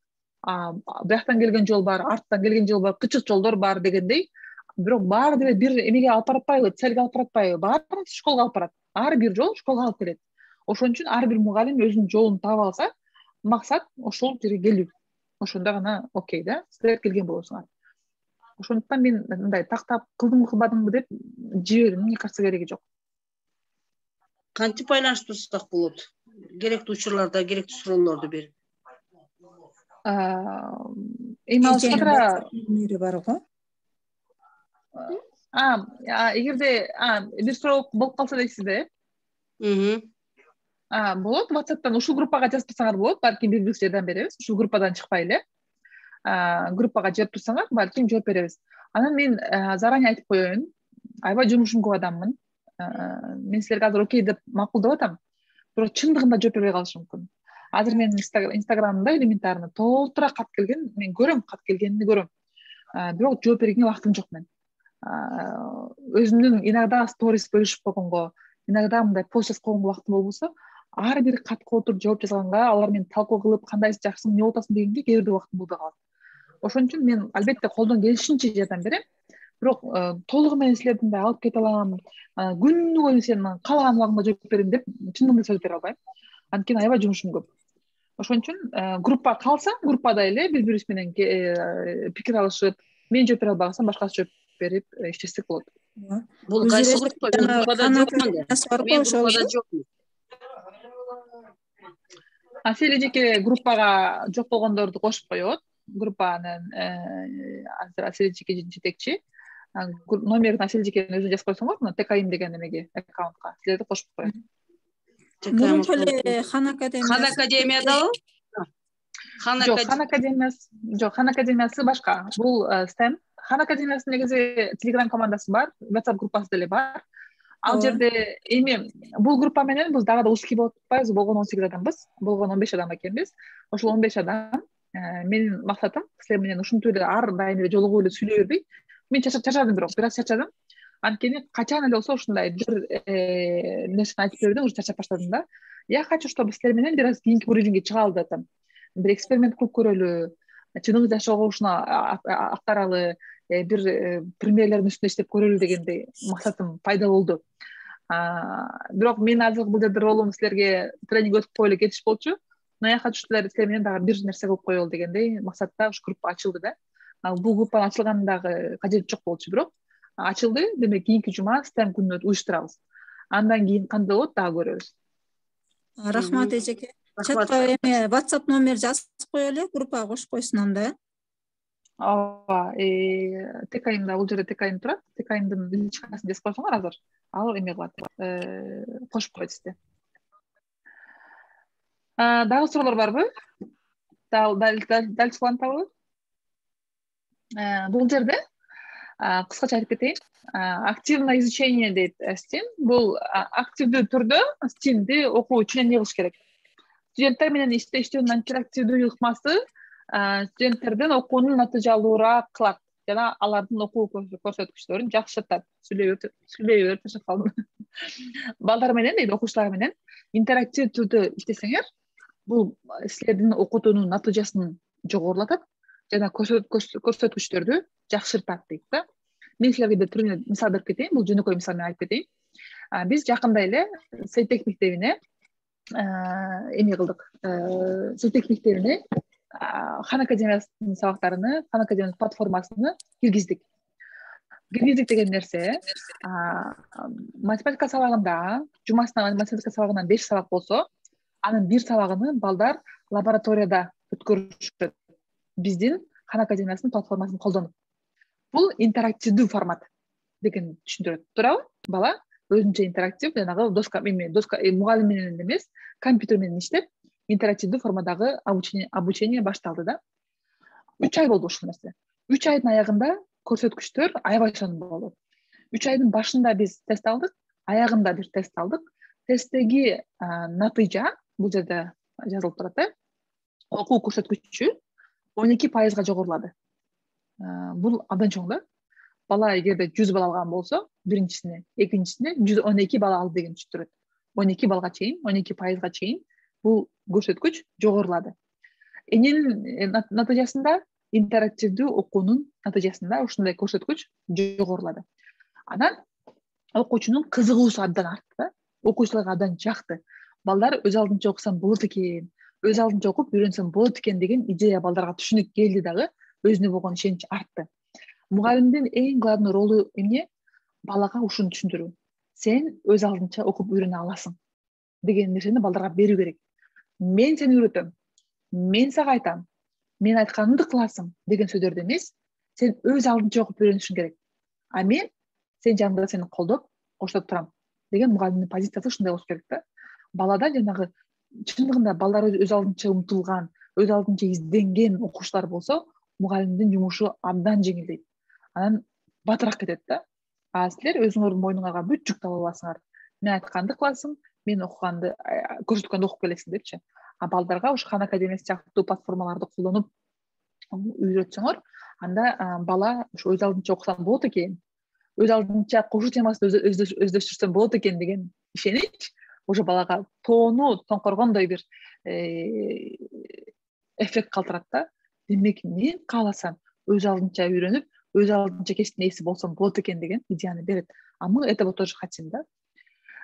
[SPEAKER 6] бияктан келген жол бар, арттан келген жол бар, кычык жолдор бар дегендей. Бирок баары деле бир эмеге алып баратпайбы, целге алып баратпайбы? Баары школго алып барат. Ар бир жол школго алып келет. Ошон үчүн ар бир мугалим өзүнүн жолун таап алса, максат ошол жерге келүү. Ошондо гана окей да, силер келген болосуңар. Ошондуктан мен мындай тактап кылдыңбы кылбадыңбы деп жиберүүнүн мне кажется кереги жок.
[SPEAKER 7] Кантип байланыштырсак болот? Керектүү учурларда керектүү суроолорду берип.
[SPEAKER 6] Эми алышканда
[SPEAKER 8] бар го.
[SPEAKER 6] Эгерде бир суроо болуп калса дейсизби? Болот, WhatsApp'тан ушул группага жазып турсаңар болот, балким биз жардам беребиз. Ушул группадан чыкпай эле. Группага жазып турсаңар, балким жооп беребиз. Анан мен заранее айтып коеюн, аябай жумушум көп адаммын. Мен силерге азыр окей деп макулдап атам, бирок чындыгында жооп бербей калышым мүмкүн. Азыр менин инстаграмымда элементарно толтура кат келген, мен көрөм, кат келгенин көрөм. Бирок жооп бергенге убактым жок мен. Өзүмдүн иногда сторис бөлүшүп койгонго, иногда мындай пост жазып койгонго убактым болбосо, ар бир катка отуруп жооп жазганга, алар менен талкуу кылып, кандайсы жакшысың, эмне болуп атасың дегенге кээ бирде убактым болбой калат. Ошон үчүн мен албетте колдон келишинче жардам берем. Бирок толугу менен силердин да алып кете алам, күнү бою сен каалаган убагыңда жооп берем деп чындыгында сөз бере албайм. Анткени аябай жумушум көп. Ошон үчүн группа калса, группада эле бири-бирибиз менен пикир алышып, мен жооп бере албасам, башкасы жооп берип иштесек болот.
[SPEAKER 7] Бул кайсы группа? Группада жокмун. Мен группада жокмун.
[SPEAKER 6] Сел эжеке группага жок болгондорду кошуп коет. Группанын азыр Асель эжеке жетекчи. Номерин Асель эжекенин өзү жазып койсоңор, мына ТКИМ деген эмеге, аккаунтка силерди кошуп коет.
[SPEAKER 8] Мурунку эле Хан
[SPEAKER 7] Академиядабы?
[SPEAKER 6] Жок, Хан Академиясы башка. Бул стем. Хан Академиясынын негизи Telegram командасы бар, WhatsApp группасы деле бар. Ал жерде эми бул группа менен биз дагы да узкий болуп атпайбыз, болгон 18 адамбыз, болгон 15 адам экенбиз. Ошол 15 адам менин максатым силер менен ушинтип эле ар дайым эле жолугуп эле сүйлөй бербей. Мен чачадым, бирок бир аз чачадым. Анткени качан эле болсо ушундай бир нерсени айтып берүүдөн уже чарчап баштадым да. Я хочу, чтобы силер менен бир аз кийинки уровеньге чыгалы деп атам. Бир эксперимент кылып көрөлү, чыныгы жашоого ушуну актаралы, бир примерлердин үстүндө иштеп көрөлү дегендей максатым пайда болду. Бирок менин азыркы бул жерде ролум силерге тренинг өтүп коелу кетиш болчу. Но я хочу силер менен дагы бир нерсе кылып коелу дегендей максатта ушу группа ачылды да. Бул группанын ачылганын дагы кажети жок болчу, бирок ачылды. Демек кийинки жума STEM күнүн уюштурабыз. Андан кийин кандай болот дагы көрөбүз.
[SPEAKER 8] Рахмат эжеке. Чатка эме WhatsApp номер жазып коелу, группага кошуп койсун анда.
[SPEAKER 6] Ооба, ТКМда бул жерде ТКМ турат. ТКМдин личкасын жазып койсоңор азыр. Ал эме кылат, кошуп коет сизди. Дагы суроолор барбы? Дал чыккантабы? Бул жерде кыскача айтып кетейин. Активное изучение дейт STEM. Бул активдүү түрдө STEMди окуу үчүн эмне кылыш керек? Студенттер менен иштөөнүн интерактивдүү ыкмасы студенттердин окуунун натыйжалуураак кылат жана алардын окуу көрсөткүчтөрүн жакшыртат. Сүйлөй берип ташап калдым. Балдар менен дейт, окуучулар менен интерактив түрдө иштесеңер, бул силердин окутуунун натыйжасын жогорулатат жана көрсөткүчтөрдү жакшыртат дейт да. Мен силерге бир мисал берип кетейин, бул жөнөкөй мисал менен айтып кетейин. Биз жакында эле Сейтек мектебине эме кылдык. Сейтек мектебине Хан академиясынын сабактарыны, Хан академиянын платформасыны киргиздик. Киргиздик деген нерсе математика сабагында, жумасына математика сабагынан 5 сабак болсо, анын 1 сабагын балдар лабораторияда өткөрүшөт. Биздин Хан академиясынын платформасын колдонуп. Бул интерактивдүү формат деген түшүндүрөт. Туурабы? Бала өзүнчө интерактив, жанагы доска мугалим менен эмес, компьютер менен иштеп, интерактивдүү формадагы обучение башталды да. 3 ай болду ушул нерсе. 3 айдын аягында көрсөткүчтөр аябай сонун болду. 3 айдын башында биз тест алдык, аягында бир тест алдык. Тесттеги натыйжа бул жерде жазылып турат. Окуу көрсөткүчү 12% жогорулады. Бул абдан чоң да. Бала эгерде 100 балл алган болсо, биринчисине, экинчисине 112 балл алды деген түшүндүрөт. 12 балга чейин, 12%га чейин бул көрсөткүч жогорулады. Эненин натыйжасында, интерактивдүү окуунун натыйжасында ушундай көрсөткүч жогорулады. Анан окуучунун кызыгуусу абдан артты. Окуучуларга абдан жакты. Балдар өз алдынча окусам болот экен, өз алдынча окуп үйрөнсөм болот экен деген идея балдарга түшүнүк келди дагы, өзүнө болгон ишенич артты. Мугалимдин эң главный ролу эмне? Балага ушуну түшүндүрүү. Сен өз алдынча окуп үйрөнө аласың деген нерсени балдарга берүү керек. Мен сени үйрөтөм, мен сага айтам, мен айтканымды кыласың деген сөздөрдү эмес, сен өз алдынча окуп үйрөнүшүң керек. А мен сен жаныңда сени колдоп, коштоп турам деген мугалимдин позициясы ушундай болуш керек да. Балада жанагы чындыгында балдар өз алдынча умтулган, өз алдынча изденген окуучулар болсо, мугалимдин жумушу абдан жеңилдейт. Анан батыраак кетет да. А силер өзүңөрдүн мойнуңарга бүт жүктү ала аласыңар. Мен айтканды кыласың, мен окуганды, көрсөткөндү окуп келесиң депчи. А балдарга ушу Хан академиясы сыяктуу платформаларды колдонуп үйрөтсөңөр, анда бала ушу өз алдынча окусам болот экен, өз алдынча кошуу темасын өздөштүрсөм болот экен деген ишенич уже балага тоңкоргондой бир эффект калтырат да. Демек мен кааласам өз алдынча үйрөнүп, өз алдынча кечтин ээси болсом болот экен деген идеяны берет. А мы этого тоже хотим, да.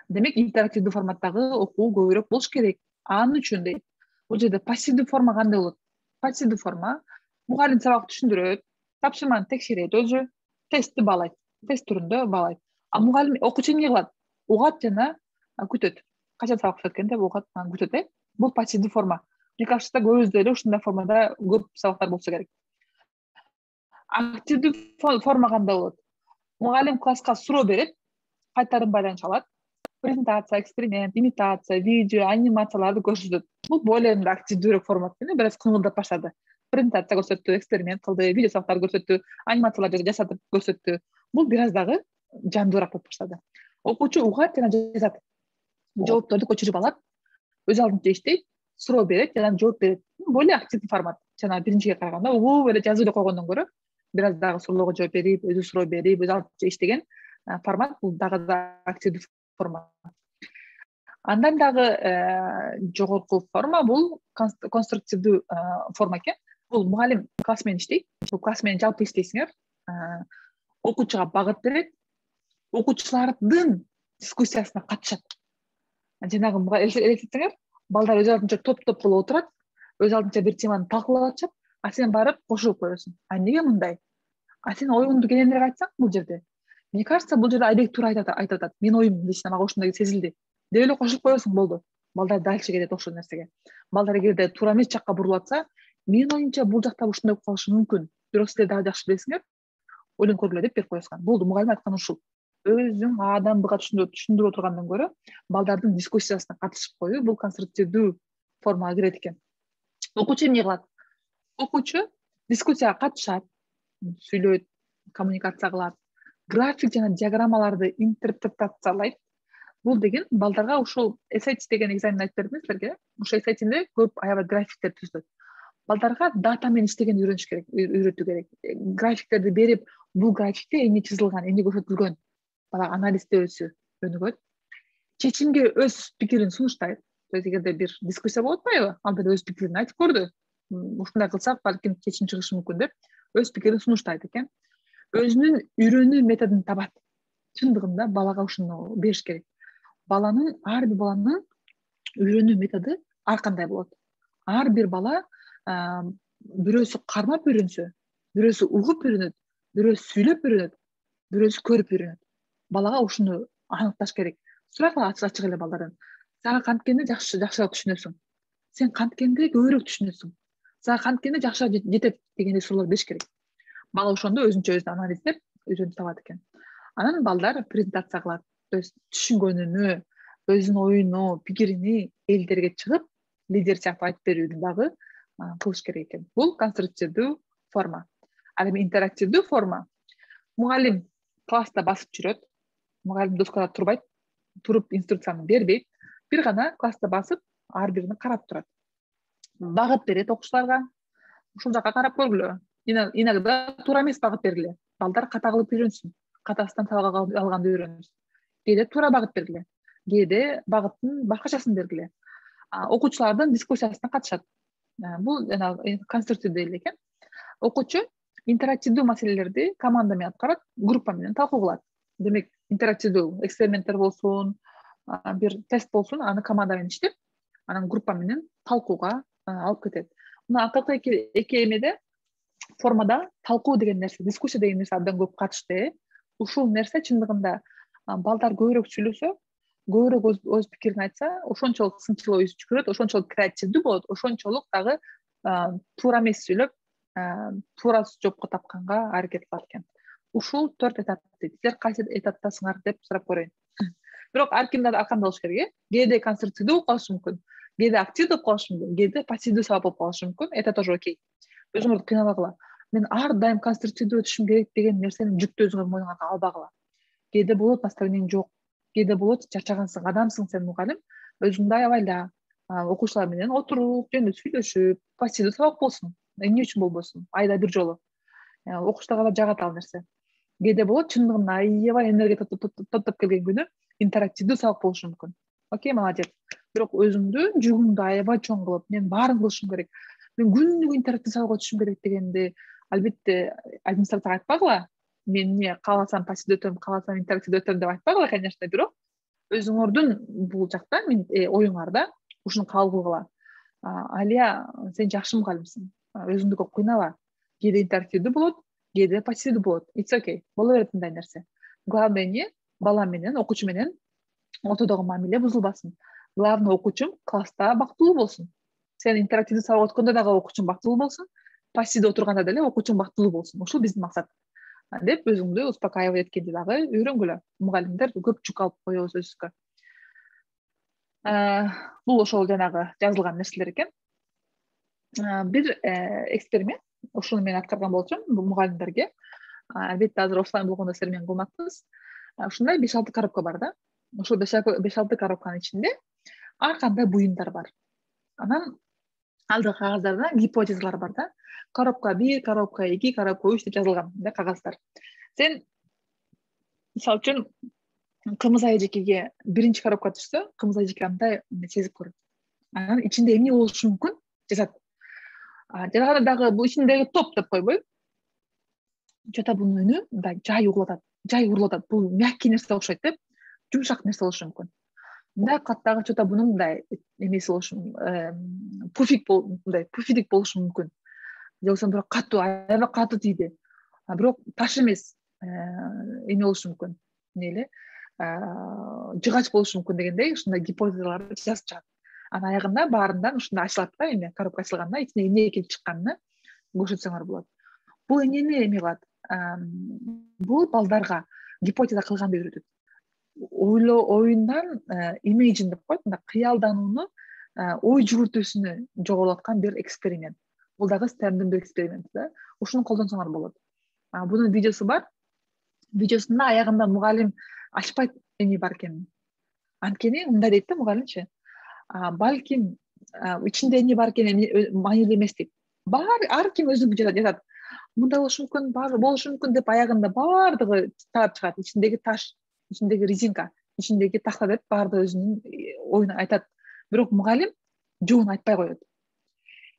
[SPEAKER 6] Демек интерактивдүү форматтагы окуу көбүрөөк болуш керек. Анын үчүн дейт. Бул жерде пассивдүү форма кандай болот? Пассивдүү форма мугалим сабак түшүндүрөт, тапшырманы текшерет өзү, тестти баалайт, тест түрүндө баалайт. А мугалим окуучу эмне кылат? Угат жана күтөт. Качан сабак өткөн деп угат, күтөт. Бул пассивдүү форма. Мне кажется, көбүбүздө эле ушундай формада көп сабактар болсо керек. Активдүү форма кандай болот? Мугалим класска суроо берет, кайтарым байланыш алат. Презентация, эксперимент, имитация, видео, анимацияларды көрсөтөт. Бул более активдүүрөөк формат менен бир аз кыңылдап баштады. Презентация көрсөттү, эксперимент кылды, видео сабактар көрсөттү, анимациялар жасатып көрсөттү. Бул бир аз дагы жандуураак болуп баштады. Окуучу угат жана жазат. Жоопторду көчүрүп алат, өз алдынча иштейт, суроо берет жана жооп берет. Более активдүү формат. Жана биринчиге караганда угуп эле жазып эле койгондон көрө бир аз дагы суроолорго жооп берип, өзү суроо берип, өз алдынча иштеген формат, бул дагы да активдүү форма. Андан дагы жогорку форма бул конструктивдүү форма экен. Бул мугалим класс менен иштейт. Бул класс менен жалпы иштейсиңер. Окуучуга багыт берет, окуучулардын дискуссиясына катышат. Жанагы элестетсеңер, балдар өз алдынча топ-топ болуп отурат, өз алдынча бир теманы талкуулап атышат, а сен барып кошулуп коесуң. А эмнеге мындай? А сен оюңду кененирээк айтсаң бул жерде. Мне кажется, бул жерде Айбек туура айтып атат. Мен оюм лично мага ушундай сезилди. Деп эле кошулуп коесуң, болду. Балдар дальше кетет ошол нерсеге. Балдар эгерде туура эмес жакка бурулуп атса, менин оюмча бул жакта ушундай болуп калышы мүмкүн. Бирок силер дагы жакшы билесиңер, ойлонуп көргүлө деп берип коесуң. Болду, мугалим айткан ушул. Өзүң адамдыга түшүндүрүп отургандан көрө, балдардын дискуссиясына катышып коюу бул конструктивдүү формага кирет экен. Окуучу эмне кылат? Окуучу дискуссияга катышат, сүйлөйт, коммуникация кылат, график жана диаграммаларды интерпретациялайт. Бул деген балдарга ушул SAT деген экзамен айтып бердим силерге. Ошол SAT-де көп аябай графиктер түзүлөт. Балдарга дата менен иштегенди үйрөтүү керек. Графиктерди берип, бул графикте эмне чызылган, эмне көрсөтүлгөн, бала анализде өнүгөт. Чечимге өз пикирин сунуштайт. Эгерде бир дискуссия болуп атпайбы, анда өз пикирин айтып көрдү. Ушундай кылсак балким чечим чыгышы мүмкүн деп өз пикирин сунуштайт экен. Өзүнүн үйрөнүү методун табат. Чындыгында балага ушуну бериш керек. Ар бир баланын үйрөнүү методу ар кандай болот. Ар бир бала бирөөсү кармап үйрөнсө, бирөөсү угуп үйрөнөт, бирөөсү сүйлөп үйрөнөт, бирөөсү көрүп үйрөнөт. Балага ушуну аныкташ керек. Сурак ачык эле балдардан. Сага канткенде жакшыраак түшүнөсүң. Сен канткенде көбүрөөк түшүнөсүң. Сага канткенде жакшыраак жетет дегендей суроолор бериш керек. Бала ошондо өзүнчө өзүн анализдеп үйрөнүп табат экен. Анан балдар презентация кылат. То есть түшүнгөнүнү, өзүнүн оюну, пикирини элдерге чыгып, лидер сыяктуу айтып берүүнү дагы кылыш керек экен. Бул конструктивдүү форма. Ал эми интерактивдүү форма. Мугалим класста басып жүрөт. Мугалим доскада турбайт, туруп инструкцияны бербейт. Бир гана класста басып, ар биrini карап турат. Багыт берет окуучуларга. Ушул жакка карап көргүлө. Иногда туура эмес багыт бергиле. Балдар ката кылып үйрөнсүн. Катасынан табак алганды үйрөнсүн. Кээде туура багыт бергиле. Кээде багыттын башкачасын бергиле. Окуучулардын дискуссиясына катышат. Бул жана конструктивдүү эле экен. Окуучу интерактивдүү маселелерди команда менен аткарат, группа менен талкуу кылат. Демек, интерактивдүү эксперименттер болсун, бир тест болсун, аны команда менен иштеп, анан группа менен талкууга алып кетет. Мына акыркы эки эмеде формада талкуу деген нерсе, дискуссия деген нерсе абдан көп катышты. Ушул нерсе чындыгында балдар көбүрөөк сүйлөсө, көбүрөөк өз пикирин айтса, ошончолук сынчыл ой жүгүрөт, ошончолук креативдүү болот, ошончолук дагы туура эмес сүйлөп, туура жоопко тапканга аракет кылат экен. Ушул 4 этап дейт. Силер кайсы этаптасыңар деп сурап көрөйүн. Бирок ар кимде ар кандай болуш керек, кээде конструктивдүү болуп калышы мүмкүн, кээде активдүү болуп калышы мүмкүн, кээде пассивдүү сабак болуп калышы мүмкүн. Это тоже окей. Өзүңөрдү кыйнабагыла. Мен ар дайым конструктивдүү өтүшүм керек деген нерсени жүктү өзүңөр мойнуңарга албагыла. Кээде болот настроениең жок, кээде болот чарчагансың, адамсың сен мугалим, өзүңдү аябайла, окуучулар менен отуруп, жөнүндө сүйлөшүп, пассивдүү сабак болсун. Эмне үчүн болбосун? Айда бир жолу. Окуучуларга да жагат ал нерсе. Кээде болот чындыгында аябай энергия топтоп келген күнү интерактивдүү сабак болушу мүмкүн. Окей, молодец. Бирок өзүңдү жүгүңдү аябай чоң кылып, мен баарын кылышым керек, мен күнүгө интерактив сабак өтүшүм керек дегенди албетте администрацияга айтпагыла. Мен эмне кааласам пассивдүү өтөм, кааласам интерактивдүү өтөм деп айтпагыла, конечно, бирок өзүңөрдүн бул жакта оюңарда ушуну кабыл кылгыла. Алия, сен жакшы мугалимсиң. Өзүңдү көп кыйнала. Кээде интерактивдүү болот, кээде пассивдүү болот. It's okay. Боло берет мындай нерсе. Главное эмне? Бала менен, окуучу менен ортодогу мамиле бузулбасын. Главное, окуучум класста бактылуу болсун. Сен интерактивдүү сабак өткөндө дагы окуучуң бактылуу болсун, пассивдүү отурганда деле окуучуң бактылуу болсун. Ушул биздин максат. Деп өзүңдү успокаивать эткенди дагы үйрөнгүлө. Мугалимдер көп жүк алып коебуз өзүбүзгө. Бул ошол жанагы жазылган нерселер экен. Бир эксперимент, ушуну мен аткарган болчумун мугалимдерге. Албетте азыр офлайн болгондо силер менен кылмакпыз. Ушундай 5-6 коробка бар да. Ошол 5-6 коробканын ичинде ар кандай буюмдар бар. Анан алдыгы кагаздарда гипотезалар бар да. Коробка 1, коробка 2, коробка 3 деп жазылган да кагаздар. Сен мисалы үчүн кымыз айжекеге биринчи коробка түшсө, кымыз айжеке андай сезип көрөт. Анан ичинде эмне болушу мүмкүн жазат. Жана дагы бул ичиндеги топ деп койбойбу. Жата бунун үнү мындай жай угулатат. Бул мягкий нерсе окшойт деп, жумшак нерсе болушу мүмкүн. Мындай каттагы жата бунун мындай эмеси болушу пуфидик болушу мүмкүн. Же болбосо бирок катуу, аябай катуу тийди. Бирок таш эмес, эме болушу мүмкүн. Эмне эле жыгач болушу мүмкүн дегендей ушундай гипотезаларды жазып чыгат. Анан аягында баарынан ушундай ачылат да, эме коробка ачылганда ичинде эмне келип чыкканын көрсөтсөңөр болот. Бул эмнени эме кылат? Бул балдарга гипотеза кылганды үйрөтөт. Оюндан imagine деп коет, мындай кыялданууну, ой жүгүртүүсүнү жогорулаткан бир эксперимент. Бул дагы STEM-дин бир эксперименти да. Ушуну колдонсоңор болот. Бунун видеосу бар. Видеосунда аягында мугалим ачпайт эме бар экен. Анткени мындай дейт да мугалимчи. Балким ичинде эмне бар экени маанилүү эмес дейт. Ар ким өзүнүн жатат. Мындай болушу мүмкүн деп аягында баардыгы таап чыгат. Ичиндеги таш, ичиндеги резинка, ичиндеги тахта деп баардыгы өзүнүн оюн айтат. Бирок мугалим жоон айтпай коет.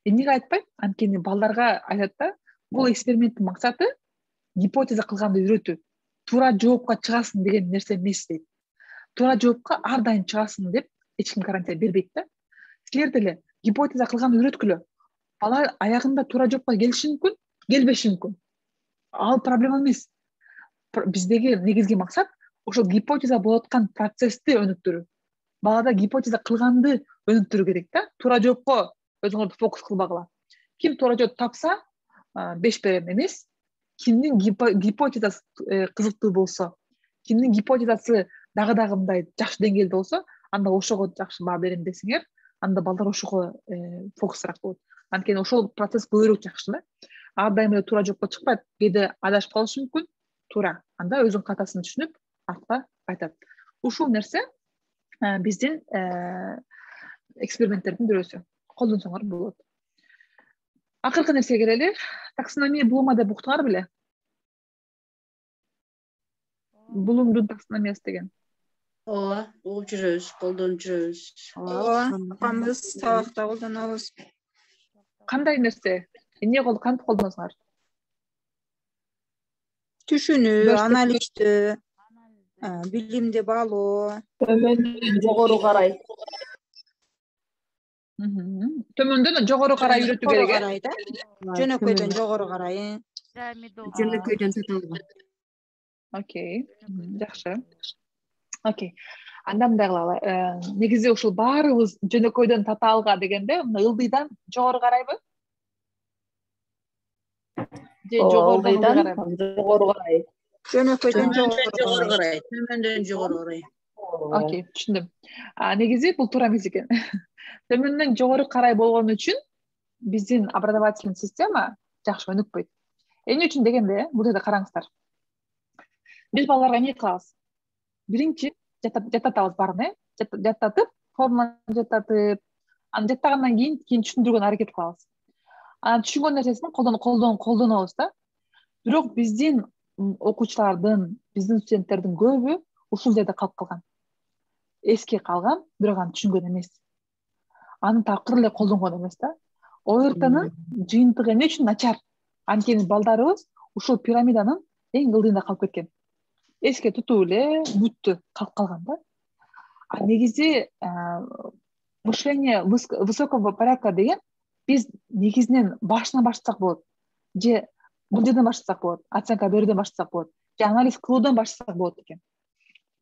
[SPEAKER 6] Эмнеге айтпайт? Анткени балдарга айтат да, бул эксперименттин максаты гипотеза кылганды үйрөтүү. Туура жоопко чыгасың деген нерсе эмес дейт. Туура жоопко ар дайым чыгасың деп эч ким гарантия бербейт да. Силер деле гипотеза кылганды үйрөткүлө. Бала аягында туура жоопко келиши мүмкүн, келбеши мүмкүн. Ал проблема эмес. Биздеги негизги максат ошол гипотеза болуп аткан процессти өнүктүрүү. Балада гипотеза кылганды өнүктүрүү керек да. Туура жоопко өзүңөрдү фокус кылбагыла. Ким туура жооп тапса, 5 берем эмес. Кимдин гипотезасы кызыктуу болсо, кимдин гипотезасы дагы мындай жакшы деңгээлде болсо, анда ошого жакшы баа берем десеңер, анда балдар ошого фокусураак болот. Анткени ошол процесс көбүрөөк жакшы да. Ар дайым эле туура жоопко чыкпайт, кээде адашып калышы мүмкүн. Туура. Анда өзүнүн катасын түшүнүп, артка кайтат. Ушул нерсе биздин эксперименттердин бирөөсү. Колдонсоңор болот. Акыркы нерсеге келели. Таксономия Блума деп уктуңар беле? Блумдун таксономиясы деген.
[SPEAKER 7] Ооба, угуп жүрөбүз, колдонуп жүрөбүз.
[SPEAKER 8] Ооба, апамыз сабакта колдонобуз.
[SPEAKER 6] Кандай нерсе? Эмне кантип колдоносуңар?
[SPEAKER 8] Түшүнүү, анализдөө, билимди баалоо.
[SPEAKER 2] Төмөндөн жогору карай.
[SPEAKER 6] Төмөндөн жогору карай үйрөтүү керек.
[SPEAKER 8] Жөнөкөйдөн жогору карай.
[SPEAKER 5] Жөнөкөйдөн таталга.
[SPEAKER 6] Окей, жакшы. Окей. Анда мындай кылалы. Негизи ушул баарыбыз жөнөкөйдөн татаалга дегенде, ылдыйдан жогору карайбы? Же жогорудон
[SPEAKER 2] жогору карай.
[SPEAKER 8] Жөнөкөйдөн
[SPEAKER 7] жогору карай. Төмөндөн жогору карай.
[SPEAKER 6] Окей, түшүндүм. Негизи бул туура эмес экен. Төмөндөн жогору карай болгон үчүн биздин образовательный система жакшы өнүкпөйт. Эмне үчүн дегенде, бул жерде караңыздар. Биз балдарга эмне кылабыз? Биринчи жаттатабыз баарын, жаттатып, формуланы жаттатып, аны жаттагандан кийин түшүндүргөнгө аракет кылабыз. Анан түшүнгөн нерсесин колдонобуз да. Бирок биздин окуучулардын, биздин студенттердин көбү ушул жерде калып калган. Эске калган, бирок аны түшүнгөн эмес. Аны такыр эле колдонгон эмес да. ОРТнын жыйынтыгы эмне үчүн начар? Анткени балдарыбыз ушул пирамиданын эң ылдыйында калып кеткен. Эске тутуу эле бүттү, калып калган да. Негизи мышление высокого порядка деген биз негизинен башынан баштасак болот. Же бул жерден баштасак болот, оценка берүүдөн баштасак болот. Же анализ кылуудан баштасак болот экен.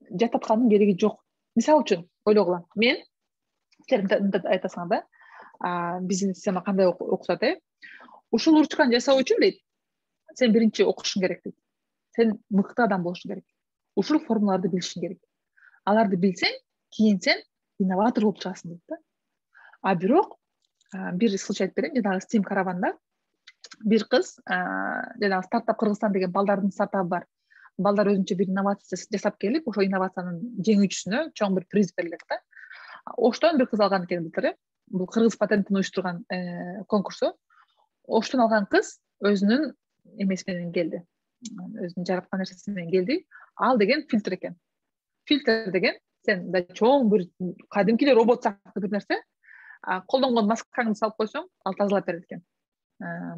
[SPEAKER 6] Жаттаткандын кереги жок. Мисалы үчүн ойлогула. Мен силер айтасыңар да, биздин система кандай окутат, ушул ручканы жасоо үчүн дейт, сен биринчи окушуң керек дейт. Сен мыкты адам болушуң керек. Ушул формулаларды билишиң керек. Аларды билсең, кийин сен инноватор болуп чыгасың дейт да. Бирок бир случай айтып берейин, жанагы STEAM караванда бир кыз, жанагы стартап Кыргызстан деген балдардын стартабы бар. Балдар өзүнчө бир инновация жасап келип, ошол инновациянын жеңүүчүсүнө чоң бир приз берилет да. Оштон бир кыз алган экен былтыр. Бул Кыргыз патентин уюштурган конкурсу. Оштон алган кыз өзүнүн эмеси менен келди. өзүнүн жараткан нерсеси менен келди. Ал деген фильтр экен. Фильтр деген сен мындай чоң бир кадимки робот сыяктуу бир нерсе. Колдонгон маскаңды салып койсоң, ал тазалап берет экен.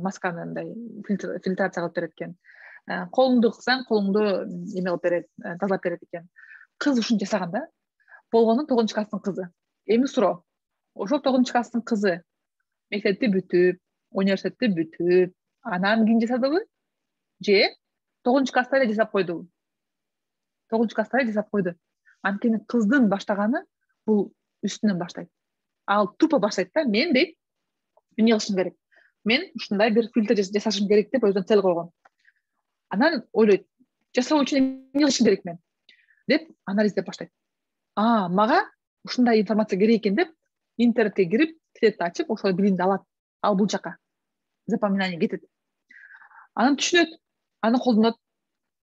[SPEAKER 6] Масканы мындай фильтрация кылып берет экен. Колуңду кылсаң, колуңду эме кылып берет, тазалап берет экен. Кыз ушуну жасаган да. Болгону 9 класстын кызы. Эми суроо. Ошол 9 класстын кызы мектепти бүтүп, университетти бүтүп, анан кийин жасадыбы? Же 9 класста эле жасап койдубу? 9 класста эле жасап койду. Анткени кыздын баштаганы бул үстүнөн баштайт. Ал тупо баштайт да, мен дейт, эмне кылышым керек? Мен ушундай бир фильтр жасашым керек деп өзүнө цел койгон. Анан ойлойт, жасоо үчүн эмне кылышым керек мен? Деп анализдеп баштайт. Мага ушундай информация керек экен деп интернетке кирип, китепти ачып, ошол билимди алат. Ал бул жака запоминание кетет. Анан түшүнөт, аны колдонот,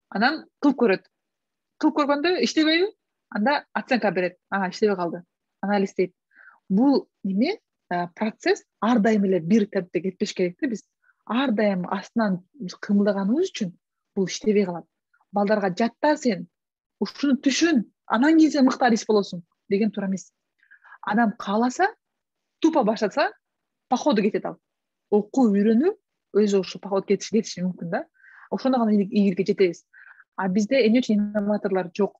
[SPEAKER 6] анан кылып көрөт. Кылып көргөндө иштебейби? Анда оценка берет. Иштебей калды. Анализ дейт. Бул неме процесс ар дайым эле бир темпте кетпеш керек да. Биз ар дайым астынан кымылдаганыбыз үчүн бул иштебей калат. Балдарга жатта сен ушуну түшүн, анан кийин сен мыкты адис болосуң деген туура эмес. Адам кааласа, тупо баштаса, по ходу кетет ал. Окуу, үйрөнүү өзү ошо по ходу кетиши мүмкүн да. Ошондо гана ийгиликке жетебиз. Бизде эмне үчүн инноваторлор жок?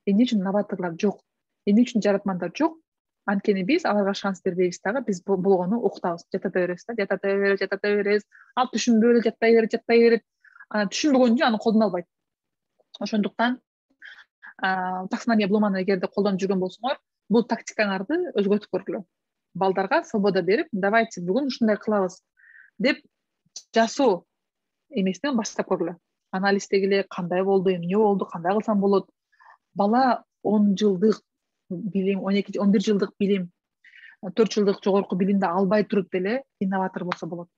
[SPEAKER 6] Эмне үчүн новаторлор жок? Эмне үчүн жаратмандар жок? Анткени биз аларга шанс бербейбиз дагы, биз болгону окутабыз, жатата беребиз. Ал түшүнбөй эле жаттай берет. Анан түшүнбөгөн үчүн аны колдоно албайт. Ошондуктан таксономия блуманы эгерде колдонуп жүргөн болсоңор, бул тактикаңарды өзгөртүп көргүлө. Балдарга свобода берип, давайте бүгүн ушундай кылабыз деп жасоо эмесинен баштап көргүлө. Анализдегиле кандай болду, эмне болду, кандай кылсам болот. Бала 10 жылдык билим, 11 жылдык билим, 4 жылдык жогорку билимди албай туруп деле инноватор болсо болот.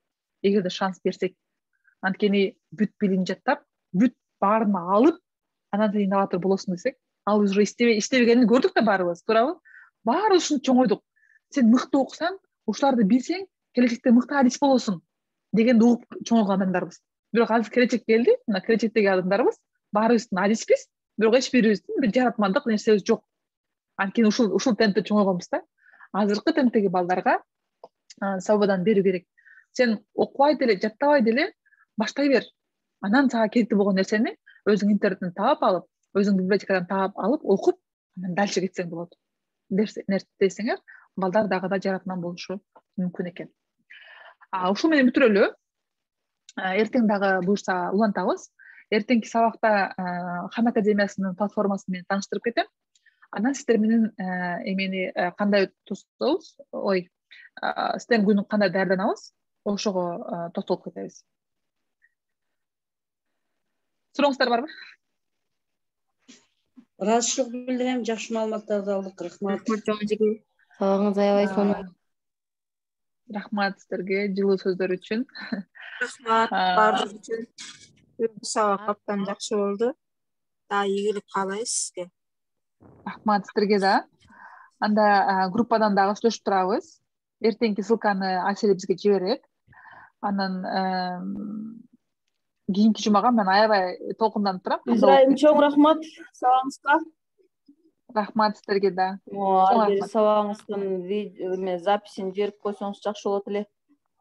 [SPEAKER 6] Эгерде шанс берсек. Анткени бүт билим жаттап, бүт баарын алып, анан сен инноватор болосуң десек, ал уже иштебегенин көрдүк да баарыбыз, туурабы? Баарыбыз ушуну чоңойдук. Сен мыкты окусаң, ушуларды билсең, келечекте мыкты адис болосуң дегенди угуп чоңойгон адамдарбыз. Бирок азыр келечек келди, мына келечектеги адамдарыбыз баарыбыздын адиспиз, бирок эч бирибиздин бир жаратмандык нерсебиз жок. Анткени ушул темпте чоңойгонбуз да. Азыркы темптеги балдарга свободаны берүү керек. Сен окубай деле, жаттабай деле баштай бер. Анан сага керектүү болгон нерсени өзүң интернеттен таап алып, өзүң библиотекадан таап алып, окуп, анан дальше кетсең болот. Десеңер, балдар дагы да жаратман болушу мүмкүн экен. Ушул менен бүтүрөлү. Эртең дагы буюрса улантабыз. Эртеңки сабакта Хам академиясынын платформасы менен тааныштырып кетем. Анан сиздер менен эмени кандай тостобуз, STEM күнүн кандай даярданабыз, ошого токтолуп кетебиз. Сурооңуздар барбы?
[SPEAKER 7] Ыраазычылык билдирем, жакшы маалыматтарды алдык. Рахмат.
[SPEAKER 2] Сабагыңыз аябай сонун.
[SPEAKER 6] Рахмат сиздерге жылуу сөздөр үчүн.
[SPEAKER 8] Рахмат баардыгы үчүн. Сабак абдан жакшы болду. Ийгилик каалайбыз сизге.
[SPEAKER 6] Рахмат сиздерге да. Анда группадан дагы сүйлөшүп турабыз. Эртеңки ссылканы Айсель бизге жиберет. Анан кийинки жумага мен аябай толкунданып турам.
[SPEAKER 2] Израиль чоң рахмат сабагыңызга.
[SPEAKER 6] Рахмат сиздерге да.
[SPEAKER 2] Сабагыңыздын записин жиберип койсоңуз жакшы болот эле.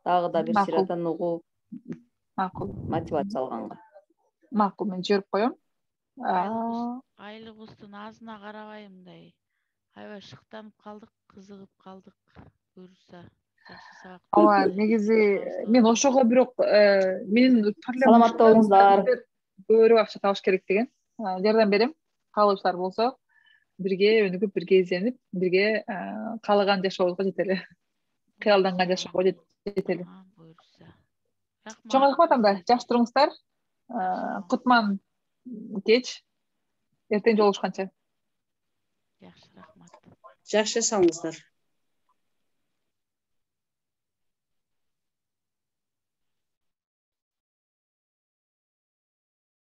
[SPEAKER 2] Дагы да бир сыйратан угуп,
[SPEAKER 6] макул,
[SPEAKER 2] мотивация алганга.
[SPEAKER 6] Макул, мен жиберип коем.
[SPEAKER 3] Айлыгыбыздын азына карабай мындай аябай шыктанып калдык, кызыгып калдык. Буюрса жакшы сабак.
[SPEAKER 6] Ооба, негизи мен ошого бирок менин проблемам
[SPEAKER 2] саламатта болуңуздар.
[SPEAKER 6] Көбүрөөк акча табыш керек деген. Жардам берем. Каалоочулар болсо, бирге өнүгүп, бирге изенип, бирге каалаган жашообузга жетели. Кыялданган жашоого жетели. Чоң рахмат анда. Жакшы туруңуздар. Кутман кеч. Эртең жолугушканча.
[SPEAKER 3] Жакшы, рахмат.
[SPEAKER 7] Жакшы жашаңыздар.